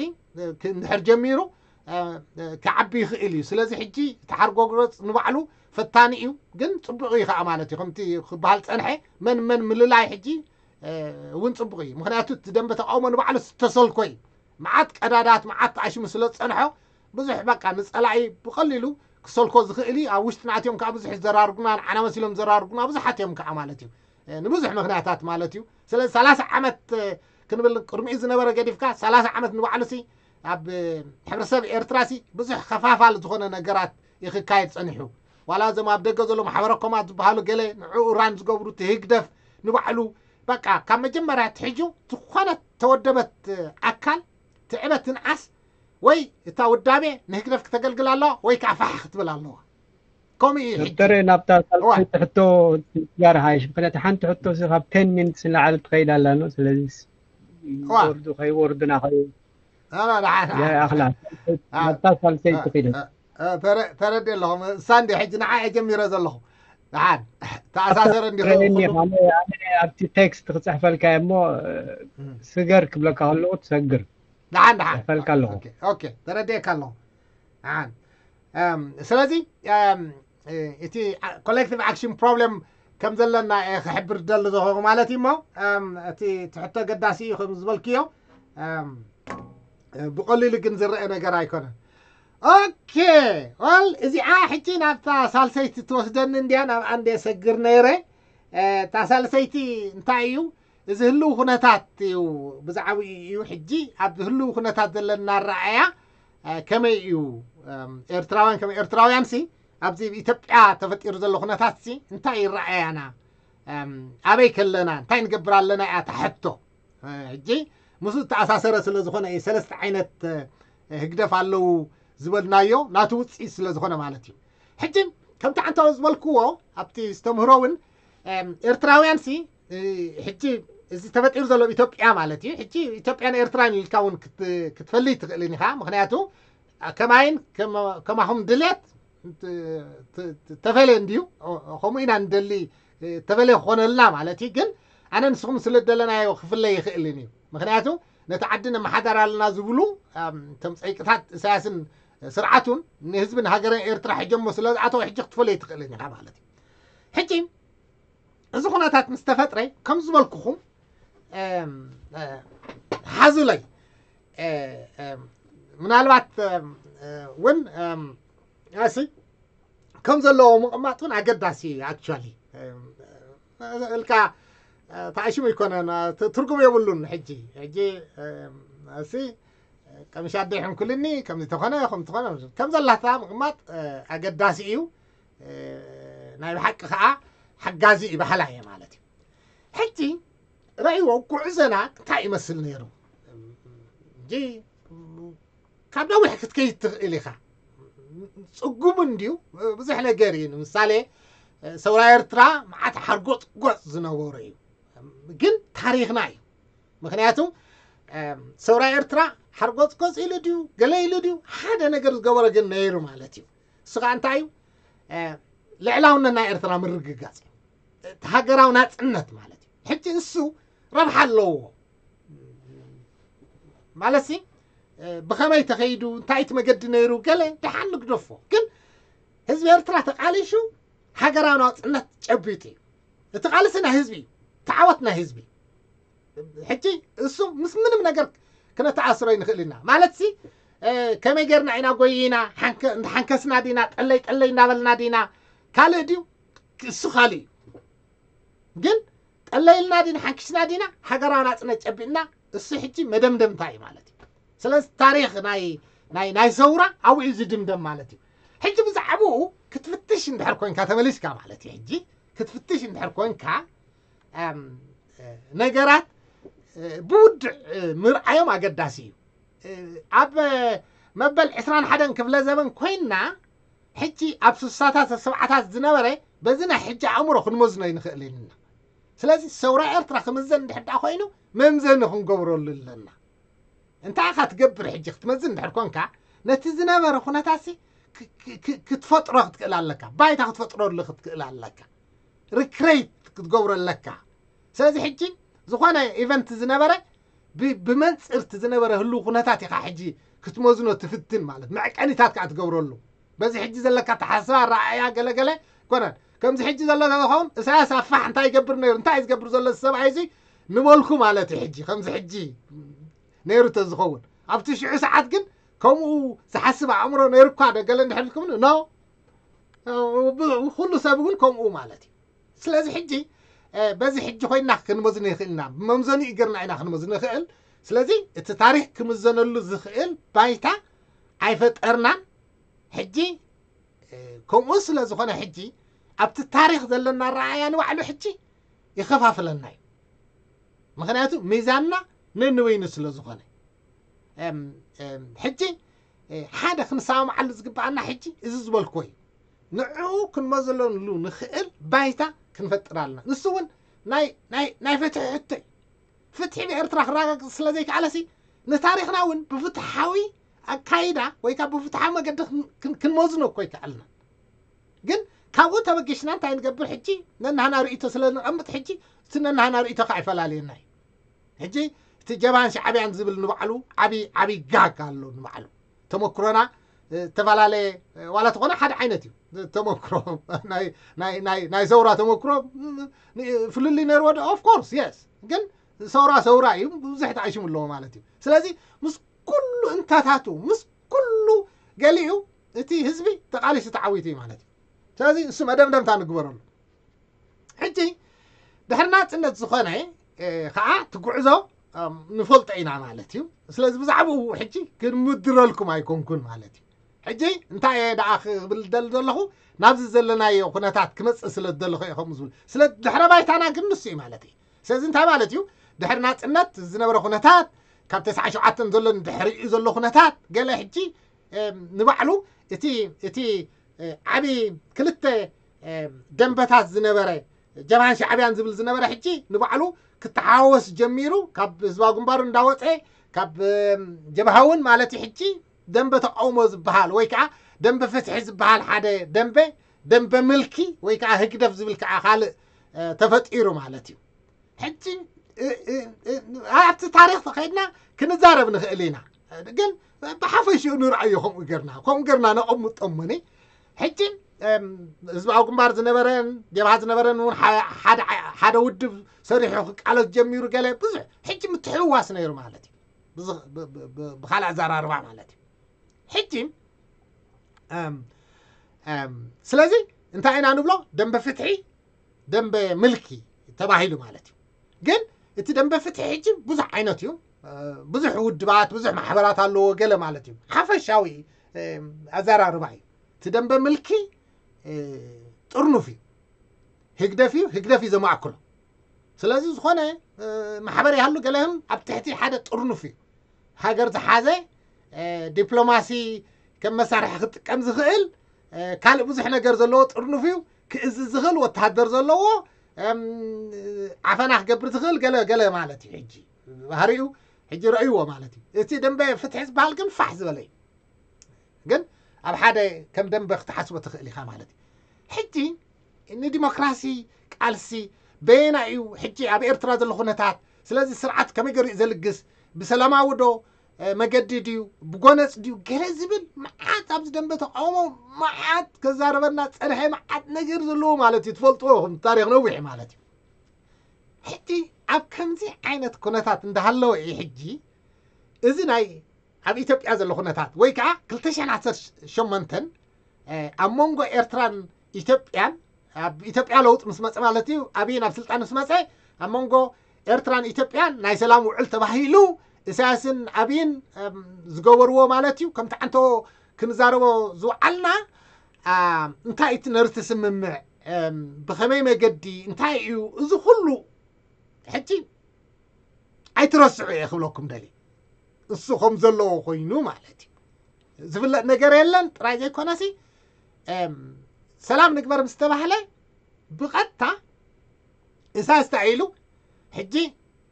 እንድሕር ጀሚሩ ክዓቢ ይኽእል እዩ። ስለዚ ሕጂ እቲ ሓርጎግረፅ ንባዕሉ ፈታኒ እዩ፣ ግን ፅቡቕ እዩ ከዓ ማለት እዩ። ከምቲ ክበሃል ፀንሐ መን መን ምልላይ ሕጂ እውን ፅቡቕ እዩ። ምክንያቱ እቲ ደንበ ተቃውሞ ንባዕሉ ዝተሰልኮ እዩ። መዓት ቀዳዳት መዓት ተኣሽሙ ስለ ዝፀንሖ ብዙሕ በቃ ንፀላኢ ብቐሊሉ ክሰልኮ ዝኽእል እዩ። ኣብ ውሽጥና ኣትዮም ከዓ ብዙሕ ይዘራርጉና፣ ንዓና መሲሎም ዘራርጉና ብዙሓት እዮም ከዓ ማለት እዩ። ንብዙሕ ምክንያታት ማለት እዩ። ስለዚ ሰላሳ ዓመት ክንብል ቅድሚኡ ዝነበረ ገዲፍካ ሰላሳ ዓመት ንባዕሉሲ ኣብ ሕብረተሰብ ኤርትራሲ ብዙሕ ከፋፋል ዝኾነ ነገራት ይክካየድ ጸኒሑ። ዋላ እዞም ኣብ ደገ ዘሎ ማሕበረ ኮማት ዝበሃሉ ገለ ንዕኡ ራን ዝገብሩ፣ እቲ ህግደፍ ንባዕሉ፣ በቃ ካብ መጀመርያ ትሕጁ ዝኾነት ተወደበት ኣካል ትዕበት ትንዓስ፣ ወይ እታ ውዳቤ ንህግደፍ ክተገልግል ኣለዋ ወይ ከዓ ፋሕ ክትብል ኣለዋ። ከምኡ እዩ ሕጂ። ዶክተር፣ ናብታ ሳልሰይቲ ሕቶ ጋር ሓይሽ። ምክንያቱ ሓንቲ ሕቶ ሲ ካብ ቴን ሚኒትስ ንላዕሊ ትኸይድ ኣላ ነው። ስለዚ ወርዱ ከይወርዱና ኣኽላ ናብታ ሳልሰይቲ ኪደ ተረዲ ኣለኹ። እሳ እንዲ ሕጂ ንዓ ጀሚረ ዘለኹ። ደሓን ተኣሳሰረ እንዲ ኣብቲ ቴክስት ክፅሕፈልካ እሞ ስገር ክብለካ ከለኹ ትሰግር። ደሓን ደሓን ክፅሕፈልካ ኣለኹ። ተረዲእካ ኣለኹ። ደሓን ስለዚ እቲ ኮሌክቲቭ ኣክሽን ፕሮብለም ከም ዘለና ክሕብር ደሊ ዝኾኑ ማለት እዩ። እሞ እቲ ትሕቶ ገዳሲ እዩ ከም ዝበልክዮ ብቐሊሉ ግን ዝረአ ነገር ኣይኮነን። ኦኬ ዋል እዚኣ ሕጂ ናብታ ሳልሰይቲ ትወስደኒ እንዲያ፣ ናብ ኣንዴ ሰግር ነይረ። እታ ሳልሰይቲ እንታይ እዩ? እዚ ህልው ኩነታት እዩ ብዛዕባኡ እዩ። ሕጂ ኣብ ህልው ኩነታት ዘለና ኣረኣእያ ከመይ እዩ? ኤርትራውያን ከም ኤርትራውያን ሲ ኣብዚ ኢትዮጵያ ተፈጢሩ ዘሎ ኩነታት ሲ እንታይ ይረኣያና? ኣበይ ከለና እንታይ ንገብር ኣለና እያ እታ ሕቶ። ሕጂ ምስኡ ዝተኣሳሰረ ስለ ዝኾነ እዩ ሰለስተ ዓይነት ህግደፍ ኣለዉ ዝበልናዮ ናቱ ውፅኢት ስለ ዝኾነ ማለት እዩ። ሕጂ ከምቲ ዓንታዊ ዝበልክዎ ኣብቲ ዝተምህሮ እውን ኤርትራውያን ሲ ሕጂ እዚ ተፈጢሩ ዘሎ ኢትዮጵያ ማለት እዩ። ሕጂ ኢትዮጵያን ኤርትራን ኢልካ እውን ክትፈልይ ትኽእልን ኢኻ። ምክንያቱ ከማይን ከማኹም ድሌት ተፈለ እንድዩ። ከምኡ ኢና ንደሊ ተፈለ ክኾነልና ማለት እዩ። ግን ኣነ ንስኹም ስለ ደለናዮ ክፍለ ይኽእልን እዩ። ምክንያቱ ነቲ ዓዲ ነመሓዳር ኣለና ዝብሉ እቶም ፀይቅታት ኢሳያስን ስርዓቱን ንህዝብን ሃገርን ኤርትራ ሕጀሞ ስለ ዝኣተወ ሕጂ ክትፈለይ ትኽእልን ኢኻ ማለት እዩ። ሕጂ እዚ ኩነታት ምስ ተፈጥረ ከም ዝበልኩኹም ሓዙለይ ምናልባት እውን ኣሲ ከም ዘለዎ ምቕማጥ እውን ኣገዳሲ እዩ። ኣክቹዋሊ እልካ ተኣሽሙ ኣይኮነን፣ ትርጉም የብሉን። ሕጂ ሕጂ ኣሲ ቀምሻ ኣደ ይሕንኩልኒ ከምዚ ተኾነ ከም ተኾነ ከም ዘላታ ምቕማጥ ኣገዳሲ እዩ። ናይ ብሓቂ ከዓ ሓጋዚ እዩ ባህላ እየ ማለት እዩ። ሕጂ ረእይዎ ጉዕዘና እንታይ ይመስል ነይሩ? እንጂ ካብ ነዊሕ ክትከይድ ትኽእል ኢኻ። ፅጉም እንድዩ ብዙሕ ነገር እዩ። ንምሳሌ ሰውራ ኤርትራ መዓት ሓርጎፅጎፅ ዝነበሩ እዩ፣ ግን ታሪኽና እዩ። ምክንያቱ ሰውራ ኤርትራ ሓርጎፅጎፅ ኢሉ ድዩ ገለ ኢሉ ድዩ ሓደ ነገር ዝገበረ ግን ነይሩ ማለት እዩ። እሱ ከዓ እንታይ እዩ? ልዕላውነት ናይ ኤርትራ ምርግጋፅ እዩ። እቲ ሃገራዊ ናፅነት ማለት እዩ። ሕጂ እሱ ረብሓ ኣለዎ ማለት ሲ ብኸመይ ተኸይዱ እንታይ እቲ መገዲ ነይሩ ገለ ደሓን ንግደፎ። ግን ህዝቢ ኤርትራ ተቃሊሹ ሃገራዊ ናፅነት ጨቢጡ እዩ። እቲ ቃልሲ ናይ ህዝቢ እዩ። ተዓወት ናይ ህዝቢ። ሕጂ እሱ ምስ ምንም ነገር ክነተኣስሮ ይንኽእል ኢና ማለት ሲ ከመይ ጌርና ኢና ጎይና ሓንከስና ዲና ጠለይ ጠለይ እናበልና ዲና ካልእ ድዩ? እሱ ካልእ እዩ። ግን ጠለይልና ዲና ሓንኪስና ዲና ሃገራዊ ናፅነት ጨቢጥና እሱ ሕጂ መደምደምታ እዩ ማለት እዩ። ስለዚ ታሪኽ ናይ ናይ ናይ ሰውራ ኣብኡ እዩ ዝድምደም ማለት እዩ። ሕጂ ብዛዕባኡ ክትፍትሽ እንድሕር ኮንካ ተመሊስካ ማለት እዩ። ሕጂ ክትፍትሽ እንድሕር ኮንካ ነገራት ብውድዕ ምርዓዮም ኣገዳሲ እዩ። ኣብ መበል ዕስራን ሓደን ክፍለ ዘበን ኮይንና ሕጂ ኣብ ስሳታት ሰብዓታት ዝነበረ በዚ ናይ ሕጂ ኣእምሮ ክንመዝኖ ይንኽእል ኢና። ስለዚ ሰውራ ኤርትራ ክምዘን እንድሕር ደኣ ኮይኑ መምዘኒ ክንገብረሉ ኣለና። እንታይ ኢኻ ትገብር ሕጂ ክትመዝን እንድሕር ኮንካ ነቲ ዝነበረ ኩነታሲ ክትፈጥሮ ክትክእል ኣለካ፣ ባይታ ክትፈጥረሉ ክትክእል ኣለካ፣ ሪክሬት ክትገብሮ ኣለካ። ስለዚ ሕጂ ዝኾነ ኢቨንት ዝነበረ ብመንፅር እቲ ዝነበረ ህልው ኩነታት ኢኻ ሕጂ ክትመዝኖ ትፍትን ማለት መዕቀኒታት ከዓ ትገብረሉ። በዚ ሕጂ ዘለካ ኣተሓሳስባ ኣረኣእያ ገለገለ ኮነን ከምዚ ሕጂ ዘሎ ተዝኸውን እሳያስ ኣፋሕ እንታይ ይገብር ነይሩ እንታይ እዩ ዝገብር ዘሎ ሰብኣይ እዚ ንበልኩ ማለት እዩ። ሕጂ ከምዚ ሕጂ ነይሩ ተዝኸውን ኣብቲ ሽዑ ሰዓት ግን ከምኡ ዝሓስብ ኣእምሮ ነይሩኳ ዶ ገለ እንድሕር ኢልኩም ኖ ኩሉ ሰብ እውን ከምኡ ማለት እዩ። ስለዚ ሕጂ በዚ ሕጂ ኮይና ክንመዝኖ ይኽእልና፣ ብመምዘኒኡ ገርና ኢና ክንመዝኖ ይኽእል። ስለዚ እቲ ታሪክ ክምዘነሉ ዝኽእል ባይታ ኣይፈጠርናን። ሕጂ ከምኡ ስለ ዝኾነ ሕጂ ኣብቲ ታሪክ ዘለና ረኣያ ንባዕሉ ሕጂ ይኸፋፍለና እዩ። ምክንያቱ ሚዛንና ነንበይኑ ስለ ዝኾነ ሕጂ ሓደ ክንሰማምዓሉ ዝግባኣና ሕጂ እዚ ዝበልክዎ እዩ። ንዕኡ ክንመዘለሉ ንኽእል ባይታ ክንፈጥር ኣለና። ንሱ እውን ናይ ፍትሒ ሕቶ እዩ። ፍትሒ ብኤርትራ ክረጋግጽ ስለ ዘይከኣለሲ ንታሪኽና እውን ብፍትሓዊ ኣካይዳ ወይ ከዓ ብፍትሓዊ መገዲ ክንመዝኖ እኮ ይከኣልና። ግን ካብኡ ተበጊሽና እንታይ ንገብር ሕጂ? ነናህና ርእይቶ ስለ ንቐምጥ ሕጂ እቲ ነናህና ርእይቶ ከዓ ይፈላልየና እዩ። ሕጂ እቲ ጀብሃን ሻዕብያን ዝብል ንባዕሉ ዓብዪ ዓብዪ ጋግ ኣሎ። ንባዕሉ ተመክሮና ዝተፈላለየ ዋላ ተኾነ ሓደ ዓይነት እዩ። ተመክሮ ናይ ሰውራ ተመክሮ ፍልልይ ነይርዎ ዶ? Of course yes። ግን ሰውራ ሰውራ እዩ፣ ብዙሕ ተኣሽሙ ኣለዎ ማለት እዩ። ስለዚ ምስ ኩሉ እንታታቱ ምስ ኩሉ ገሊኡ እቲ ህዝቢ ተቓሊሱ ተዓዊቱ እዩ ማለት እዩ። ስለዚ እሱ መደምደምታ ንግበረሉ። ሕጂ ድሕሪ ናፅነት ዝኾነ ከዓ ትጉዕዞ ንፈልጦ ኢና ማለት እዩ። ስለዚ ብዛዕባኡ ሕጂ ክንምድረልኩም ኣይኮንኩን ማለት እዩ። ሕጂ እንታይ እየ ደኣ ክብል ደሊ ዘለኹ፣ ናብዚ ዘለናዮ ኩነታት ክመፅእ ስለ ዝደለኹ እየ ከምኡ ዝብል። ስለ ድሕረ ባይታና ግን ንሱ እዩ ማለት እዩ። ስለዚ እንታይ ማለት እዩ? ድሕሪ ናፅነት ዝነበረ ኩነታት ካብ ተስዓ ሸውዓተን ዘሎ ንድሕሪኡ ዘሎ ኩነታት ገለ ሕጂ ንባዕሉ እቲ እቲ ዓብዪ ክልተ ደንበታት ዝነበረ ጀብሃን ሻዕብያን ዝብል ዝነበረ ሕጂ ንባዕሉ ክተሓወስ ጀሚሩ፣ ካብ ህዝባዊ ግንባሩ እንዳወፀ ካብ ጀብሃ እውን ማለት እዩ። ሕጂ ደንበ ተቃውሞ ዝበሃል ወይ ከዓ ደንበ ፍትሒ ዝበሃል ሓደ ደንበ፣ ደንበ ምልኪ ወይ ከዓ ህግደፍ ዝብል ከዓ ካልእ ተፈጢሩ ማለት እዩ። ሕጂ ኣብቲ ታሪክ ተኸይድና ክንዛረብ ንኽእል ኢና። ግን ብሓፈሽኡ ንርኣዮ ከምኡ ገርና ከምኡ ገርና ነቐምጦ እሞኒ። ሕጂ ህዝባዊ ግንባር ዝነበረን ጀብሃ ዝነበረን እውን ሓደ ውድብ ሰሪሑ ክቃለስ ጀሚሩ ገለ ብዙሕ ሕጂ ምትሕውዋስ ነይሩ ማለት እዩ። ብካልእ ኣዘራርባ ማለት እዩ። ሕጂ ስለዚ እንታይ ኢና ንብሎ? ደንበ ፍትሒ ደንበ ምልኪ ተባሂሉ ማለት እዩ። ግን እቲ ደንበ ፍትሒ ሕጂ ብዙሕ ዓይነት እዩ። ብዙሕ ውድባት ብዙሕ ማሕበራት ኣለዎ ገለ ማለት እዩ። ሓፈሻዊ ኣዘራርባ እዩ። እቲ ደንበ ምልኪ ጥርኑፍ እዩ። ህግደፍ እዩ፣ ህግደፍ እዩ ዘማእክሎ። ስለዚ ዝኾነ ማሕበር ይሃሉ ገለህም ኣብ ትሕቲ ሓደ ጥርኑፍ እዩ። ሃገር ዝሓዘ ዲፕሎማሲ ከም መሳርሒ ክጥቀም ዝኽእል ካልእ ብዙሕ ነገር ዘለዎ ጥርኑፍ እዩ። ክእዝዝ ዝኽእል ወተሃደር ዘለዎ ዓፈና ክገብር ዝኽእል ገለ ገለ ማለት እዩ። ሕጂ ባህሪኡ ሕጂ ረእይዎ ማለት እዩ። እቲ ደንበ ፍትሒ ዝበሃል ግን ፋሕ ዝበለ እዩ። ግን ኣብ ሓደ ከም ደንበ ክትሓስቦ ትኽእል ኢኻ ማለት እዩ። ሕጂ ንዲሞክራሲ ቃልሲ በየና እዩ ሕጂ ኣብ ኤርትራ ዘሎ ኩነታት? ስለዚ ስርዓት ከመይ ገሪኡ ዘልግስ ብሰላማዊ ዶ መገዲ ድዩ ብጎነፅ ድዩ ገለ ዝብል መዓት ኣብዚ ደንበ ተቃውሞ መዓት ከዛረበና ፀንሐ መዓት ነገር ዘለዎ ማለት እዩ። ትፈልጥዎ ከም ታሪክ ነዊሕ ማለት እዩ። ሕጂ ኣብ ከምዚ ዓይነት ኩነታት እንዳሃለወ እዩ ሕጂ እዚ ናይ ኣብ ኢትዮጵያ ዘሎ ኩነታት ወይ ከዓ ክልተ ሽሕን ዓሰርተ ሸሞንተን ኣብ መንጎ ኤርትራን ኢትዮጵያን ኣብ ኢትዮጵያ ለውጥ ምስ መፀ ማለት እዩ። ኣብይ ናብ ስልጣን ምስ መፀ ኣብ መንጎ ኤርትራን ኢትዮጵያን ናይ ሰላም ውዕል ተባሂሉ ኢሳያስን ኣብይን ዝገበርዎ ማለት እዩ። ከምቲ ዓንቶ ክንዛረቦ ዝወዓልና እንታይ እቲ ነርቲ ስምምዕ ብኸመይ መገዲ እንታይ እዩ እዚ ኩሉ ሕጂ ኣይትረስዑ እየ ክብለኩም ደሊ። እሱ ከም ዘለዎ ኮይኑ ማለት እዩ። ዝፍለጥ ነገር የለን ጥራይ ዘይኮነሲ ሰላም ንግበር ምስ ተባህለ ብቐጥታ ኢሳያስ እንታይ ኢሉ ሕጂ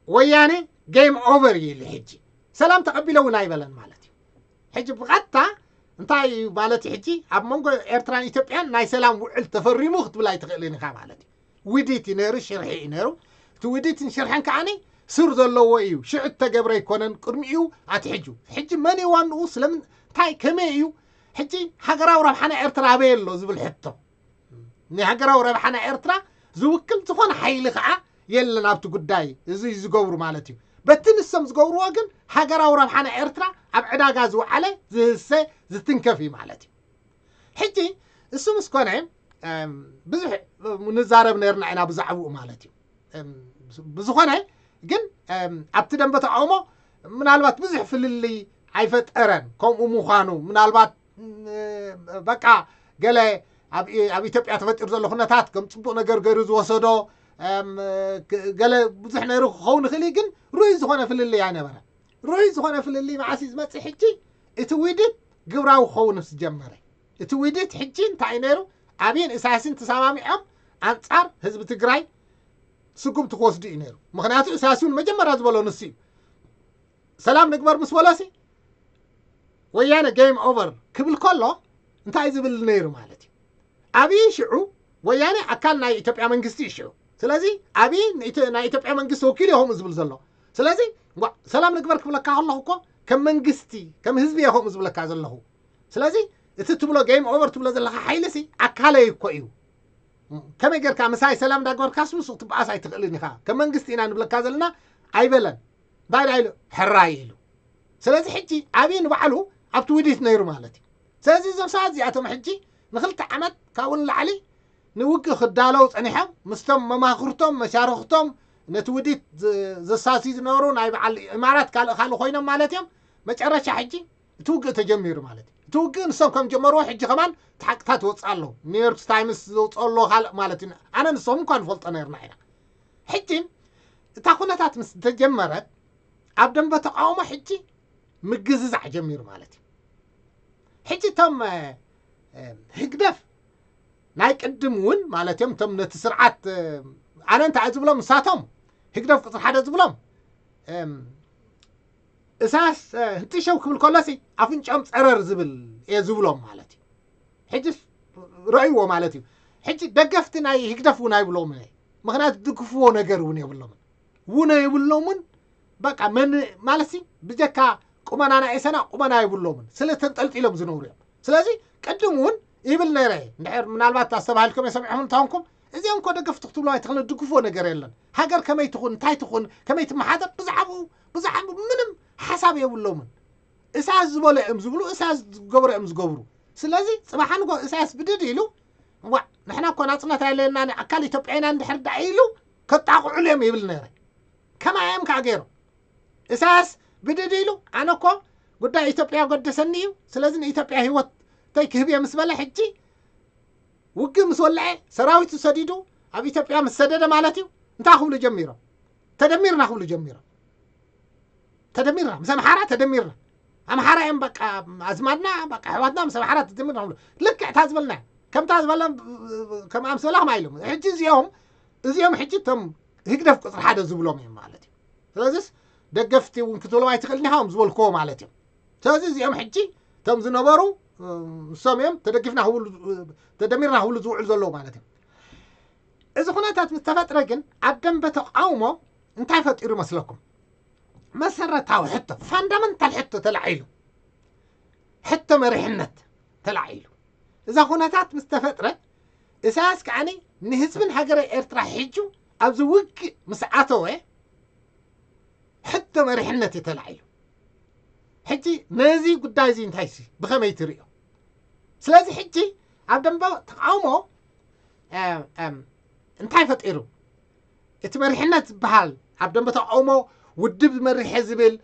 ወያነ game over ኢሉ ሕጂ ሰላም ተቐቢለ እውን ኣይበለን ማለት እዩ። ሕጂ ብቐጥታ እንታይ እዩ ማለት እዩ? ሕጂ ኣብ መንጎ ኤርትራን ኢትዮጵያን ናይ ሰላም ውዕል ተፈሪሙ ክትብል ኣይትኽእልን ኢኻ ማለት እዩ። ውዲት እዩ ነይሩ፣ ሽርሒ እዩ ነይሩ። እቲ ውዲትን ሽርሕን ከዓኒ ስር ዘለዎ እዩ። ሽዑ እተገብረ ኣይኮነን፣ ቅድሚኡ ኣትሒጁ። ሕጂ መን እዩ ዋንኡ? ስለምንታይ? ከመይ እዩ? ሕጂ ሃገራዊ ረብሓ ናይ ኤርትራ ኣበይ ኣሎ ዝብል ሕቶ። ንሃገራዊ ረብሓ ናይ ኤርትራ ዝውክል ዝኾነ ሓይሊ ከዓ የለን ኣብቲ ጉዳይ። እዚ እዩ ዝገብሩ ማለት እዩ። በቲ ንሶም ዝገብርዎ ግን ሃገራዊ ረብሓ ናይ ኤርትራ ኣብ ዕዳጋ ዝወዓለ ዝህሰ ዝትንከፍ እዩ ማለት እዩ። ሕጂ እሱ ምስ ኮነ ብዙሕ ንዛረብ ነርና ኢና ብዛዕባኡ ማለት እዩ። ብዝኾነ ግን ኣብቲ ደንበ ተቃውሞ ምናልባት ብዙሕ ፍልልይ ኣይፈጠረን። ከምኡ ምዃኑ ምናልባት በቃ ገለ ኣብ ኢትዮጵያ ተፈጢሩ ዘሎ ኩነታት ከም ፅቡቅ ነገር ገይሩ ዝወሰዶ ገለ ብዙሕ ነይሩ ክኸውን ይኽእል እዩ፣ ግን ርኡይ ዝኾነ ፍልልይ ኣይነበረ። ርኡይ ዝኾነ ፍልልይ መዓስ እዩ ዝመፅእ? ሕጂ እቲ ውህደት ግብራዊ ክኸውን ምስ ጀመረ። እቲ ውህደት ሕጂ እንታይ እዩ ነይሩ? ኣብይን ኢሳያስን ተሰማሚዖም ኣንፃር ህዝቢ ትግራይ ስጉምቲ ክወስዱ እዩ ነይሩ። ምክንያቱ ኢሳያስ እውን መጀመርያ ዝበሎ ንሱ እዩ። ሰላም ንግበር ምስ በሎሲ ወያነ ጌም ኦቨር ክብል ከሎ እንታይ ዝብል ነይሩ ማለት እዩ? ኣብይ ሽዑ ወያነ ኣካል ናይ ኢትዮጵያ መንግስቲ እዩ ሽዑ። ስለዚ ኣብይ ናይ ኢትዮጵያ መንግስቲ ወኪል ይኹም ዝብል ዘሎ። ስለዚ ሰላም ንግበር ክብለካ ከለኹ እኮ ከም መንግስቲ ከም ህዝቢ ይኹም ዝብለካ ዘለኹ። ስለዚ እቲ ትብሎ ጌም ኦቨር ትብሎ ዘለካ ሓይሊ ሲ ኣካለይ እኮ እዩ። ከመይ ጌርካ ምሳይ ሰላም እንዳገበርካስ ምስኡ ክትበኣስ ኣይትኽእልን ኢኻ። ከም መንግስቲ ኢና ንብለካ ዘለና ኣይበለን። እንታይ ዳ ኢሉ? ሕራይ ኢሉ። ስለዚ ሕጂ ኣብይ ንባዕሉ ኣብቲ ውዲት ነይሩ ማለት እዩ። ስለዚ እዞም ሰባት እዚኣቶም ሕጂ ንክልተ ዓመት ካብኡ ንላዕሊ ንውግእ ክዳለው ጸኒሖም ምስቶም መማኽርቶም መሻርኽቶም ነቲ ውዲት ዘሳሲ ዝነበሩ ናይ በዓል ኢማራት ካልእ ካልእ ኮይኖም ማለት እዮም። መጨረሻ ሕጂ እቲ ውግእ ተጀሚሩ ማለት እዩ። እቲ ውግእ ንሶም ከም ጀመርዎ ሕጂ ከማን ሓቅታት ይወፅእ ኣሎ። ኒውዮርክ ታይምስ ዘውፅኦ ኣሎ ካልእ ማለት እዩ። ኣነ ንሶም እኳ ንፈልጦ ነርና ኢና። ሕጂ እታ ኩነታት ምስ ተጀመረት ኣብ ደንበ ተቃውሞ ሕጂ ምግዝዛዕ ጀሚሩ ማለት እዩ። ሕጂ እቶም ህግደፍ ናይ ቅድም እውን ማለት እዮም እቶም ነቲ ስርዓት ኣነ እንታይ ዝብሎም ንሳቶም ህግደፍ ቁፅሪ ሓደ ዝብሎም እሳስ ህንጥሸው ክብል ከሎሲ ኣፍንጫኦም ፀረር ዝብል እየ ዝብሎም ማለት እዩ። ሕጂ ረእይዎ ማለት እዩ። ሕጂ ደገፍቲ ናይ ህግደፍ እውን ኣይብሎም። ምክንያቱ ድግፍዎ ነገር እውን የብሎምን። ውነ የብሎምን። በቃ መን ማለት ሲ ብጀካ ቁመና ናይ እሰና ቁመና የብሎምን። ስለ ተንጠልጢሎም ዝነብሩ እዮም። ስለዚ ቅድም እውን ይብል ነይረ። እንድሕር ምናልባት ኣስተባሂልኩም የሰሚዕኹም እንተኾንኩም እዚኦም እኮ ደገፍቲ ክትብሉ ኣይትኽእሉ፣ ድግፎ ነገር የለን። ሃገር ከመይ ትኹን እንታይ ትኹን ከመይ ትመሓደር ብዛዕባኡ ብዛዕባ ምንም ሓሳብ የብሎምን። እሳያስ ዝበሎ እዮም ዝብሉ፣ እሳያስ ዝገብሮ እዮም ዝገብሩ። ስለዚ ፅባሕ ንጎ እሳያስ ብድድ ኢሉ ዋ ንሕና እኮ ናፅነት ኣየለና ኣካል ኢትዮጵያ ኢና እንድሕር ዳ ኢሉ ከጣቕዑሉ እዮም ይብል ነይረ። ከማይ እዮም ከዓ ገይሮም። እሳያስ ብድድ ኢሉ ኣነ እኮ ጉዳይ ኢትዮጵያ ገደሰኒ እዩ፣ ስለዚ ንኢትዮጵያ ህይወተይ ክህብ እየ ምስ በለ ሕጂ ውግእ ምስ ወልዐ ሰራዊቱ ሰዲዱ ኣብ ኢትዮጵያ ምስ ሰደደ ማለት እዩ። እንታይ ክብሉ ጀሚሮም? ተደሚርና ክብሉ ጀሚሮም። ተደሚርና ምስ ኣምሓራ ተደሚርና ኣምሓራ እዮም በቃ ኣዝማድና በቃ ኣሕዋትና ምስ ኣምሓራ ተደሚርና ክብሉ ልክዕ እታ ዝበልና ከምታ ዝበለ ከም ኣምሰላ ከማ ኢሎም ሕጂ እዚኦም እዚኦም ሕጂ እቶም ህግደፍ ቁፅሪ ሓደ ዝብሎም እዮም ማለት እዩ። ስለዚስ ደገፍቲ እውን ክትብሎም ኣይትኽእልን ኢኻ እዮም ዝበልክዎ ማለት እዮም። ስለዚ እዚኦም ሕጂ እቶም ዝነበሩ ንሶም እዮም ተደጊፍና ክብሉ ተደሚርና ክብሉ ዝውዕሉ ዘለዉ ማለት እዮም። እዚ ኩነታት ምስ ተፈጥረ ግን ኣብ ደንበ ተቃውሞ እንታይ ፈጢሩ ይመስለኩም? መሰረታዊ ሕቶ ፋንዳመንታል ሕቶ ተላዒሉ፣ ሕቶ መሪሕነት ተላዒሉ። እዛ ኩነታት ምስ ተፈጥረ እሳያስ ከዓኒ ንህዝብን ሃገረ ኤርትራ ሒጁ ኣብዚ ውግእ ምስ ኣተወ ሕቶ መሪሕነት እዩ ተላዒሉ። ሕጂ ነዚ ጉዳይ እዚ እንታይ ሲ ብኸመይ ትርእዮ? ስለዚ ሕጂ ኣብ ደንበ ተቃውሞ እንታይ ፈጢሩ? እቲ መሪሕነት ዝበሃል ኣብ ደንበ ተቃውሞ ውድብ መሪሐ ዝብል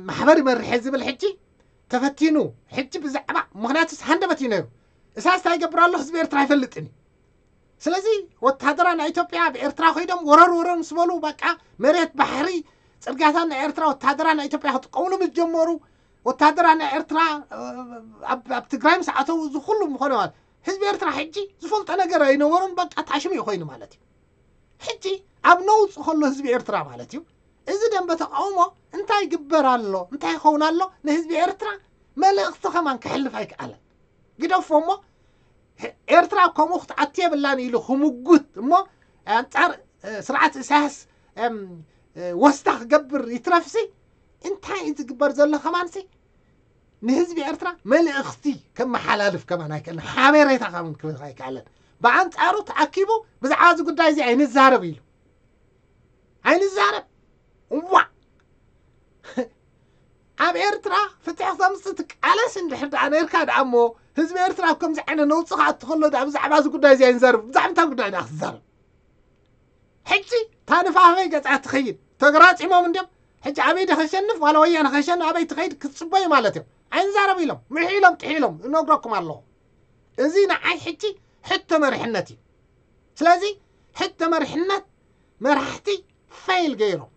ማሕበር መሪሐ ዝብል ሕጂ ተፈቲኑ ሕጂ ብዛዕባ ምክንያቱ ሃንደበት እዩ ነይሩ። እሳያስ እንታይ ይገብር ኣሎ ህዝቢ ኤርትራ ኣይፈልጥን እዩ። ስለዚ ወታደራ ናይ ኢትዮጵያ ኣብ ኤርትራ ኮይዶም ወረር ወረር ምስ በሉ በቃ መሬት ባሕሪ ፅርግያታት ናይ ኤርትራ ወታደራ ናይ ኢትዮጵያ ክጥቀምሉ ምስ ጀመሩ ወታደራ ናይ ኤርትራ ኣብ ትግራይ ምስ ኣተው እዚ ኩሉ ምኾነ ማለት ህዝቢ ኤርትራ ሕጂ ዝፈልጦ ነገር ኣይነበሮን። በቃ ታሽሙ እዩ ኮይኑ ማለት እዩ። ሕጂ ኣብ ነውፅ ከሎ ህዝቢ ኤርትራ ማለት እዩ እዚ ደንበ ተቃውሞ እንታይ ይግበር ኣሎ እንታይ ይኸውን ኣሎ ንህዝቢ ኤርትራ መልእኽቲ ከማን ክሕልፍ ኣይከኣለን። ግደፎ እሞ ኤርትራ ከምኡ ክትኣቱ የብላን ኢሉ ክምጉት እሞ ኣንፃር ስርዓት እሳያስ ወስታ ክገብር ይትረፍሲ እንታይ እዩ ዝግበር ዘሎ ከማንሲ ንህዝቢ ኤርትራ መልእኽቲ ከመሓላልፍ ከማን ኣይክእልን ሓበሬታ ከማን ክህብ ኣይከኣለን። ብኣንፃሩ ተኣኪቡ ብዛዕባ እዚ ጉዳይ እዚ ኣይንዛረብ ኢሉ ኣይንዛረብ እዋ ኣብ ኤርትራ ፍትሒ ክተምፅእ ትቃለስ እንድሕር ደኣ ነርካ ደኣ እሞ ህዝቢ ኤርትራ ኣብ ከምዚ ዓይነት ነውፂ ክኣቱ ከሎ ደኣ ብዛዕባ እዚ ጉዳይ እዚ ኣይንዛረብ ብዛዕባ እንታይ ጉዳይ ደኣ ክትዛረብ ሕጂ ታንፋፈይ ገጻ ትኸይድ ተገራጺሞም እንዲም ሕጂ ኣበይ ደ ከሸንፍ ዋላ ወያነ ከሸንፍ ኣበይ ትኸይድ ክትጽበዩ ማለት እዮም። ኣይንዛረብ ኢሎም ምሕ ኢሎም ጥሕ ኢሎም እነግረኩም ኣለኹ። እዚ ንዓይ ሕጂ ሕቶ መሪሕነት እዩ። ስለዚ ሕቶ መሪሕነት መራሕቲ ፈይል ገይሮም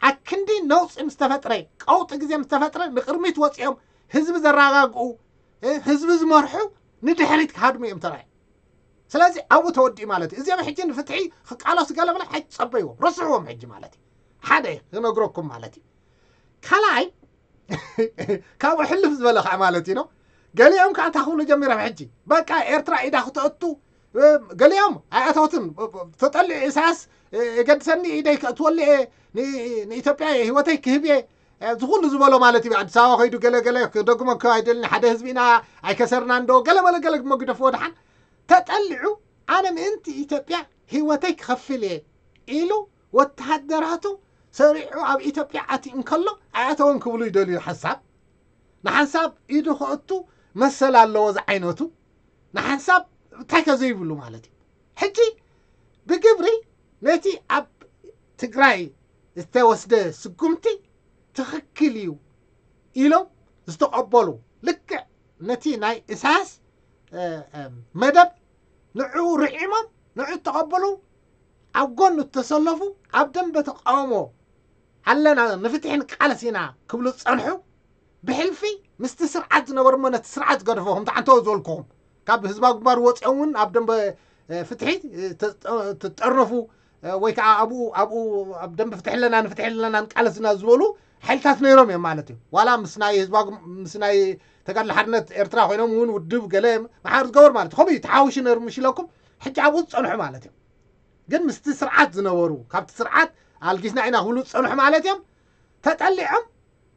ኣክንዲ ነውፂ ምስ ተፈጥረ ቀውጢ ግዜ ምስ ተፈጥረ ንቅድሚት ወፂኦም ህዝቢ ዘረጋግኡ ህዝቢ ዝመርሑ ንድሕሪት ክሃድሙ እዮም ተራእዮም። ስለዚ ኣብኡ ተወዲኡ ማለት እዩ። እዚኦም ሕጂ ንፍትሒ ክቃለሱ ገለ ብለ ኣይትፀበይዎም ረስሕዎም ሕጂ ማለት እዩ። ሓደ ክነግረኩም ማለት እዩ። ካልኣይ ካብኡ ሕልፍ ዝበለ ከዓ ማለት እዩ ነው። ገሊኦም ከዓ እንታይ ክብሉ ጀሚሮም ሕጂ በቃ ኤርትራ ኢዳ ክተእቱ ገሊኦም ኣይኣተውትን። ተጠሊዑ ኢሳያስ የገድሰኒ ኢደይ ከእትወሉ እየ ንኢትዮጵያ ህይወተይ ክህብ እየ ዝኩሉ ዝበሎ ማለት እዩ። ኣዲስ ኣበባ ከይዱ ገለገለ ክደግመ ኣይደልን ሓደ ህዝቢ ኢና ኣይከሰርና እንዶ ገለመለ ገለ መግደፍዎ ድሓን ተጠሊዑ ኣነ ምእንቲ ኢትዮጵያ ህይወተይ ክኸፍል እየ ኢሉ ወተሃደራቱ ሰሪዑ ኣብ ኢትዮጵያ ኣትዩ እንከሎ ኣይኣተውን ክብሉ ይደልዩ ሓሳብ ንሓንሳብ ኢዱ ከእቱ መሰል ኣለዎ ዝዓይነቱ ንሓንሳብ እንታይ ከዘይብሉ ማለት እዩ። ሕጂ ብግብሪ ነቲ ኣብ ትግራይ ዝተወስደ ስጉምቲ ትኽክል እዩ ኢሎም ዝተቐበሉ ልክዕ ነቲ ናይ ኢሳያስ መደብ ንዕኡ ርዒሞም ንዕኡ ዝተቐበሉ ኣብ ጎኑ እተሰለፉ ኣብ ደንበ ተቃውሞ ኣለና ንፍትሒ ንቃለስ ኢና ክብሉ ዝጸንሑ ብሕልፊ ምስቲ ስርዓት ዝነበሩ እሞ ነቲ ስርዓት ዝገደፎ ከምቲ ዓንተወ ዝበልኩኹም ካብ ህዝባዊ ግንባር ወፂኦም እውን ኣብ ደንበ ፍትሒ ትጠርነፉ ወይ ከዓ ኣብኡ ኣብኡ ኣብ ደንበ ፍትሒ ኣለና ንፍትሒ ኣለና ንቃለስ ኢና ዝበሉ ሓይልታት ነይሮም እዮም ማለት እዩ። ዋላ ምስ ናይ ህዝባዊ ምስ ናይ ተጋድሎ ሓርነት ኤርትራ ኮይኖም እውን ውድብ ገለ ማሕበር ዝገበሩ ማለት እዩ። ከምኡ እዩ ተሓዊሹ ነይሩ ምሽ ኢለኩም ሕጂ ኣብኡ ዝፀንሑ ማለት እዮም። ግን ምስቲ ስርዓት ዝነበሩ ካብቲ ስርዓት ኣልጊስና ኢና ክብሉ ዝፀንሑ ማለት እዮም። ተጠሊዖም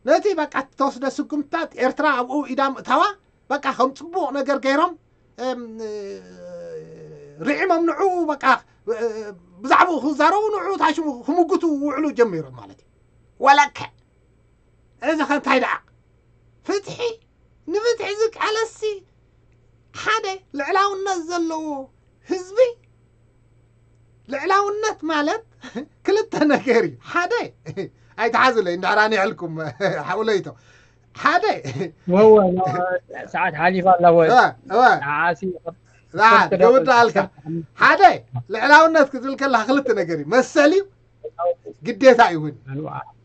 ነቲ በቃ ተወስደ ስጉምትታት ኤርትራ ኣብኡ ኢዳ ምእታዋ በቃ ከም ፅቡቕ ነገር ገይሮም ርዒሞም ንዕኡ በቃ ብዛዕባኡ ክዛረቡ ንዕኡ ታሽሙ ክምጉቱ ውዕሉ ጀሚሮም ማለት እዩ። ወለከ እዚ ከንታይ ደኣ ፍትሒ ንፍትሒ ዝቃለሲ ሓደ ልዕላውነት ዘለዎ ህዝቢ ልዕላውነት ማለት ክልተ ነገር እዩ። ሓደ ኣይትሓዙለይ እንድሕር ኣኒሕልኩም ሓውለይቶ ሓደ ወወ ሰዓት ሓሊፋ ኣላ ወ ዓሲ ትገብር ኣለካ ሓደ ልዕላውነት ክትብል ከለካ ክልተ ነገር እዩ መሰል እዩ ግዴታ ይሁን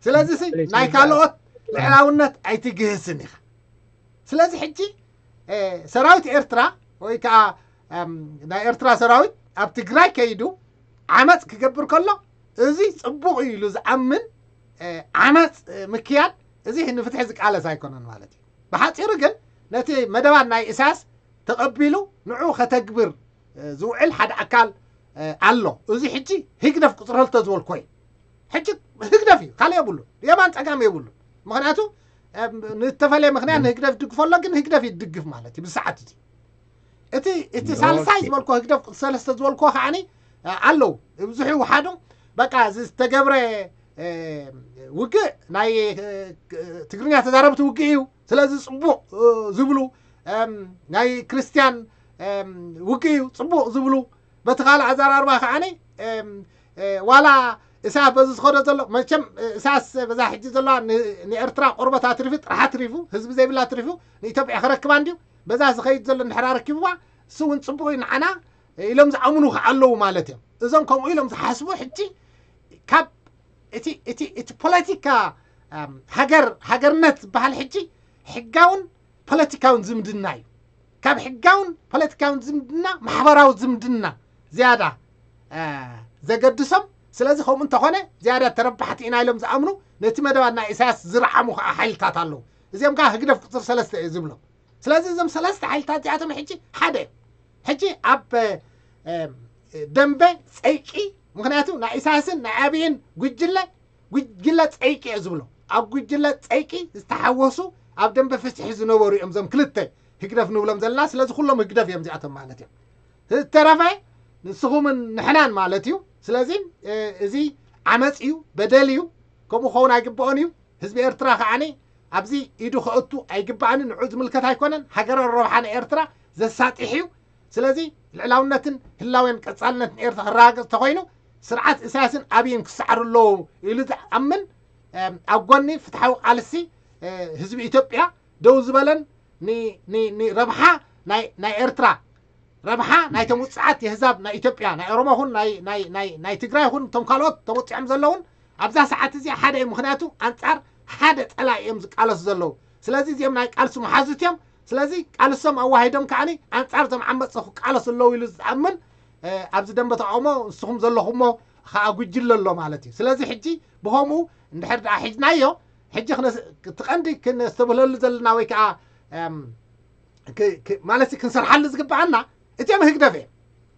ስለዚ ናይ ካልኦት ልዕላውነት ኣይትግህስን ኢኻ። ስለዚ ሕጂ ሰራዊት ኤርትራ ወይ ከዓ ናይ ኤርትራ ሰራዊት ኣብ ትግራይ ከይዱ ዓመፅ ክገብር ከሎ እዚ ፅቡቕ እዩ ኢሉ ዝኣምን ዓመፅ ምክያድ እዚ ንፍትሒ ዝቃለስ ኣይኮነን ማለት እዩ። ብሓፂሩ ግን ነቲ መደባት ናይ ኢሳያስ ተቐቢሉ ንዑ ከተግብር ዝውዕል ሓደ ኣካል ኣሎ። እዚ ሕጂ ህግደፍ ቁፅሪ ክልተ ዝበልኮ እዩ። ሕጂ ህግደፍ እዩ ካልእ የብሉን የማን ፀጋም የብሉን። ምክንያቱ ንተፈለየ ምክንያት ንህግደፍ ይድግፎ ኣሎ ግን ህግደፍ ይድግፍ ማለት እዩ ብሰዓት እዚ እቲ እቲ ሳልሳይ ዝበልኮ ህግደፍ ቁፅሪ ሰለስተ ዝበልኮ ከዓኒ ኣለዉ ብዙሕ ይውሓዱ በቃ ዝተገብረ ውግእ ናይ ትግርኛ ተዛረብቲ ውግእ እዩ ስለዚ ፅቡቕ ዝብሉ ናይ ክርስትያን ውግእ እዩ ፅቡቕ ዝብሉ በቲ ካልእ ኣዘራርባ ከዓኒ ዋላ እሳያስ በዚ ዝኸዶ ዘሎ መቸም እሳያስ በዛ ሕጂ ዘለዋ ንኤርትራ ቆርበት ኣትሪፉ ጥራሕ ኣትሪፉ ህዝቢ ዘይብላ ኣትሪፉ ንኢትዮጵያ ክረክባ እንድዩ በዛ ዝኸይድ ዘሎ እንድሕር ኣረኪብዋ እሱ እውን ፅቡቕ እዩ ንዓና ኢሎም ዝኣምኑ ከዓለዉ ማለት እዮም። እዞም ከምኡ ኢሎም ዝሓስቡ ሕጂ ካብ እቲ እቲ እቲ ፖለቲካ ሃገር ሃገርነት ዝበሃል ሕጂ ሕጋውን ፖለቲካውን ዝምድና እዩ። ካብ ሕጋውን ፖለቲካውን ዝምድና ማሕበራዊ ዝምድና ዝያዳ ዘገድሶም። ስለዚ ከምኡ እንተኾነ ዝያዳ ተረባሕቲ ኢና ኢሎም ዝኣምኑ ነቲ መደባት ናይ ኢሳያስ ዝረዓሙ ከዓ ሓይልታት ኣለዉ። እዚኦም ከዓ ህግደፍ ቁፅር ሰለስተ እዩ ዝብሎም። ስለዚ እዞም ሰለስተ ሓይልታት እዚኣቶም ሕጂ ሓደ እዮም። ሕጂ ኣብ ደንበ ፀይቂ ምክንያቱ ናይ ኢሳያስን ናይ ኣብይን ጉጅለ ጉጅለ ፀይቂ እየ ዝብሎ ኣብ ጉጅለ ፀይቂ ዝተሓወሱ ኣብ ደንበ ፍትሒ ዝነበሩ እዮም እዞም ክልተ ህግደፍ ንብሎም ዘለና ስለዚ ኩሎም ህግደፍ እዮም እዚኣቶም ማለት እዮም ዝተረፈ ንስኹምን ንሕናን ማለት እዩ ስለዚ እዚ ዓመፅ እዩ በደል እዩ ከምኡ ክኸውን ኣይግብኦን እዩ ህዝቢ ኤርትራ ከዓኒ ኣብዚ ኢዱ ከእቱ ኣይግባእን ንዑ ዝምልከት ኣይኮነን ሃገራዊ ረብሓ ንኤርትራ ዘሳጢሕ እዩ ስለዚ ልዕላውነትን ህላዌን ቀፃልነትን ኤርትራ ክረጋገፅ ተኮይኑ ስርዓት ኢሳያስን ኣብይን ክሰዓሩ ኣለዉ ኢሉ ዝኣምን ኣብ ጎኒ ፍትሓዊ ቃልሲ ህዝቢ ኢትዮጵያ ደው ዝበለን ንረብሓ ናይ ኤርትራ ረብሓ ናይቶም ውፅዓት የህዛብ ናይ ኢትዮጵያ ናይ ኦሮሞ ኹን ናይ ትግራይ ኹን እቶም ካልኦት ተወፂዖም ዘለውን ኣብዛ ሰዓት እዚኣ ሓደ እዩ። ምክንያቱ ኣንፃር ሓደ ፀላኢ እዮም ዝቃለሱ ዘለዉ። ስለዚ እዚኦም ናይ ቃልሲ መሓዙት እዮም። ስለዚ ቃልሶም ኣዋሂዶም ከዓኒ ኣንፃር እዞም ዓመፅቲ ክቃለሱ ኣለዉ ኢሉ ዝኣምን ኣብዚ ደንበ ተቃውሞ ንስኹም ዘለኹሞ ከዓ ጉጅለ ኣሎ ማለት እዩ። ስለዚ ሕጂ ብኸምኡ እንድሕር ደኣ ሒዝናዮ ሕጂ እቲ ቀንዲ ክነስተብህለሉ ዘለና ወይ ከዓ ማለት ክንሰርሓሉ ዝግብኣና እቲኦም ህግደፍ እዮም።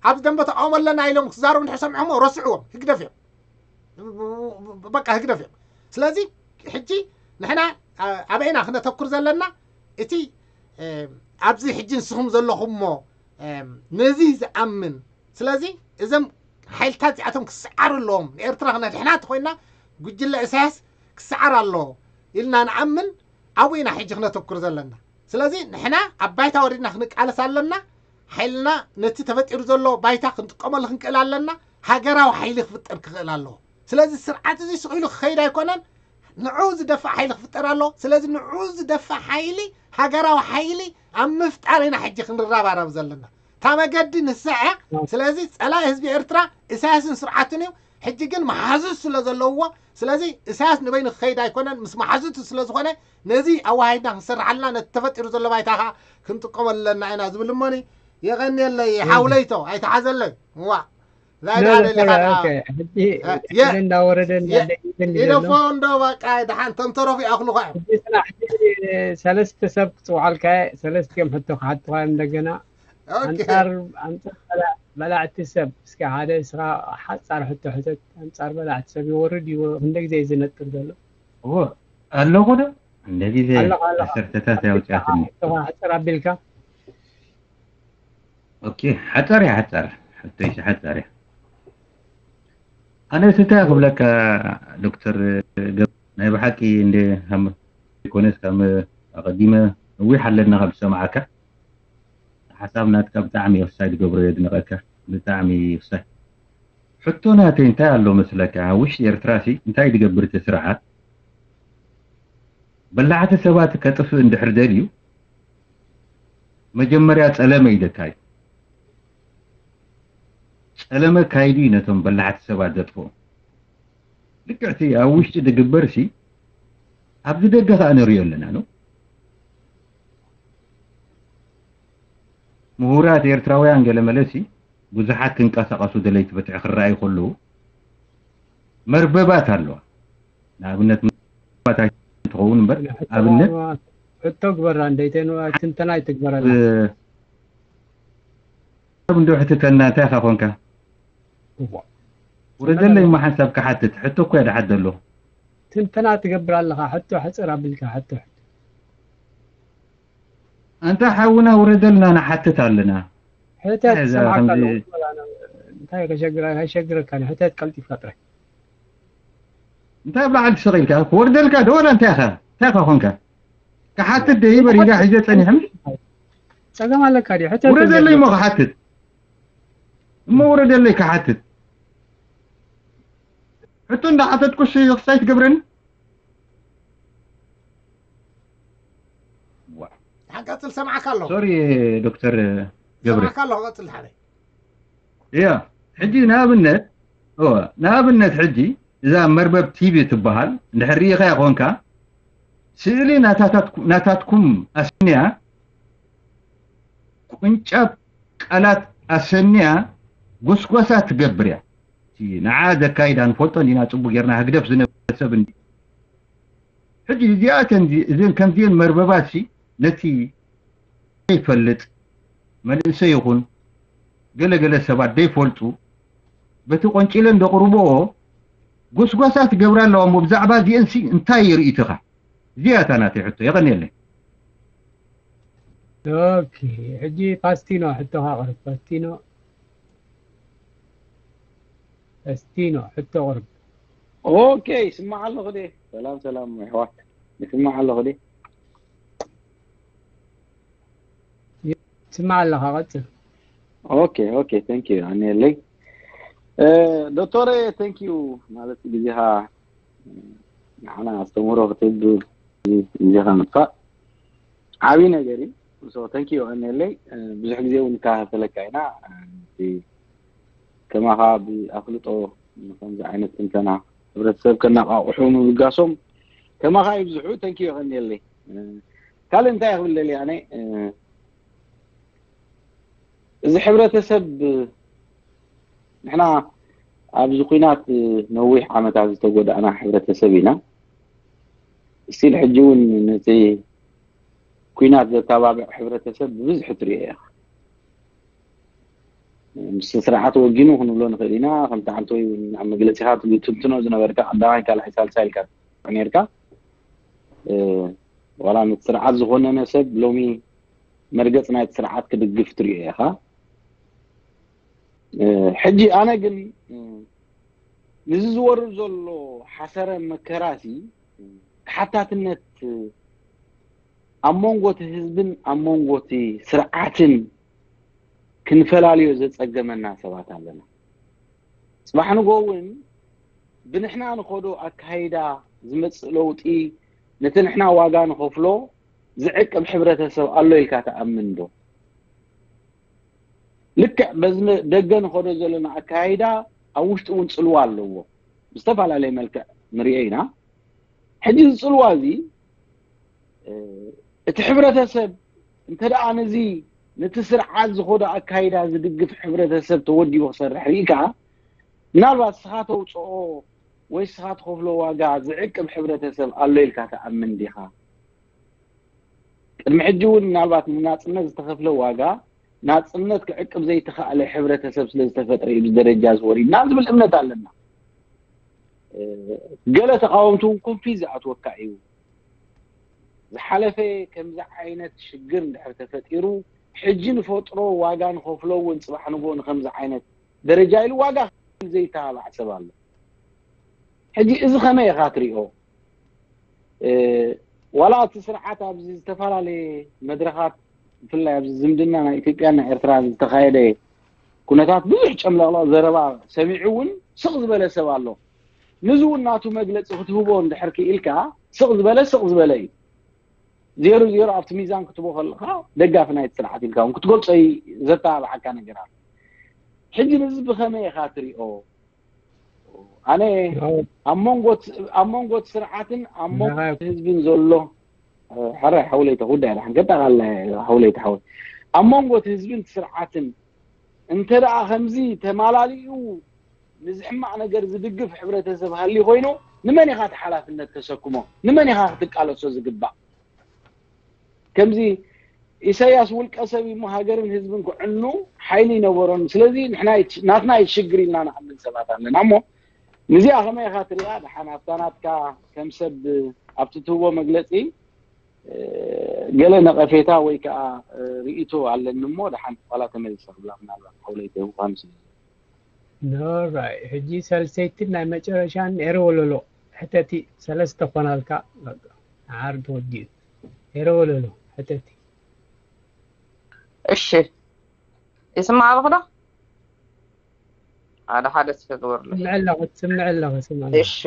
ኣብዚ ደንበ ተቃውሞ ኣለና ኢሎም ክዛረቡ እንድሕር ሰሚዖሞ ረስዕዎም፣ ህግደፍ እዮም። በቃ ህግደፍ እዮም። ስለዚ ሕጂ ንሕና ኣበይና ክነተኩር ዘለና እቲ ኣብዚ ሕጂ ንስኹም ዘለኹሞ ነዚ ዝኣምን ስለዚ እዞም ሓይልታት እዚኣቶም ክሰዓሩ ኣለዎም። ንኤርትራ ክነድሕና እንተኮይና ጉጅለ ኢሳያስ ክሰዓር ኣለዎ ኢልና ንኣምን ኣብኡ ኢና ሕጂ ክነተኩር ዘለና። ስለዚ ንሕና ኣብ ባይታ ወሪድና ክንቃለስ ኣለና። ሓይልና ነቲ ተፈጢሩ ዘሎ ባይታ ክንጥቀመሉ ክንክእል ኣለና። ሃገራዊ ሓይሊ ክፍጠር ክኽእል ኣለዎ። ስለዚ ስርዓት እዚ ስቕ ኢሉ ክኸይድ ኣይኮነን። ንዑ ዝደፍእ ሓይሊ ክፍጠር ኣሎ። ስለዚ ንዑ ዝደፍእ ሓይሊ ሃገራዊ ሓይሊ ኣብ ምፍጣር ኢና ሕጂ ክንረባረብ ዘለና። እታ መገዲ ንሳ እያ። ስለዚ ጸላኢ ህዝቢ ኤርትራ ኢሳያስን ስርዓቱን እዩ። ሕጂ ግን መሓዙት ስለ ዘለውዎ ስለዚ ኢሳያስ ንበይኑ ክኸይድ ኣይኮነን ምስ መሓዙቱ ስለ ዝኾነ ነዚ ኣዋሃይድና ክንሰርሓልና ነቲ ተፈጢሩ ዘሎ ባይታ ከዓ ክንጥቀመሉ ኣለና ኢና ዝብል እሞኒ የቐንየለይ ሓውለይቶ ኣይተሓዘለይ ዋ ዛይዳ ደሊኻ ደኣ ሕጂ እንዳወረደ እንዳደይብል ይደፎ እንዶ በቃ ደሓን ተምተረፉ ይኣኽሉኻ እዮም ሕጂ ስራሕ ሕጂ ሰለስተ ሰብ ክፅውዓልካ እየ ሰለስቲኦም ሕቶ ክሓትኻ እዮም እንደገና ኣንጻር ኣንጻር በላዕቲ ሰብ እስኪ ሓደ እስኻ ሓጻር ሕቶ ሕተት ኣንጻር በላዕቲ ሰብ ይወርድ እዩ ክንደ ግዜ እዩ ዝነጥር ዘሎ ኣለኹ ዶ እንደ ግዜ ዓሰርተታት ያውፅኣትኒ ሕፅር ኣቢልካ ኦኬ ሓፃር እያ ሓፃር ሕቶይሲ ሓፃር እያ ኣነ ስታ ክብለካ ዶክተር ናይ ብሓቂ እንደ ኮነስ ካብ ኣቐዲመ ነዊሕ ኣለና ካብ ዝሰማዓካ ሓሳብ ናትካ ብጣዕሚ ወሳይ ትገብሮ የድንቐካ ብጣዕሚ ወሳይ ሕቶ ናተይ እንታይ ኣሎ መስለካ ኣብ ውሽጢ ኤርትራ ሲ እንታይ ትገብር እቲ ስርዓት በላዕቲ ሰባት ከጥፍእ እንድሕር ደልዩ መጀመርያ ጸለመ ኢደካ እዩ ጸለመ ካይዱ እዩ ነቶም በላዕቲ ሰባት ዘጥፍኦም ልክዕቲ ኣብ ውሽጢ ዝግበር ሲ ኣብዚ ደገ ከዓ ንሪኦ ኣለና ነው ምሁራት ኤርትራውያን ገለ መለሲ ብዙሓት ክንቀሳቐሱ ደለይቲ ፍትሒ ክረኣዩ ከለዉ መርበባት ኣለዋ ንኣብነት መርበባት ኣይትኸውን እምበር ኣብነት ሕቶ ግበራ እንደይተን ትንተና ይትግበረላ እንዶ ሕትተና እንታይ ኢኻ ኮንካ ውረደለይ እሞ ሓንሳብ ክሓትት ሕቶ እኮ እየ ድሓት ዘሎ ትንተና ትገብር ኣለኻ ሕቶ ሕፅር ኣቢልካ ሕቶ ኣንታ ሓውና ውረደልና ንሓትት ኣለና ሕተት ሰማዕካ ኣለዎ እንታይ ከሸግረካ ሕተት ቀልጢፍካ ጥራይ እንታይ ኣብ ላዕሊ ትስቕ ኢልካ ክወርደልካ ዶ ወላ እንታይ ኢኻ እንታይ ኢኻ ኮንካ ክሓትት ደይ በሪጋ ሒዘ ጸኒሐ ጸገም ኣለካ ድዩ ሕተት ውረደለይ እሞ ክሓትት እሞ ውረደለይ ክሓትት ሕቶ እንዳሓተትኩስ ክሳይ ትገብረኒ ቀጽል ሰማዕካ ኣለኹ ሶሪ ዶክተር ገብረ ሰማዕካ ኣለኹ ቀጽል ሓደ እያ ሕጂ ንኣብነት እወ ንኣብነት ሕጂ እዛ መርበብ ቲቪ ትበሃል እንድሕር ርኢኻ ኮንካ ስእሊ ናታትኩም ኣስንያ ቁንጫብ ቃላት ኣሰንያ ጎስጓሳ ትገብር እያ ንዓ ዘካይዳ ንፈልጦ እንዲና ፅቡቅ ጌርና ህግደፍ ዝነበረ ሰብ እንዲ ሕጂ እዚኣተን እዘን ከምዚአን መርበባት ሲ ነቲ ዘይፈልጥ መንእሰይ ይኹን ገለገለ ሰባት ዘይፈልጡ በቲ ቆንጪለን ዘቕርብኦ ጎስጓሳ ትገብራ ኣለዋ እሞ ብዛዕባ እዚአን ሲ እንታይ ይርእትኻ እዚኣታ ናተይ ሕቶ የቐንየለይ ኦኬ ሕጂ ፓስቲኖ ሕቶኻ ቅርብ ፓስቲኖ ፓስቲኖ ሕቶ ቅርብ ኦኬ ይስማዕ ኣለኹ ደ ሰላም ሰላም ኣሕዋት ይስማዕ ኣለኹ ደ ይስማዕ ኣለኻ ቀፅል ኦኬ ኦኬ thank you ኣነ የለይ ዶክተር፣ thank you ማለት ግዜኻ ንዓና ኣስተምህሮ ክትህብ ግዜኻ ምጥፋእ ዓብዪ ነገር እዩ። So thank you የቐንየለይ። ብዙሕ ግዜ እውን ንከታተለካ ኢና። ከማኻ ብኣፍልጦ ንከምዚ ዓይነት ትንተና ሕብረተሰብ ከነቃቕሑ ምብጋሶም ከማኻ ይብዝሑ። Thank you የቐንየለይ። ካልእ እንታይ ክብል ደልየ ኣነ፣ እዚ ሕብረተሰብ፣ ንሕና ኣብዚ ኲናት ነዊሕ ዓመታት ዝተጎዳእና ሕብረተሰብ ኢና። ስቲል ሕጂ እውን ነቲ ኲናት ዘተባብዕ ሕብረተሰብ ብብዝሒ ትሪኦ ኢኻ። ምስ ስርዓት ወጊኑ ክንብሎ ንኽእል ኢና። ከምቲ ዓንተወይ እውን ኣብ መግለጺኻ ትትንትኖ ዝነበርካ ቀዳማይ ካልኣይ ሳልሳይ ኢልካ ነርካ። ዋላ ነቲ ስርዓት ዝኾነነ ሰብ ሎሚ መርገጽ ናይቲ ስርዓት ክድግፍ ትሪኦ ኢኻ። ሕጂ ኣነ ግን ንዚ ዝወርድ ዘሎ ሓሰረ መከራሲ ተሓታትነት ኣብ መንጎ እቲ ህዝብን ኣብ መንጎ እቲ ስርዓትን ክንፈላልዮ ዘጸገመና ሰባት ኣለና። ጽባሕ ንጎ እውን ብንሕና ንኸዶ ኣካይዳ ዝመጽእ ለውጢ ነቲ ንሕና ዋጋ ንኸፍሎ ዝዕቅብ ሕብረተሰብ ኣሎ ኢልካ ትኣምን ዶ? ልክዕ በዚ ደገ ንኸዶ ዘለና ኣካይዳ ኣብ ውሽጢ እውን ጽልዋ ኣለዎ። ብዝተፈላለየ መልክዕ ንሪኦ ኢና። ሕጂ እዚ ጽልዋ እዚ እቲ ሕብረተሰብ እንተ ደኣ ነዚ ነቲ ስርዓት ዝኸዶ ኣካይዳ ዝድግፍ ሕብረተሰብ ተወዲቡ ክሰርሕ ርኢካ፣ ምናልባት ስኻ ተውፅኦ ወይ ስኻ ትኸፍሎ ዋጋ ዝዕቅብ ሕብረተሰብ ኣሎ ኢልካ ትኣምን ዲኻ? ቅድሚ ሕጂ እውን ምናልባት ንናፅነት ዝተኸፍለ ዋጋ ናፅነት ክዕቅብ ዘይተኻእለ ሕብረተሰብ ስለ ዝተፈጥረ እዩ ደረጃ ዝወሪድና ዝብል እምነት ኣለና። ገለ ተቃወምቲ እውን ኮንፊዝ ዝኣትወካ እዩ። ዝሓለፈ ከምዚ ዓይነት ሽግር እንድሕር ተፈጢሩ ሕጂ ንፈጥሮ ዋጋ ንኸፍሎ እውን ፅባሕ ንጎ ንከምዚ ዓይነት ደረጃ ኢሉ ዋጋ ዘይተባባዕ ሰብ ኣሎ። ሕጂ እዚ ከመይ ኢኻ ትሪኦ? ዋላ እቲ ስርዓት ኣብዚ ዝተፈላለየ መድረኻት ብፍላይ ኣብዚ ዝምድና ናይ ኢትዮጵያን ናይ ኤርትራን ዝተኻየደ ኩነታት ብዙሕ ጨምለቕለቕ ዘረባ ሰሚዑ እውን ስቕ ዝበለ ሰብ ኣሎ። ንዚ እውን ናቱ መግለፂ ክትህቦ እንድሕር ክኢልካ ስቕ ዝበለ ስቕ ዝበለ እዩ። ዜሮ ዜሮ ኣብቲ ሚዛን ክትቦ ከለካ ደጋፊ ናይቲ ስርዓት ኢልካ እውን ክትገልፆ ዘተባብዓካ ነገር ኣሎ። ሕጂ ንዚ ብኸመይ ኢኻ ትሪኦ? ኣነ ኣብ መንጎ ኣብ መንጎ እቲ ስርዓትን ኣብ መንጎ ህዝብን ዘሎ ሕራይ ሓውለይተ ጉዳይ ዳሓን ከጠቓላ ሓውለይተ ሓወይ ኣብ መንጎ እቲ ህዝብን እቲ ስርዓትን እንተ ደኣ ከምዚ ተማላሊኡ ንዚ ሕማቕ ነገር ዝድግፍ ሕብረተሰብ ሃልዩ ኮይኑ ንመን ኢኻ እቲ ሓላፍነት ተሰክሞ? ንመን ኢኻ ክትቃለሶ ዝግባእ? ከምዚ ኢሳያስ ውልቀ ሰብ እሞ ሃገርን ህዝብን ክዕኑ ሓይሊ ይነበሮን። ስለዚ ንሕና ናትና ይሽግር ኢልና ንኣምን ሰባት ኣለና እሞ ንዚኣ ከመይ ኢኻ ትሪኣ? ደሓን ኣብታ ናትካ ከም ሰብ ኣብቲ ትህቦ መግለፂ ገለ ነቐፌታ ወይ ከዓ ርእይቶ ኣለኒ እሞ ደሓን ዋላ ተመሊሰ ክብላ ምናልባት ሓውለይተ ምዃኑ ስለ ኖራይ ሕጂ ሳልሰይትን ናይ መጨረሻን ኤረ ወለሎ ሕተቲ ሰለስተ ኮናልካ በቃ ዓር ተወዲኡ ኤረ ወለሎ ሕተቲ እሺ ይስማዕ ኣለኹ ዶ ሓደ ሓደ ስፈ ግበርሉ ስምዕ ኣለኹ ስምዕ ኣለኹ ስምዕ ኣለኹ እሺ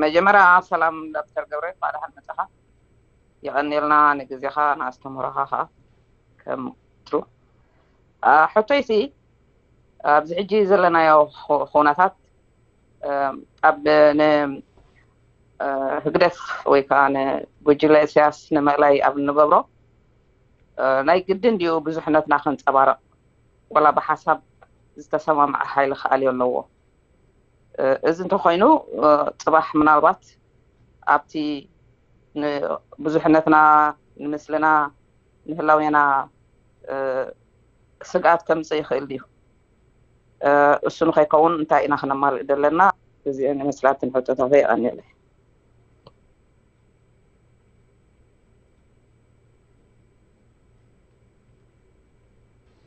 መጀመርያ ሰላም ዶክተር ገብረ እንኳዕ ደሓን መጻኻ የቐንየልና ንግዜኻ ንኣስተምህሮኻ ከዓ ከም ትሩ ሕቶይሲ ኣብዚ ሕጂ ዘለናዮ ኩነታት ኣብ ንህግደፍ ወይ ከዓ ንጉጅለ እስያስ ንምእላይ ኣብ እንገብሮ ናይ ግድን ድዩ ብዙሕነትና ከንፀባረቕ ወላ ብሓሳብ ዝተሰማምዐ ሓይሊ ክኣልዮ ኣለዎ እዚ እንተኮይኑ ፅባሕ ምናልባት ኣብቲ ብዙሕነትና ንምስልና ንህላዌና ስግኣት ከምፅእ ይኽእል ድዩ እሱ ንኸይከውን እንታይ ኢና ክነማልእ ዘለና እዚአን ይመስላትን ሕቶታተይ ኣንየለ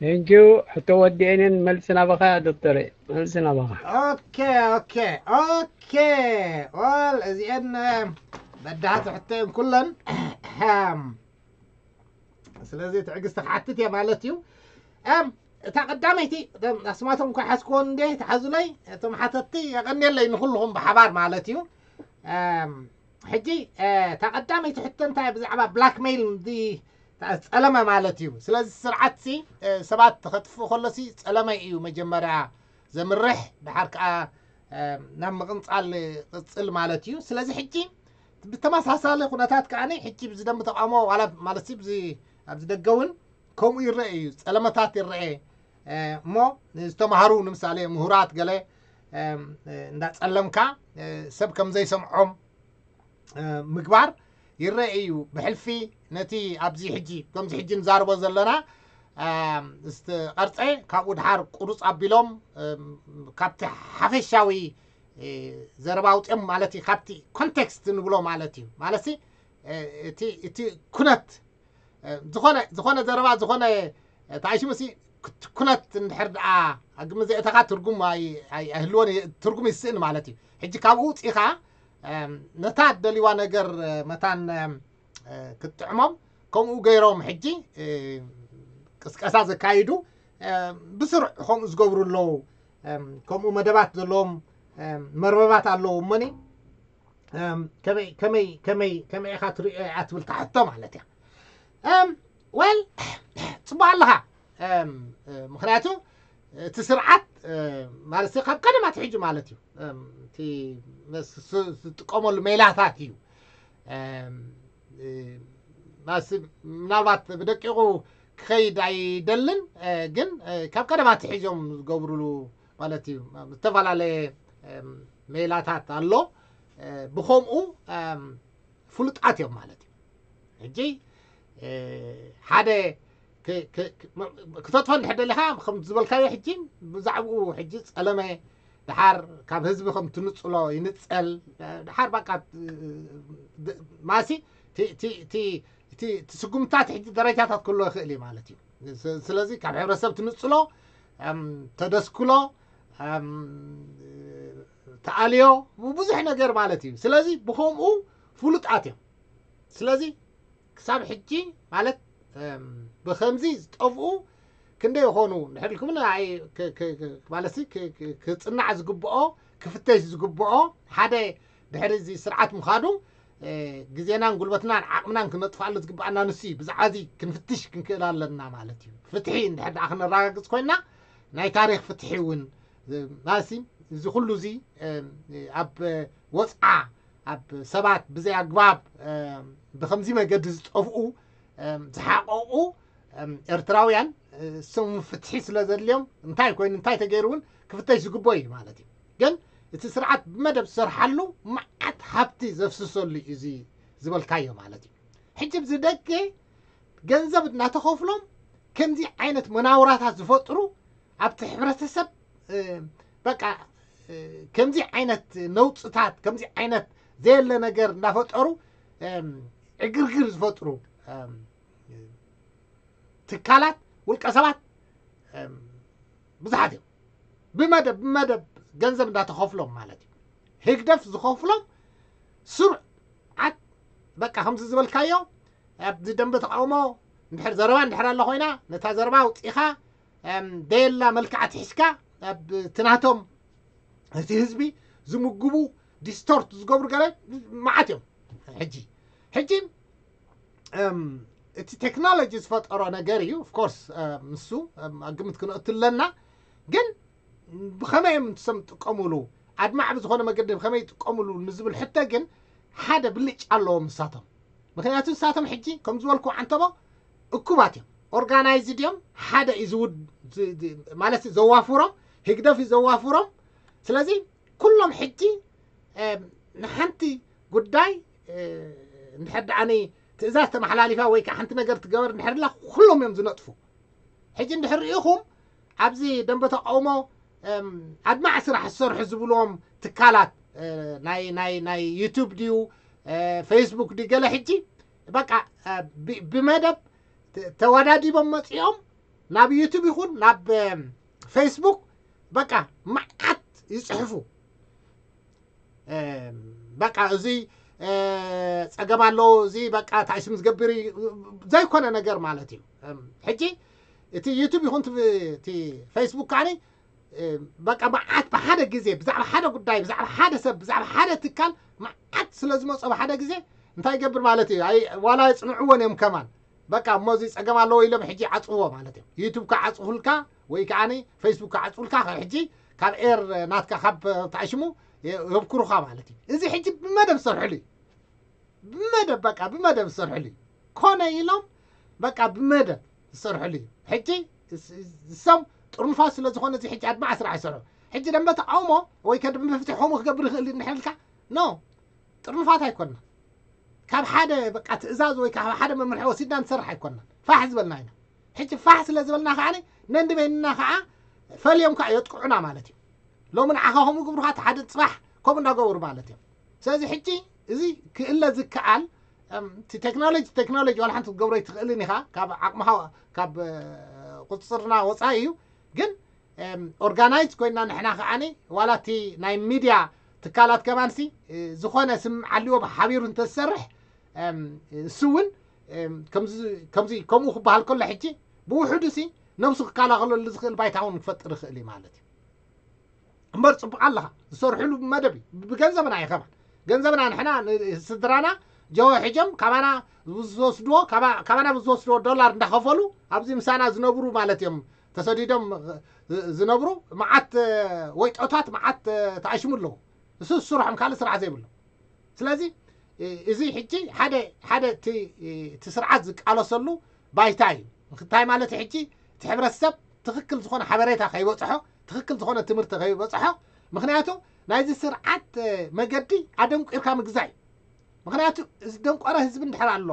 Thank you ሕቶ ወዲአንን መልሲ ናባኻ ዶክተር መልሲ ናባኻ okay okay okay well እዚአን በዳሃት ሕቶየን ኩለን ስለዚ ትዕግስቲ ክሓትት እየ ማለት እዩ እም እታ ቀዳመይቲ፣ እቶም ኣስማቶም እኳ ሓዝክዎ እንዴ፣ ተሓዙለይ፣ እቶም ሓተትቲ የቐንየለይ ንኹልኹም ብሓባር ማለት እዩ። እም፣ ሕጂ፣ እ፣ እታ ቀዳመይቲ ሕቶ እንታይ? ብዛዕባ ብላክሜይል፣ ዲ-፣ ጸለመ ማለት እዩ። ስለዚ ስርዓትሲ፣ እ፣ ሰባት ተኸጥፍእ ከሎሲ ጸለመ እዩ መጀመርያ ዘምርሕ፣ ድሓር ከኣ፣ እ፣ ናብ ምቕንጻል ቅጽል ማለት እዩ። ስለዚ ሕጂ ብተመሳሳሊ ኩነታት ከኣ ሕጂ ብዚ ደንበ ተቃውሞ ዋላ ማለትሲ ብዚ ኣብዚ ደገ እውን ከምኡ ይረአ እዩ፣ ጸለመታት ይረአ። እ፣ እሞ ዝተማሃሩ ንምሳሌ ምሁራት ገለ፣ እም፣ እ፣ እንዳጸለምካ፣ እ፣ ሰብ ከም ዘይሰምዖም፣ እ፣ ምግባር ይረአ እዩ። ብሕልፊ ነቲ ኣብዚ ሕጂ፣ ከምዚ ሕጂ ንዛረቦ ዘለና፣ እም፣ ዝተቐርጸ ካብኡ ድሓር ቁሩጽ ኣቢሎም፣ እም፣ ካብቲ ሓፈሻዊ፣ እ፣ ዘረባ ኣውጽኦም ማለት እዩ፣ ካብቲ ኮንቴክስት ንብሎ ማለት እዩ። ማለትሲ፣ እ፣ እቲ፣ እቲ ኩነት እ፣ ዝኾነ፣ ዝኾነ ዘረባ፣ ዝኾነ፣ እ፣ ተኣይሽሙሲ ኩት-፣ ኩነት እንድሕር ደኣ ኣብ ግምት ዘእተኻ ትርጉም ኣይ-፣ ኣይ-፣ ኣይህልዎን እየ፣ ትርጉም ይስእን ማለት እዩ። ሕጂ ካብኡ ውጺኻ፣ እም፣ ነታ እትደልይዋ ነገር፣ እ፣ መታን፣ እም፣ እ፣ ክትጥዕሞም፣ ከምኡ ገይሮም ሕጂ፣ እ፣ ቅስቀሳ ዘካይዱ፣ እ፣ ብስሩዕ ከምኡ ዝገብሩ ኣለዉ። እም፣ ከምኡ መደባት ዘለዎም፣ እም፣ መርበባት ኣለዉ እሞኒ፣ እም፣ ከመይ፣ ከመይ፣ ከመይ፣ ከመይ ኢኻ ትሪኦ እያ ትብል ትሕቶ ማለት እያ። እም፣ ወል፣ ጽቡቕ ኣለኻ። እም፣ እ፣ ምኽንያቱ እቲ ስርዓት፣ እ፣ ማለት ካብ ቀደም ኣትሒዙ ማለት እዩ። እም፣ እቲ መስ-፣ ስ-፣ ዝጥቀመሉ ሜላታት እዩ። እም፣ እ፣ ማስ-፣ ምናልባት ብደቂቑ ክኸይድ ኣይደልን፣ እ፣ ግን፣ እ፣ ካብ ቀደም ኣትሒዞም ዝገብሩሉ ማለት እዩ። ዝተፈላለየ፣ እም፣ ሜላታት ኣሎ። እ፣ ብኸምኡ፣ እም፣ ፍሉጣት እዮም ማለት እዩ። ሕጂ፣ እ፣ ሓደ ክ-፣ ክ-፣ ክ-፣ መ-፣ ክተጥፎ እንድሕር ደሊኻ፣ ከም ዝበልካዮ ሕጂ ብዛዕባኡ ሕጂ ጸለመ፣ ድሓር ካብ ህዝቢ ከም ትንጽሎ ይንጸል፣ ድሓር በቃ፣ እ፣ ድ-፣ ማሲ፣ ቲ-፣ ቲ-፣ እቲ፣ እቲ፣ እቲ ስጉምታት ሕጂ ደረጃታት ክህልዎ ይኽእል እዩ ማለት እዩ። ስ-፣ ስለዚ ካብ ሕብረተሰብ ትንጽሎ፣ እም፣ ተደስክሎ፣ እም፣ ተኣልዮ፣ ብዙሕ ነገር ማለት እዩ። ስለዚ ብኸምኡ ፍሉጣት እዮም። ስለዚ ክሳብ ሕጂ ማለት፣ እም፣ ብኸምዚ ዝጠፍኡ ክንደይ ይኾኑ? እንድሕር ኢልኩምኒ፣ ኣይ፣ ክ-፣ ክ-፣ ክ-፣ ማለትሲ ክ-፣ ክ-፣ ክጽናዕ ዝግብኦ፣ ክፍተሽ ዝግብኦ፣ ሓደ ድሕሪ እዚ ስርዓት ምኻዱ፣ እ፣ ግዜናን ጉልበትናን ዓቕምናን ክነጥፍኣሉ ዝግብኣና ንሱ እዩ። ብዛዕባ እዚ ክንፍትሽ ክንክእል ኣለና ማለት እዩ። ፍትሒ እንድሕር ደኣ ክነረጋግጽ ኮይንና፣ ናይ ታሪኽ ፍትሒ እውን፣ እ፣ ማለትሲ እዚ ኩሉ እዚ፣ እ፣ ኣብ ወጽዓ፣ ኣብ ሰባት ብዘይ ኣግባብ፣ እ፣ ብኸምዚ መገዲ ዝጠፍኡ፣ እ፣ ዝሓቐቑ፣ እ፣ ኤርትራውያን፣ እ፣ እሶም ፍትሒ ስለ ዘድልዮም እንታይ ኮይኑ እንታይ ተገይሩ እውን ክፍተሽ ዝግብኦ እዩ ማለት እዩ። ግን እቲ ስርዓት ብመደብ ዝሰርሓሉ መዓት ሃብቲ ዘፍስሰሉ እዩ እዚ ዝበልካዮ ማለት እዩ። ሕጂ ኣብዚ ደገ ገንዘብ እናተኸፍሎም ከምዚ ዓይነት መናውራታት ዝፈጥሩ ኣብቲ ሕብረተሰብ፣ እ፣ በቃ፣ እ፣ ከምዚ ዓይነት ነውጽታት፣ ከምዚ ዓይነት ዘየለ ነገር እናፈጠሩ፣ እም፣ ዕግርግር ዝፈጥሩ፣ እም፣ ትካላት፣ ውልቀ ሰባት፣ እም፣ ብዙሓት እዮም። ብመደብ፣ ብመደብ ገንዘብ እንዳተኸፍሎም ማለት እዩ። ህግደፍ ዝኸፍሎም ስሩዓት፣ በቃ ከምዚ ዝበልካዮ፣ ኣብዚ ደንበ ተቃውሞ እንድሕር ዘረባ እንድሕር ኣላ ኮይና፣ ነታ ዘረባ ኣውጺኻ፣ እም፣ ደየላ መልክዓ ትሒዝካ፣ ኣብ እቲ ናቶም፣ እቲ ህዝቢ ዝምግቡ፣ ዲስቶርት ዝገብሩ ገለ መዓት እዮም። ሕጂ፣ ሕጂ፣ እም፣ እቲ ቴክኖሎጂ ዝፈጠሮ ነገር እዩ። ኦፍ ኮርስ፣ እም፣ ንሱ፣ እም፣ ኣብ ግምት ክንእቱ ኣለና። ግን ብኸመይ እዮም ንሶም ዝጥቀሙሉ? ኣድማዕ ብዝኾነ መገዲ ብኸመይ ይጥቀሙሉ ንዝብል ሕቶ ግን ሓደ ብልጫ ኣለዎም ንሳቶም። ምኽንያቱ ንሳቶም ሕጂ፣ ከም ዝበልኩ ዓንተቦ፣ እኩባት እዮም። ኦርጋናይዝድ እዮም። ሓደ እዩ ዝውድ-፣ ዝ-፣ ዝ-፣ ማለት ዘዋፍሮም፣ ህግደፍ እዩ ዘዋፍሮም። ስለዚ ኩሎም ሕጂ፣ እም፣ ንሓንቲ ጉዳይ፣ እ፣ እንድሕር ደኣኒ ትእዛዝ ተመሓላሊፋ ወይ ከዓ ሓንቲ ነገር ትገበር እንድሕር ኢላ፣ ኩሎም እዮም ዝነጥፉ። ሕጂ እንድሕር ርኢኹም፣ ኣብዚ ደንበ ተቃውሞ፣ እም፣ ኣድማዕ ስራሕ ዝሰርሑ ዝብልዎም ትካላት፣ እ፣ ናይ፣ ናይ፣ ናይ ዩቱብ ድዩ፣ እ፣ ፌስቡክ ድዩ፣ ገለ ሕጂ በቃ፣ እ፣ ብ-፣ ብመደብ ተ-፣ ተወዳዲቦም መጺኦም ናብ ዩቱብ ይኹን ናብ፣ እም፣ ፌስቡክ በቃ መዓት ይጽሕፉ። እም፣ በቃ እዚ፣ እ፣ ጸገም ኣሎ፣ እዚ በቃ እንታይ ስም ዝገብር እዩ፣ ዘይኮነ ነገር ማለት እዩ። እም፣ ሕጂ እቲ ዩቱብ ይኹን እቲ ፌስቡክ ከዓኒ በቃ መዓት ብሓደ ግዜ ብዛዕባ ሓደ ጉዳይ ብዛዕባ ሓደ ሰብ ብዛዕባ ሓደ ትካል መዓት ስለ ዝመፆ ብሓደ ግዜ እንታይ ይገብር ማለት እዩ? ዋላ የፅንዕዎን እዮም ከማን በቃ እሞ እዚ ፀገም ኣለዎ ኢሎም ሕጂ ዓፅዎ ማለት እዮም። ዩቱብ ክዓፅፉልካ ወይ ከዓ ፌስቡክ ክዓፅፉልካ ሕጂ ካብ ኤር ናትካ ካብ ተኣሽሙ የብኩሩኻ ማለት እዩ። እዚ ሕጂ ብመደብ ዝሰርሕሉ እዩ። ብመደብ በቃ ብመደብ ዝሰርሕሉ እዩ። ኮነ ኢሎም በቃ ብመደብ ዝሰርሕሉ እዩ። ሕጂ እሶም ጥርኑፋት ስለ ዝኾነ እዚ ሕጂ ኣድማዕ ስራሕ ይሰርሑ። ሕጂ ደንበ ተቃውሞ ወይ ከደንበ ፍትሒ ከምኡ ክገብር ይኽእል እንድሕር ኢልካ ኖ ጥርኑፋት ኣይኮንና። ካብ ሓደ በቃ ትእዛዝ ወይ ካብ ሓደ መምርሒ ወሲድና ንሰርሕ ኣይኮንና። ፋሕ ዝበልና ኢና። ሕጂ ፋሕ ስለ ዝበልና ከዓ ነንዲ በይንና ከዓ ፈልዮም ከዓ የጥቅዑና ማለት እዩ። ሎሚ ንዓኻ ከምኡ ግብሩኻ እቲ ሓደ ፅባሕ ከምኡ እንዳገበሩ ማለት እዮም። ስለዚ ሕጂ እዚ ክእለ ዝከኣል እቲ ቴክኖሎጂ ቴክኖሎጂ ዋላ ሓንቲ ክትገብሮ ኣይትኽእልን ኢኻ። ካብ ዓቕምኻ ካብ ቁፅፅርና ወፃኢ እዩ። ግን ኦርጋናይዝ ኮይና ንሕና ከዓኒ ዋላ እቲ ናይ ሚድያ ትካላት ከማንሲ ዝኾነ ስም ዓልዎ ሓቢሩ እንተዝሰርሕ እሱ እውን ከምዚ ከምኡ ክበሃል ከሎ ሕጂ ብውሕዱ ሲ ነብሱ ክከላኸለሉ ዝኽእል ባይታ እውን ክፈጥር ይኽእል እዩ ማለት እዩ። እምበር ፅቡቅ ኣለኻ ዝሰርሕሉ መደብ እዩ። ብገንዘብና እዩ ከማን ገንዘብና ንሕና ስድራና ጀሆ ሕጀም ካባና ዝወስድዎ ካባና ብዝወስድዎ ዶላር እንዳኸፈሉ ኣብዚ ምሳና ዝነብሩ ማለት እዮም። ተሰዲዶም ዝነብሩ መዓት ወይጦታት መዓት ተኣሽሙ ኣለዉ። እሱ ስርሖም ካልእ ስራሕ ዘይብሉ። ስለዚ እዚ ሕጂ ሓደ ሓደ እቲ ስርዓት ዝቃለሰሉ ባይታ እዩ። እንታይ ማለት ሕጂ እቲ ሕብረተሰብ ትኽክል ዝኾነ ሓበሬታ ከይበፅሖ ትኽክል ዝኾነ ትምህርቲ ከይበፅሖ ምክንያቱ ናይዚ ስርዓት መገዲ ኣደንቂርካ ምግዛእ እዩ። ምክንያቱ እዚ ደንቆረ ህዝቢ እንድሕር ኣሎ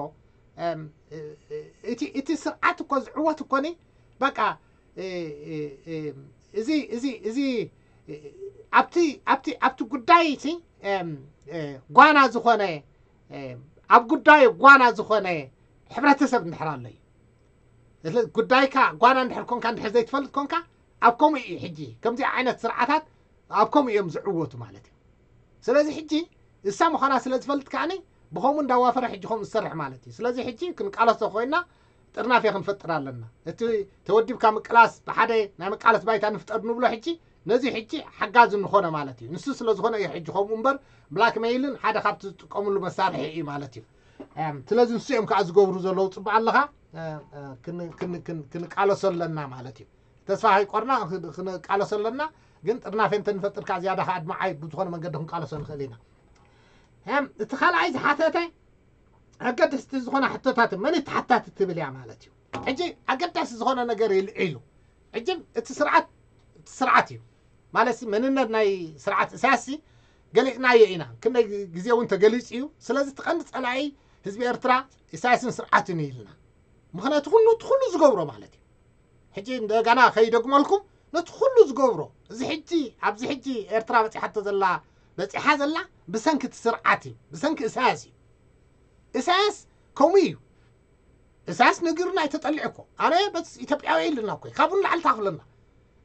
እቲ ስርዓት እኮ ዝዕወት እኮኒ በቃ እዚ እዚ እዚ ኣብቲ ኣብቲ ኣብቲ ጉዳይ እቲ ጓና ዝኾነ ኣብ ጉዳዩ ጓና ዝኾነ ሕብረተሰብ እንድሕር ኣሎ እዩ። ጉዳይካ ጓና እንድሕር ኮንካ እንድሕር ዘይትፈልጥ ኮንካ ኣብ ከምኡ እዩ። ሕጂ ከምዚ ዓይነት ስርዓታት ኣብ ከምኡ እዮም ዝዕወቱ ማለት እዩ። ስለዚ ሕጂ እሳ ምዃና ስለ ዝፈልጥ ከዓኒ ብኸምኡ እንዳዋፈረ ሕጂ ከምኡ ዝሰርሕ ማለት እዩ። ስለዚ ሕጂ ክንቃለሶ ኮይና ጥርናፌ ክንፈጥር ኣለና። እቲ ተወዲብካ ምቅላስ ብሓደ ናይ መቃለስ ባይታ ንፍጠር ንብሎ ሕጂ ነዚ ሕጂ ሓጋዚ ንኾነ ማለት እዩ። ንሱ ስለ ዝኾነ እዩ ሕጂ ከምኡ እምበር ብላክሜይልን ሓደ ካብቲ ዝጥቀምሉ መሳርሒ እዩ ማለት እዩ። ስለዚ ንሱ እዮም ከዓ ዝገብሩ ዘለዉ። ፅቡቅ ኣለኻ። ክንቃለሶ ኣለና ማለት እዩ። ተስፋ ከይቆርና ክንቃለሶ ኣለና። ግን ጥርናፌ እንተንፈጥር ከዓ ዝያዳ ከዓ ኣድማዓይ ብዝኾነ መንገዲ ክንቃለሶ ንኽእል ኢና። እቲ ካልኣይ ዝሓተተ ኣገደስቲ ዝኾነ ሕቶታት መን ተሓታቲ ትብል እያ ማለት እዩ። ሕጂ ኣገዳሲ ዝኾነ ነገር ይልዒሉ። ሕጂ እቲ ስርዓት እቲ ስርዓት እዩ ማለት መንነት ናይ ስርዓት እሳያስ ገሊፅናዮ ኢና። ክንደይ ግዜ እውን ተገሊፁ እዩ። ስለዚ እቲ ቀንዲ ፀላኢ ህዝቢ ኤርትራ ኢሳያስን ስርዓትን እዩ ኢልና። ምክንያቱ ኩሉ እቲ ኩሉ ዝገብሮ ማለት እዩ። ሕጂ እንደገና ከይደግመልኩም ነቲ ኩሉ ዝገብሮ እዚ ሕጂ ኣብዚ ሕጂ ኤርትራ በፂሓቶ ዘላ በፂሓ ዘላ ብሰንኪ እቲ ስርዓት እዩ፣ ብሰንኪ እሳያስ እዩ። እሳያስ ከምኡ እዩ። እሳያስ ነጊሩና እዩ ተጠሊዑ እኮ። ኣነ በስ ኢትዮጵያዊ ኢሉና እኮ ካብኡ ንላዕሊ ታኽለና።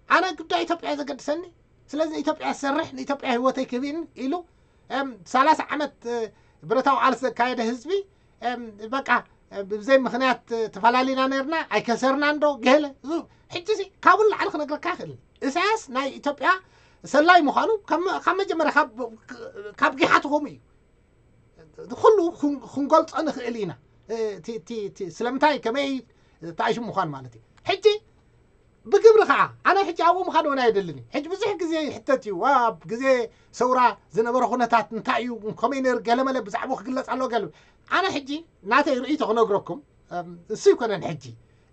ኣነ ጉዳይ ኢትዮጵያ ዘገድሰኒ ስለዚ ንኢትዮጵያ ዝሰርሕ ንኢትዮጵያ ህይወተይ ክህብን ኢሉ ሰላሳ ዓመት ብረታዊ ቃልሲ ዘካየደ ህዝቢ በቃ ብዘይ ምክንያት ተፈላለና ነርና ኣይከሰርና እንዶ ገለ ሕጂ ሲ ካብኡ ንላዕሊ ክነግረካ ይኽእል። እሳያስ ናይ ኢትዮጵያ ሰላይ ምዃኑ ካብ መጀመርያ ካብ ጊሓ ትኾሙ እዩ። ኩሉ ክንገልጾ ንኽእል ኢና። ስለምንታይ ከመይ ተኣሽሙ ምዃኑ ማለት እዩ። ሕጂ ብግብሪ ከዓ ኣነ ሕጂ ኣብኡ ምኻድ እውን ኣየደልን እዩ። ሕጂ ብዙሕ ግዜ ይሕተት እዩ ኣብ ግዜ ሰውራ ዝነበረ ኩነታት እንታይ እዩ ከመይ ነይሩ ገለመለ ብዛዕባኡ ክግለፅ ኣለዎ ገለ። ኣነ ሕጂ ናተይ ርእይቶ ክነግረኩም እሱ ይኮነን። ሕጂ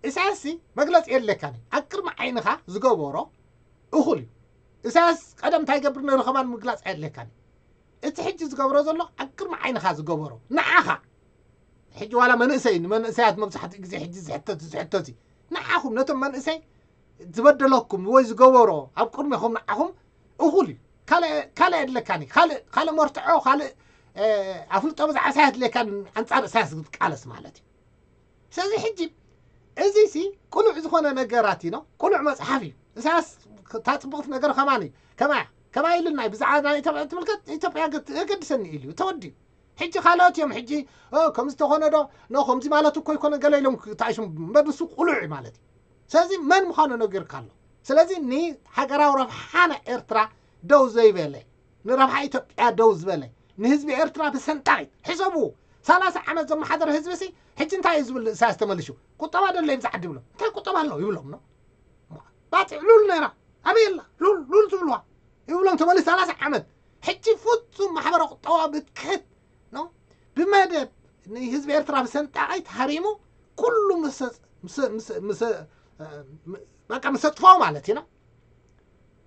ኢሳያስ መግለፂ የድለካን እዩ። ኣብ ቅድሚ ዓይንኻ ዝገበሮ እኹል እዩ። ኢሳያስ ቀደም እንታይ ይገብር ነይሩ ከማን ምግላፅ ኣየድለካን እዩ። እቲ ሕጂ ዝገብሮ ዘሎ ኣብ ቅድሚ ዓይንኻ ዝገበሮ ንዓኻ ሕጂ ዋላ መንእሰይ ንመንእሰያት መብዛሕትኡ ግዜ ሕጂ ዝሕተት ዝሕተት እዩ። ንዓኹም ነቶም መንእሰይ ዝበደለኩም ወይ ዝገበሮ ኣብ ቅድሜኹም ንዓኹም እኹል እዩ። ካልእ የድለካን እዩ። ካልእ መርትዖ ካልእ ኣፍልጦ ብዛዕባ ኢሳያስ የድለካን ኣንፃር ኢሳያስ ክትቃለስ ማለት እዩ። ስለዚ ሕጂ እዚ ሲ ቅሉዕ ዝኾነ ነገራት እዩ ነው ቅሉዕ መፅሓፍ እዩ። ኢሳያስ እታ ፅቡቕቲ ነገር ከማን እዩ ከማያ ከማይ ኢሉና እዩ ብዛዕባ ናይ ኢትዮጵያ ትምልከት ኢትዮጵያ የገድሰኒ ኢሉ ተወዲኡ። ሕጂ ካልኦት እዮም ሕጂ ከምዚ ተኾነ ዶ ኖ ከምዚ ማለት እኮ ይኮነ ገለ ኢሎም ክተኣሽሙ እምበር ንሱ ቁሉዕ እዩ ማለት እዩ። ስለዚ መን ምዃኑ ነጊርካ ኣሎ። ስለዚ ንሃገራዊ ረብሓ ናይ ኤርትራ ደው ዘይበለ፣ ንረብሓ ኢትዮጵያ ደው ዝበለ፣ ንህዝቢ ኤርትራ ብሰንጣቂት ሕሰቡ። ሰላሳ ዓመት ዘመሓደረ ህዝቢ ሲ ሕጂ እንታይ እዩ ዝብል? ኢሳያስ ተመልሹ ቁጠባ ደለ ይብዛሕ ድብሎ እንታይ ቁጠባ ኣሎ ይብሎም ነው። ባፅዕ ሉል ነይራ ኣበይ ኣላ? ሉል ሉል ትብልዋ ይብሎም። ተመልሱ ሰላሳ ዓመት ሕጂ ፍጹም ማሕበረ ቁጠባ ብትክት ነው። ብመደብ ንህዝቢ ኤርትራ ብሰንጣቂ ተሃሪሙ ኩሉ በቃ ምሰጥፎ ማለት እዩ ነው።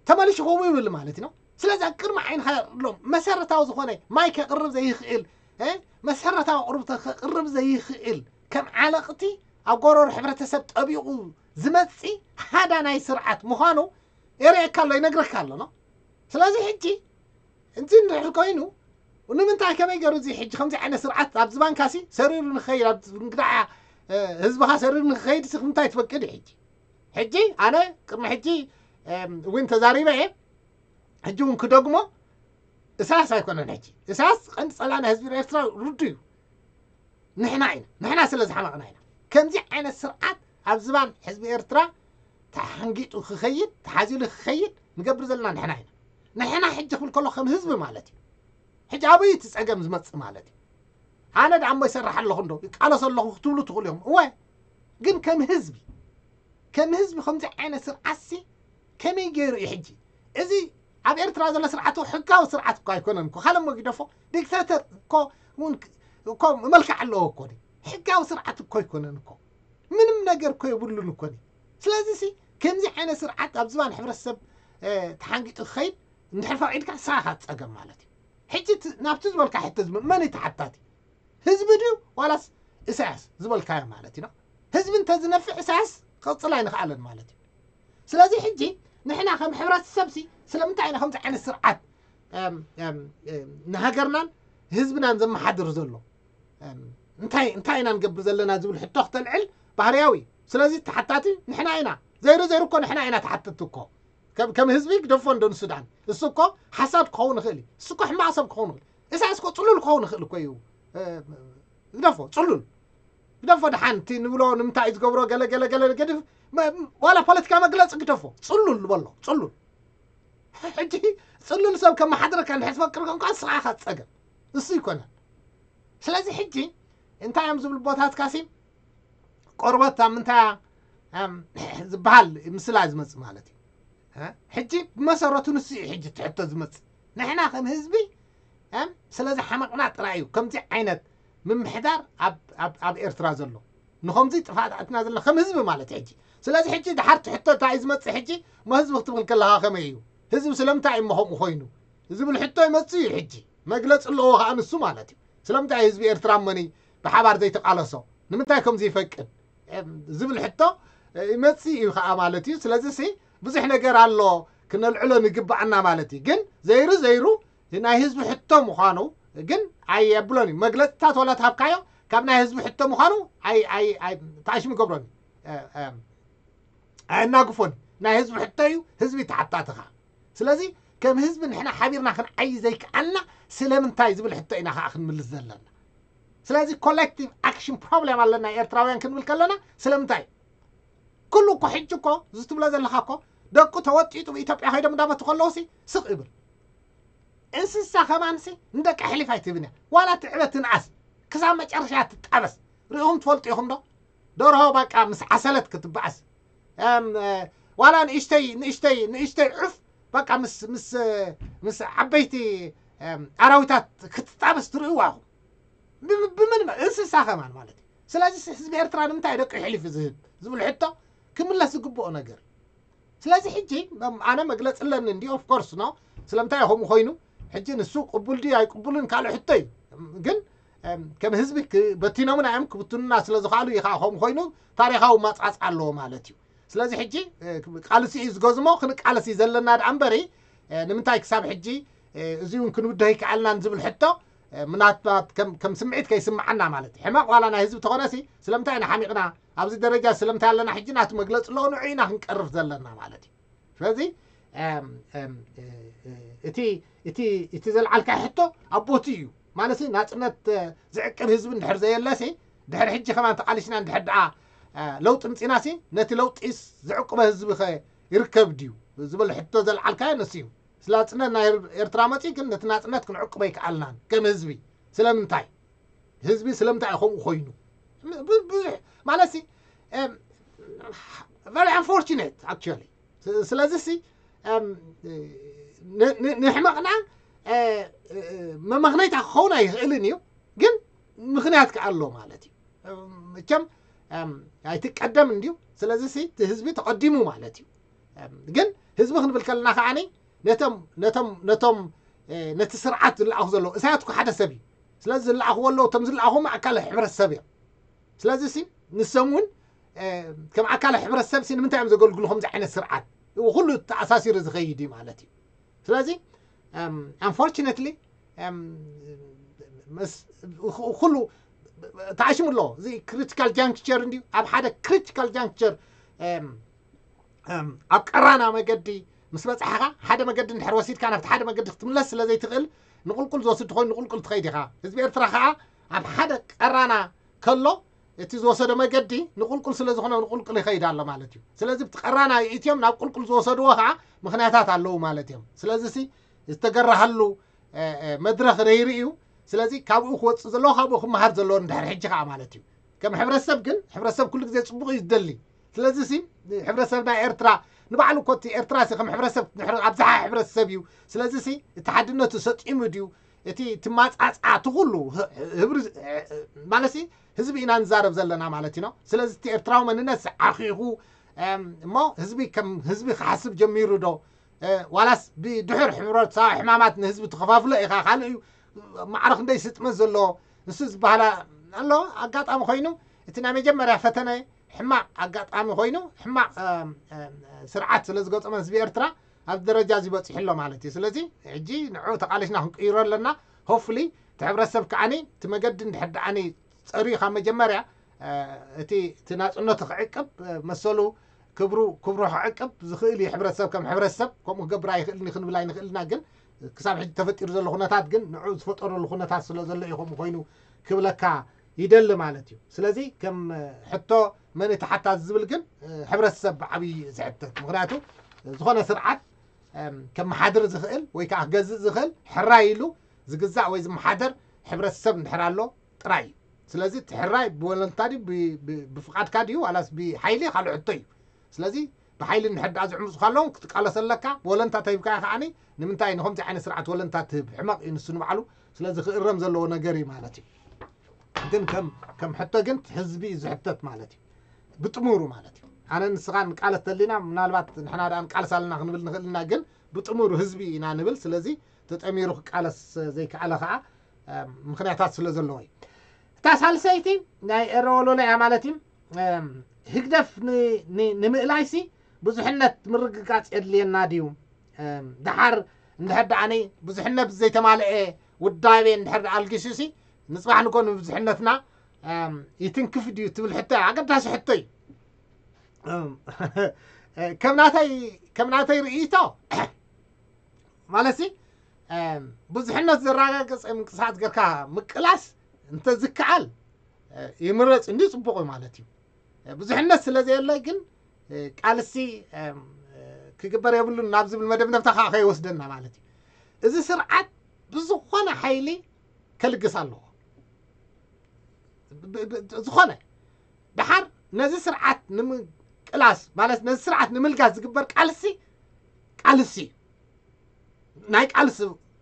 ተመልሽኹም ይብል ማለት ነው። ስለዚ ኣብ ቅድሚ ዓይንኻ ሎም መሰረታዊ ዝኾነ ማይ ከቕርብ ዘይኽእል መሰረታዊ ኣቕርብቶ ከቕርብ ዘይኽእል ከም ዓለቕቲ ኣብ ጎረሮ ሕብረተሰብ ጠቢቑ ዝመፂ ሃዳናይ ስርዓት ምዃኑ የርእየካ ኣሎ፣ ይነግረካ ኣሎ ነው። ስለዚ ሕጂ እዚ እንድሕር ኮይኑ ንምንታይ ከመይ ገሩ እዚ ሕጂ ከምዚ ዓይነት ስርዓት ኣብ ዝባንካሲ ሰሪሩ ንኸይድ ኣብ እንግዳዓ ህዝብኻ ሰሪሩ ንኸይድ ሲ ምንታይ ትፈቅድ እዩ? ሕጂ ሕጂ ኣነ ቅድሚ ሕጂ እውን ተዛሪበ እየ። ሕጂ እውን ክደግሞ እሳያስ ኣይኮነን። ሕጂ እሳያስ ቀንዲ ፀላእና ህዝቢ ኤርትራ ርዱ እዩ። ንሕና ኢና ንሕና ስለ ዝሓመቕና ኢና ከምዚ ዓይነት ስርዓት ኣብ ዝባን ህዝቢ ኤርትራ ተሓንጊጡ ክኸይድ ተሓዚሉ ክኸይድ ንገብር ዘለና ንሕና ኢና። ንሕና ሕጂ ክብል ከሎ ከም ህዝቢ ማለት እዩ። ሕጂ ኣበይ እቲ ፀገም ዝመፅእ ማለት እዩ? ኣነ ደኣ እሞ ይሰርሕ ኣለኹ እንዶ ይቃለስ ኣለኹ ክትብሉ ትኽእሉ እዮም። እወ ግን ከም ህዝቢ ከም ህዝቢ ከምዚ ዓይነት ስርዓትሲ ከመይ ገይሩ እዩ ሕጂ? እዚ ኣብ ኤርትራ ዘሎ ስርዓት ሕጋዊ ስርዓት እኮ ኣይኮነን እኮ። ካለሞ ጊደፎ ዲክታተር እኮ እውን እኮ መልክዕ ኣለዎ እኮ። ሕጋዊ ስርዓት እኮ ኣይኮነን እኮ። ምንም ነገር እኮ የብሉን እኮ። ስለዚ ሲ ከምዚ ዓይነት ስርዓት ኣብ ዝባን ሕብረተሰብ ተሓንጊጡ ክኸይድ እንድሕር ፈቒድካ ንስኻ ኢኻ ዝፀገም ማለት እዩ። ሕጂ ናብቲ ዝበልካ ሕቶ ዝመ መን እዩ ተሓታቲ? ህዝቢ ድዩ ዋላስ ኢሳያስ ዝበልካዮ ማለት እዩ። ህዝቢ እንተዝነፍዕ ኢሳያስ ክቕፅል ኣይንኽኣለን ማለት እዩ። ስለዚ ሕጂ ንሕና ከም ሕብረተሰብ ሲ ስለምንታይ ኢና ከምዚ ዓይነት ስርዓት ንሃገርናን ህዝብናን ዘመሓድር ዘሎ? እንታይ እንታይ ኢና ንገብር ዘለና ዝብል ሕቶ ክተልዕል ባህርያዊ እዩ። ስለዚ ተሓታቲ ንሕና ኢና። ዘይሩ ዘይሩ እኮ ንሕና ኢና ተሓተቲ እኮ። ከም ከም ህዝቢ ግደፎ እንዶ ንሱዳን እሱ እኮ ሓሳድ ክኸውን ይኽእል እዩ። እሱ እኮ ሕማቕ ሰብ ክኸውን ይኽእል። ኢሳያስ እኮ ፅሉል ክኸውን ይኽእል እኮ እዩ። ግደፎ ፅሉል ግደፎ። ደሓን እቲ ንብሎ ንምንታይ እዩ ዝገብሮ ገለ ገለ ገለ ገድፍ ዋላ ፖለቲካ መግለፂ ግደፎ። ፅሉል ንበሎ ፅሉል። ሕጂ ፅሉል ሰብ ከመሓድረካ እንድሕር ትፈቅር ኮንካ ንስኻ ኢኻ ዝፀገም እሱ ይኮነን። ስለዚ ሕጂ እንታይ እዮም ዝብል ቦታትካ ሲ ቆርበት ኣብ ምንታይ ዝበሃል ምስላ ዝመፅእ ማለት እዩ። ሕጂ ብመሰረቱ ንሱ እዩ ሕጂ ትሕቶ ዝመፅእ። ንሕና ከም ህዝቢ ስለዚ ሓመቕና ጥራይ እዩ ከምዚ ዓይነት ምምሕዳር ኣብ ኤርትራ ዘሎ። ንኸምዚ ጥፋት ኣትና ዘለና ከም ህዝቢ ማለት ሕጂ። ስለዚ ሕጂ ድሓር ትሕቶ እንታይ እዩ ዝመፅእ ሕጂ? እሞ ህዝቢ ክትብል ከለኻ ከመይ እዩ? ህዝቢ ስለምንታይ እዩ እሞ ከምኡ ኮይኑ ዝብል ሕቶ ይመፅእ እዩ። ሕጂ መግለፂ ኣለዎ ከዓ ንሱ ማለት እዩ። ስለምንታይ ህዝቢ ኤርትራ እሞኒ ብሓባር ዘይተቃለሶ? ንምንታይ ከምዚ ይፈቅድ ዝብል ሕቶ ይመፅእ እዩ ከዓ ማለት እዩ። ስለዚ ሲ ብዙሕ ነገር ኣሎ ክነልዕሎ ንግባኣና ማለት እዩ። ግን ዘይሩ ዘይሩ ናይ ህዝቢ ሕቶ ምዃኑ ግን ኣየብሎን እዩ። መግለፅታት ዋላ ትሃብካዮ ካብ ናይ ህዝቢ ሕቶ ምዃኑ ተኣሽሙ ይገብሮን እዩ። ኣየናግፎን። ናይ ህዝቢ ሕቶ እዩ። ህዝቢ ተሓታትኻ። ስለዚ ከም ህዝቢ ንሕና ሓቢርና ክንዓይ ዘይከኣልና ስለምንታይ ዝብል ሕቶ ኢና ከዓ ክንምልስ ዘለና። ስለዚ ኮሌክቲቭ ኣክሽን ፕሮብሌም ኣለና ኤርትራውያን ክንብል ከለና ስለምንታይ? ኩሉ እኮ ሕጂ እኮ እዚ ትብሎ ዘለኻ እኮ ደቁ ተወጢጡ ብኢትዮጵያ ከይዶም እንዳመቱ ከለውሲ ስቕ ይብል። እንስሳ ከማንሲ ንደቂ ኣሕሊፍ ኣይትህብን እያ። ዋላ ትዕበ ትንኣስ ክሳብ መጨረሻ ትጣበስ። ርኢኹም ትፈልጡ ኢኹም ዶ? ደርሆ በቃ ምስ ዓሰለት ክትበኣስ ዋላ ንእሽተይ ንእሽተይ ንእሽተይ ዑፍ በቃ ምስ ምስ ምስ ዓበይቲ ኣራዊታት ክትጣበስ ትርእዋ ኢኹም። ብምን እንስሳ ከማን ማለት እዩ። ስለዚ ህዝቢ ኤርትራ ንምንታይ ደቂ ኣሕሊፉ ዝህብ ዝብል ሕቶ ክምለስ ዝግብኦ ነገር እዩ። ስለዚ ሕጂ ኣነ መግለፂ ኣለኒ እንዲ ኦፍኮርስ ኖ ስለምንታይ ከምኡ ኮይኑ ሕጂ ንሱ ቅቡል ድዩ ኣይቅቡልን ካልእ ሕቶ እዩ። ግን ከም ህዝቢ በቲኖምና እዮም ክብትኑና ስለ ዝኽኣሉ እዩ ከዓ ከምኡ ኮይኑ ታሪኻዊ ማፅዓፅ ኣለዎ ማለት እዩ። ስለዚ ሕጂ ቃልሲ እዩ ዝገዝሞ ክንቃለስ እዩ ዘለና ደኣ እምበሪ ንምንታይ ክሳብ ሕጂ እዚ እውን ክንውድህ ኣይከኣልናን ዝብል ሕቶ ምናልባት ከም ስምዒት ከይስምዓና ማለት እዩ። ሕማቕ ዋላ ናይ ህዝቢ ተኾነሲ ስለምንታይ ኢና ሓሚቕና ኣብዚ ደረጃ ስለምንታይ ኣለና ሕጂ ናቱ መግለፂ ኣለዎ ንዑ ኢና ክንቀርፍ ዘለና ማለት እዩ። ስለዚ እቲ እቲ እቲ ዘልዓልካ ሕቶ ኣብ ቦቲ እዩ ማለት ናፅነት ዝዕቅብ ህዝቢ እንድሕር ዘየለሲ ድሕሪ ሕጂ ከማን ተቃሊስና እንድሕር ደኣ ለውጢ ምፂናሲ ነቲ ለውጢስ ዝዕቅበ ህዝቢ ከ ይርከብ ድዩ ዝብል ሕቶ ዘልዓልካዮ ንሱ እዩ። ስለ ናፅነት ናይ ኤርትራ መፂኡ ግን ነቲ ናፅነት ክንዕቅቦ ኣይከኣልናን ከም ህዝቢ። ስለምንታይ ህዝቢ ስለምንታይ እዩ ከምኡ ኮይኑ? ብዙሕ ማለት ሲ very unfortunate actually። ስለዚ ሲ ንሕመቕና መመኽነይታ ክኸውን ኣይኽእልን እዩ፣ ግን ምኽንያት ከኣሎ ማለት እዩ። መቸም ኣይትቀደም እንድዩ። ስለዚ ሲ እቲ ህዝቢ ተቐዲሙ ማለት እዩ። ግን ህዝቢ ክንብል ከለና ከዓኒ ነቶም ነቶም ነቶም ነቲ ስርዓት ዝለኣኹ ዘለዉ እሳያት እኮ ሓደ ሰብ እዩ። ስለዚ ዝለኣኽዎ ኣለዉ፣ እቶም ዝለኣኹ ኣካል ሕብረተሰብ እዮም። ስለዚ ሲ ንሶም እውን ከም ኣካል ሕብረተሰብ ሲ ንምንታይ እዮም ዘገልግሉ ከምዚ ዓይነት ስርዓት? ኩሉ ተኣሳሲሩ ዝኸይድ እዩ ማለት እዩ። ስለዚ unfortunately ኩሉ ተኣሽሙ ኣሎ። እዚ critical juncture እንድዩ። ኣብ ሓደ critical juncture ኣብ ቀራና መገዲ ምስ በጻሕኻ ሓደ መገዲ እንድሕር ወሲድካ ናብቲ ሓደ መገዲ ክትምለስ ስለ ዘይትኽእል ንቁልቁል ዝወስድ ኮይኑ ንቁልቁል ትኸይድ ኢኻ። ህዝቢ ኤርትራ ከዓ ኣብ ሓደ ቀራና ከሎ እቲ ዝወሰዶ መገዲ ንቁልቁል ስለ ዝኾነ ንቁልቁል ይኸይድ ኣሎ ማለት እዩ። ስለዚ ብቲ ቀራና ይእትዮም ናብ ቁልቁል ዝወሰድዎ ከዓ ምኽንያታት ኣለዉ ማለት እዮም። ስለዚ ሲ ዝተገረሃሉ መድረኽ ነይሩ እዩ። ስለዚ ካብኡ ክወፅእ ዘለዎ ካብኡ ክመሃር ዘለዎ እንድሕር ሕጂ ከዓ ማለት እዩ። ከም ሕብረተሰብ ግን ሕብረተሰብ ኩሉ ግዜ ፅቡቕ እዩ ዝደሊ። ስለዚ ሲ ሕብረተሰብ ናይ ኤርትራ ንባዕሉ እኮ እቲ ኤርትራ ሲ ከም ሕብረተሰብ ኣብዝሓ ሕብረተሰብ እዩ። ስለዚ ሲ እቲ ሓድነቱ ሰጢሙ ድዩ እቲ ትማፃፃ እቲ ኩሉ ህብሪ ማለት ሲ ህዝቢ ኢና ንዛረብ ዘለና ማለት ኢና። ስለዚ እቲ ኤርትራዊ መንነት ዓኺኹ እሞ ህዝቢ ከም ህዝቢ ክሓስብ ጀሚሩ ዶ ዋላስ ብድሕር ሕብረተሰባዊ ሕማማት ንህዝቢ ተኸፋፍሎ ኢኻ ካልእ እዩ ማዕረ ክንደይ ስጥመት ዘለዎ ንሱ ዝበሃላ ኣሎ። ኣጋጣሚ ኮይኑ እቲ ናይ መጀመርያ ፈተነ ሕማቕ ኣጋጣሚ ኮይኑ ሕማቕ ስርዓት ስለ ዝገጠመ ህዝቢ ኤርትራ ኣብ ደረጃ እዚ በፂሑ ኣሎ ማለት እዩ። ስለዚ ሕጂ ንዑ ተቃሊስና ክንቅይሮ ኣለና። ሆፍሊ እቲ ሕብረተሰብ ከዓኒ እቲ መገዲ እንድሕር ደኣኒ ፀርዩ ካብ መጀመርያ እቲ እቲ ናፅነቱ ክዕቅብ መሰሉ ክብሩ ክብሩ ክዕቅብ ዝኽእል እዩ። ሕብረተሰብ ከም ሕብረተሰብ ከምኡ ክገብር ኣይኽእልን ክንብል ኣይንኽእልና፣ ግን ክሳብ ሕጂ ተፈጢሩ ዘሎ ኩነታት ግን ንዑ ዝፈጠረሉ ኩነታት ስለ ዘሎ እዩ ከምኡ ኮይኑ ክብለካ ይደሊ ማለት እዩ። ስለዚ ከም ሕቶ መን እቲ ሓታዚ ዝብል ግን ሕብረተሰብ ብዓብዪ ዝሕተት፣ ምክንያቱ ዝኾነ ስርዓት ከመሓድር ዝኽእል ወይ ከዓ ክገዝእ ዝኽእል ሕራይ ኢሉ ዝግዛእ ወይ ዝመሓደር ሕብረተሰብ እንድሕር ኣሎ ጥራይ እዩ። ስለዚ እቲ ሕራይ ብወለንታ ድዩ ብፍቓድካ ድዩ ዋላስ ብሓይሊ ካልእ ሕቶ እዩ። ስለዚ ብሓይሊ እንድሕር ደኣ ዝዕምፁ ካለውን ክትቃለስ ኣለካ። ብወለንታ ተሂብካዮ ከዓኒ ንምንታይ ንከምዚ ዓይነት ስርዓት ወለንታ ትህብ? ሕመቕ እዩ ንሱ ንባዕሉ። ስለዚ ክእረም ዘለዎ ነገር እዩ ማለት እዩ። ግን ከም ከም ሕቶ ግን ህዝቢ እዩ ዝሕተት ማለት እዩ፣ ብጥሙሩ ማለት እዩ። ኣነ ንስኻ ንቃለስ ተሊና ምናልባት ንሕና ደኣ ንቃለስ ኣለና ክንብል ንኽእል ኢና፣ ግን ብጥሙሩ ህዝቢ ኢና ንብል። ስለዚ ተጠሚሩ ክቃለስ ዘይከኣለ ከዓ ምኽንያታት ስለ ዘለዎ እዩ። እታ ሳልሰይቲ ናይ ኤረ ወለሎ እያ ማለት እዩ። ህግደፍ ንምእላይሲ ብዙሕነት ምርግጋፅ የድልየና ድዩ? ደሓር እንድሕር ደኣኒ ብዙሕነት ዘይተማልአ ውዳቤ እንድሕር ኣልጊሱሲ ንፅባሕ ንጎ ንብዙሕነትና ይትንክፍ ድዩ ትብል ሕቶ እያ። ኣገዳሲ ሕቶ እዩ። ከም ናተይ ከም ናተይ ርእይቶ ማለትሲ ብዙሕነት ዘረጋገፀ ምንቅስቃስ ጌርካ ምቅላስ እንተዝከኣል ይምረፅ እንዲ ፅቡቕ እዩ ማለት እዩ። ብዙሕነት ስለ ዘየለ ግን ቃልሲ ክግበር የብሉን ናብ ዝብል መደምደምታ ከዓ ከይወስደና ማለት እዩ። እዚ ስርዓት ብዝኾነ ሓይሊ ከልግስ ኣለዎ። ዝኾነ ደሓር ነዚ ስርዓት ንምቅላስ ማለት ነዚ ስርዓት ንምልጋስ ዝግበር ቃልሲ ቃልሲ እዩ። ናይ ቃልሲ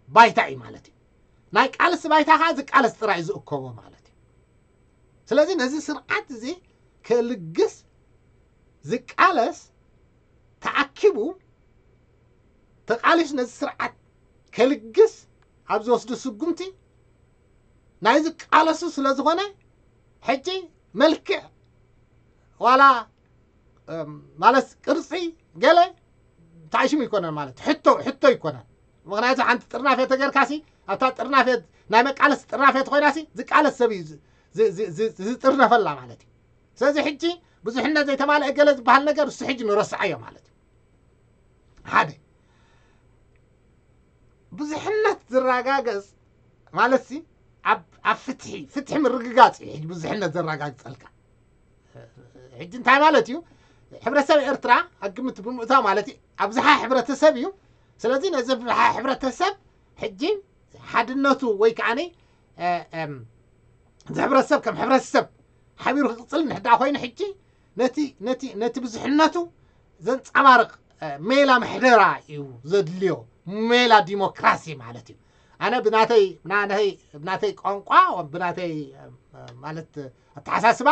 ባይታ እዩ ማለት እዩ። ናይ ቃልሲ ባይታ ከዓ ዝቃለስ ጥራይ ዝእከቦ ማለት እዩ። ስለዚ ነዚ ስርዓት እዚ ከልግስ ዝቃለስ ተኣኪቡ ተቃሊሱ ነዚ ስርዓት ከልግስ ኣብ ዝወስዱ ስጉምቲ ናይ ዝቃለሱ ስለ ዝኾነ ሕጂ መልክዕ ዋላ ማለት ቅርፂ ገለ ተኣሽሙ ይኮነን ማለት ሕቶ ሕቶ ይኮነን። ምክንያቱ ሓንቲ ጥርናፌ ተገርካሲ ኣብታ ጥርናፌ ናይ መቃለስ ጥርናፌ ተኮይናሲ ዝቃለስ ሰብ እዩ ዝጥርነፈላ ማለት እዩ። ስለዚ ሕጂ ብዙሕነት ዘይተማልአ ገለ ዝበሃል ነገር እሱ ሕጂ ንረስዓዮ ማለት እዩ። ሓደ ብዙሕነት ዝረጋገፅ ማለት ሲ ኣብ ኣብ ፍትሒ ፍትሒ ምርግጋፅ እዩ ሕጂ ብዙሕነት ዘረጋግፀልካ። ሕጂ እንታይ ማለት እዩ? ሕብረተሰብ ኤርትራ ኣብ ግምት ብምእታው ማለት እዩ ኣብዝሓ ሕብረተሰብ እዩ። ስለዚ ነዚ ኣብዝሓ ሕብረተሰብ ሕጂ ሓድነቱ ወይ ከዓኒ እዚ ሕብረተሰብ ከም ሕብረተሰብ ሓቢሩ ክቕፅል እንድሕዳ ኮይኑ ሕጂ ነቲ ነቲ ነቲ ብዙሕነቱ ዘንፀባርቕ ሜላ ምሕደራ እዩ ዘድልዮ። ሜላ ዲሞክራሲ ማለት እዩ። ኣነ ብናተይ ብናተይ ብናተይ ቋንቋ ብናተይ ማለት ኣተሓሳስባ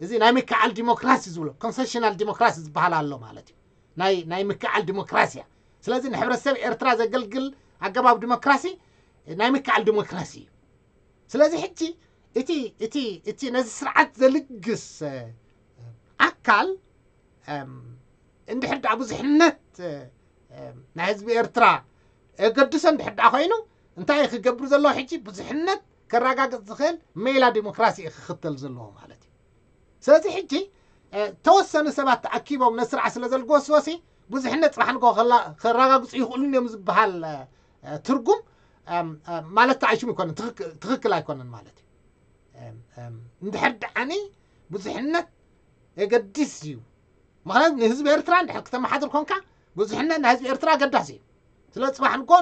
እዚ ናይ ምክዓል ዲሞክራሲ ዝብሎ ኮንሰሽናል ዲሞክራሲ ዝበሃል ኣሎ ማለት እዩ። ናይ ናይ ምክዓል ዲሞክራሲ እያ። ስለዚ ንሕብረተሰብ ኤርትራ ዘገልግል ኣገባብ ዲሞክራሲ ናይ ምክዓል ዲሞክራሲ እዩ። ስለዚ ሕጂ እቲ እቲ እቲ ነዚ ስርዓት ዘልግስ ኣካል እንድሕር ደኣ ብዙሕነት ናይ ህዝቢ ኤርትራ የገድሶ እንድሕር ደኣ ኮይኑ እንታይ ክገብር ዘለዎ ሕጂ ብዙሕነት ከረጋግጽ ዝኽእል ሜላ ዲሞክራሲ እዩ ክኽተል ዘለዎ ማለት እዩ። ስለዚ ሕጂ ተወሰኑ ሰባት ተኣኪቦም ነስርዓ ስለ ዘልግወስወሲ ብዙሕነት ጽባሕ ንግሆ ከረጋግጹ ይኽእሉን እዮም ዝበሃል ትርጉም ማለት ተዓይሹም ይኮነን፣ ትኽክል ኣይኮነን ማለት እዩ። እንድሕር ደኣኒ ብዙሕነት የገድስ እዩ። ምክንያቱ ንህዝቢ ኤርትራ እንድሕር ክተመሓድር ኮንካ ብዙሕነት ናይ ህዝቢ ኤርትራ ኣገዳሲ እዩ። ስለ ጽባሕ ንግሆ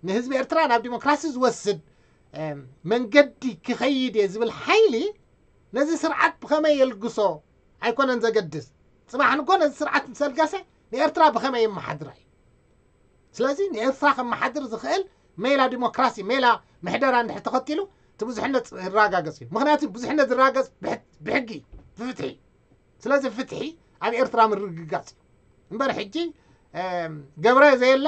ንህዝቢ ኤርትራ ናብ ዲሞክራሲ ዝወስድ መንገዲ ክኸይድ እየ ዝብል ሓይሊ ነዚ ስርዓት ብኸመይ የልግሶ ኣይኮነን ዘገድስ። ጽባሕ ንግሆ ነዚ ስርዓት ምስ ኣልገሰ ንኤርትራ ብኸመይ የመሓድራ እዩ። ስለዚ ንኤርትራ ከመሓድር ዝኽእል ሜላ ዲሞክራሲ፣ ሜላ ምሕደራ እንድሕር ተኸቲሉ እቲ ብዙሕነት ይረጋገጽ እዩ። ምክንያቱ ብዙሕነት ዝረጋገጽ ብሕጊ እዩ፣ ብፍትሒ። ስለዚ ፍትሒ ኣብ ኤርትራ ምርግጋጽ እዩ እምበር ሕጂ ገብረ ዘየለ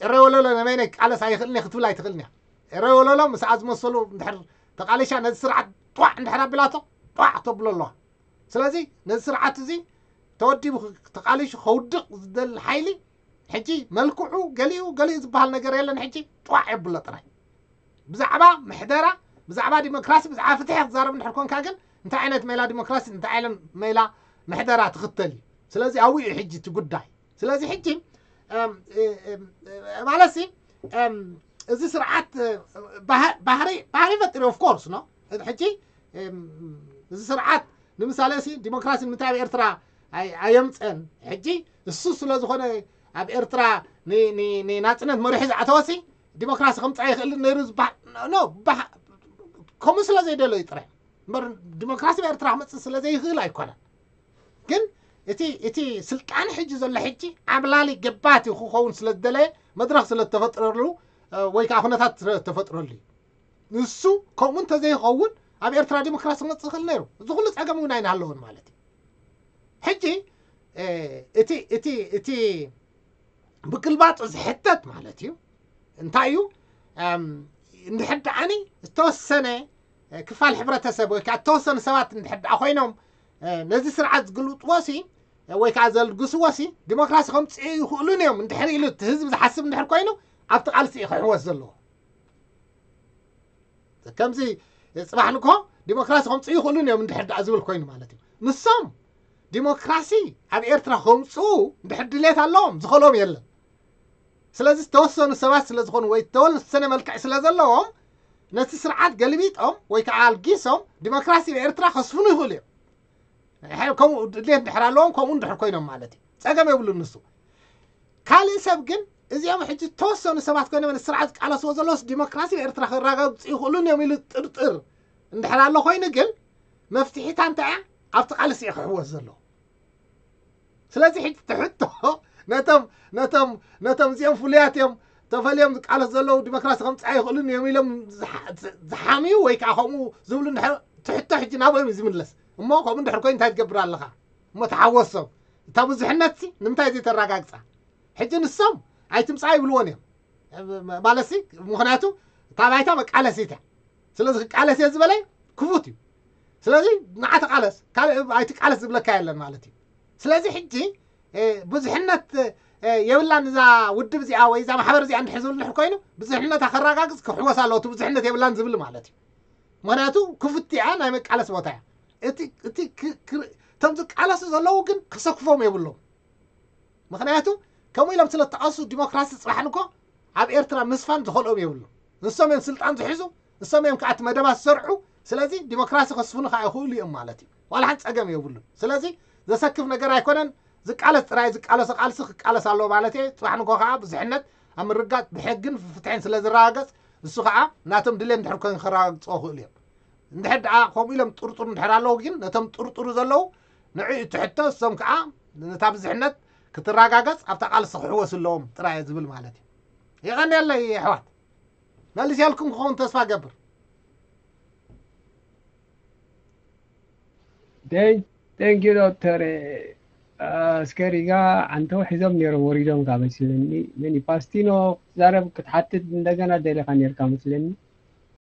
ኤረ ወለሎ ነበይነ ክቃለስ ኣይኽእልን ክትብል ኣይትኽእልን እያ። ኤረ ወለሎ ምስኣ ዝመሰሉ እንድሕር ተቃሊሻ ነዚ ስርዓት ጧዕ እንድሕር ኣቢላቶ ጧዕ ተብሎ ኣለዋ። ስለዚ ነዚ ስርዓት እዚ ተወዲቡ ተቃሊሹ ከውድቕ ዝደሊ ሓይሊ ሕጂ መልክዑ ገሊኡ ገሊኡ ዝበሃል ነገር የለን። ሕጂ ጧዕ የብሎ ጥራይ ብዛዕባ ምሕደራ ብዛዕባ ዲሞክራሲ ብዛዕባ ፍትሒ ክዛረብ እንድሕር ኮንካ ግን እንታይ ዓይነት ሜላ ዲሞክራሲ እንታይ ዓይነት ሜላ ምሕደራ ትኽተል እዩ። ስለዚ ኣብኡ እዩ ሕጂ እቲ ጉዳይ። ስለዚ ሕጂ ማለት ሲ እዚ ስርዓት ባህሪ ባህሪ ፈጢሩ of course no ሕጂ እዚ ስርዓት ንምሳሌ ሲ ዲሞክራሲ ንምንታይ ኣብ ኤርትራ ኣየምፀን? ሕጂ እሱ ስለ ዝኾነ ኣብ ኤርትራ ንናፅነት መሪሑ ዝኣተወሲ ዲሞክራሲ ከምፃ ይኽእል ነይሩ ዝበሃል ከምኡ ስለ ዘይደለዩ ጥራይ እምበር ዲሞክራሲ ኣብ ኤርትራ ክመፅእ ስለ ዘይኽእል ኣይኮነን። ግን እቲ እቲ ስልጣን ሕጂ ዘሎ ሕጂ ዓብላሊ ገባቲ ክኸውን ስለ ዝደለየ መድረኽ ስለ ዝተፈጥረሉ ወይ ከዓ ኩነታት ስለ ዝተፈጥረሉ እዩ። ንሱ ከምኡ እንተዘይኸውን ኣብ ኤርትራ ዲሞክራሲ ክመፅእ ይኽእል ነይሩ። እዚ ኩሉ ፀገም እውን ኣይናሃለዎን ማለት እዩ። ሕጂ እቲ እቲ እቲ ብግልባጡ ዝሕተት ማለት እዩ እንታይ እዩ? እንድሕር ደኣኒ ዝተወሰነ ክፋል ሕብረተሰብ ወይ ከዓ ዝተወሰኑ ሰባት እንድሕር ደኣ ኮይኖም ነዚ ስርዓት ዝግልብጥዎ ሲ ወይ ከዓ ዘልግስዎ ሲ ዲሞክራሲ ከምፅኡ ይኽእሉን እዮም እንድሕር ኢሉ እቲ ህዝቢ ዝሓስብ እንድሕር ኮይኑ ኣብቲ ቃልሲ እዩ ክሕወስ ዘለዎ። ከምዚ ፅባሕ ንግሆ ዲሞክራሲ ከምፅኡ ይኽእሉን እዮም እንድሕር ደኣ ዝብል ኮይኑ ማለት እዩ። ንሶም ዲሞክራሲ ኣብ ኤርትራ ከምፅኡ እንድሕር ድሌት ኣለዎም ዝኸሎም የለን። ስለዚ ዝተወሰኑ ሰባት ስለ ዝኾኑ ወይ ዝተወሰነ መልክዕ ስለ ዘለዎም ነቲ ስርዓት ገልቢጦም ወይ ከዓ ኣልጊሶም ዲሞክራሲ ኣብ ኤርትራ ከስፍኑ ይኽእሉ እዮም። ከምኡ ድሌት እንድሕር ኣለዎም ከምኡ እንድሕር ኮይኖም ማለት እዩ ፀገም የብሉን ንሱ። ካልእ ሰብ ግን እዚኦም ሕጂ ዝተወሰኑ ሰባት ኮይኖም ንስርዓት ዝቃለስዎ ዘለውስ ዲሞክራሲ ኣብ ኤርትራ ክረጋግፁ ይኽእሉን እዮም ኢሉ ጥርጥር እንድሕር ኣሎ ኮይኑ ግን መፍትሒታ እንታይ እያ? ኣብቲ ቃልሲ እዩ ክሕወስ ዘለዎ። ስለዚ ሕጂ ትሕቶ ነቶም ነቶም ነቶም እዚኦም ፍሉያት እዮም ተፈልዮም ዝቃለስ ዘለዉ ዲሞክራሲ ከምፅኣ ይኽእሉን እዮም ኢሎም ዝሓምዩ ወይ ከዓ ከምኡ ዝብሉ ትሕቶ ሕጂ ናብኦም እዩ ዝምለስ። እሞ ከምኡ እንድሕር ኮይኑ እንታይ ትገብር ኣለኻ? እሞ ተሓወሶም እታ ብዙሕነት ሲ ንምንታይ ዘይተረጋግፃ? ሕጂ ንሶም ኣይትምፃ ይብልዎን እዮም ማለት ሲ ምክንያቱ እታ ባይታ መቃለሲት እያ። ስለዚ ክቃለስ እየ ዝበለ ክፉት እዩ። ስለዚ ንዓ ተቃለስ ካልእ ኣይትቃለስ ዝብለካ የለን ማለት እዩ። ስለዚ ሕጂ ብዙሕነት የብላን እዛ ውድብ እዚኣ ወይ እዛ ማሕበር እዚኣ እንድሕር ዝብል እንድሕር ኮይኑ ብዙሕነታ ከረጋግፅ ክሕወስ ኣለዎ። እቲ ብዙሕነት የብላን ዝብል ማለት እዩ። ምክንያቱ ክፉት እያ ናይ መቃለሲ ቦታ እያ። እቲ እቲ እቶም ዝቃለሱ ዘለዉ ግን ከሰክፎም የብሎም። ምክንያቱ ከምኡ ኢሎም ስለ ተቃሱ ዲሞክራሲ ፅባሕ ንግሆ ኣብ ኤርትራ ምስፋን ዝኸልኦም የብሉ። ንሶም እዮም ስልጣን ዝሕዙ፣ ንሶም እዮም ከዓ እቲ መደባት ዝሰርሑ። ስለዚ ዲሞክራሲ ከስፍኑ ከዓ ይኽእሉ እዮም ማለት እዩ። ዋላ ሓንቲ ፀገም የብሉን። ስለዚ ዘሰክፍ ነገር ኣይኮነን። ዝቃለስ ጥራይ ዝቃለሶ ቃልሲ ክቃለስ ኣለዎ ማለት እየ። ፅባሕ ንጎ ከዓ ብዙሕነት ኣብ ምርጋፅ ብሕግን ፍትሕን ስለ ዝረጋገፅ እሱ ከዓ ናቶም ድሌት እንድሕር ኮይኑ ክረጋግፅዎ ክእሉ እዮም። እንድሕር ደኣ ከምኡ ኢሎም ጥርጥሩ እንድሕር ኣለዉ ግን ነቶም ጥርጥሩ ዘለዉ ንዕኡ ትሕቶ እሶም ከዓ ነታ ብዝሕነት ክትረጋገፅ ኣብታ ቃልሲ ክሕወሱ ኣለዎም ጥራይ ዝብል ማለት እዩ። የቐንየለይ ኣሕዋት። መሊሰልኩም ክኸውን ተስፋ ገብር። Thank you ዶክተር። እስከሪጋ ኣንተው ሒዞም ነይሮም ወሪዶም ካብ መስለኒ። መን ፓስቲኖ ክትዛረብ ክትሓትት እንደገና ደሊኻ ነርካ መስለኒ።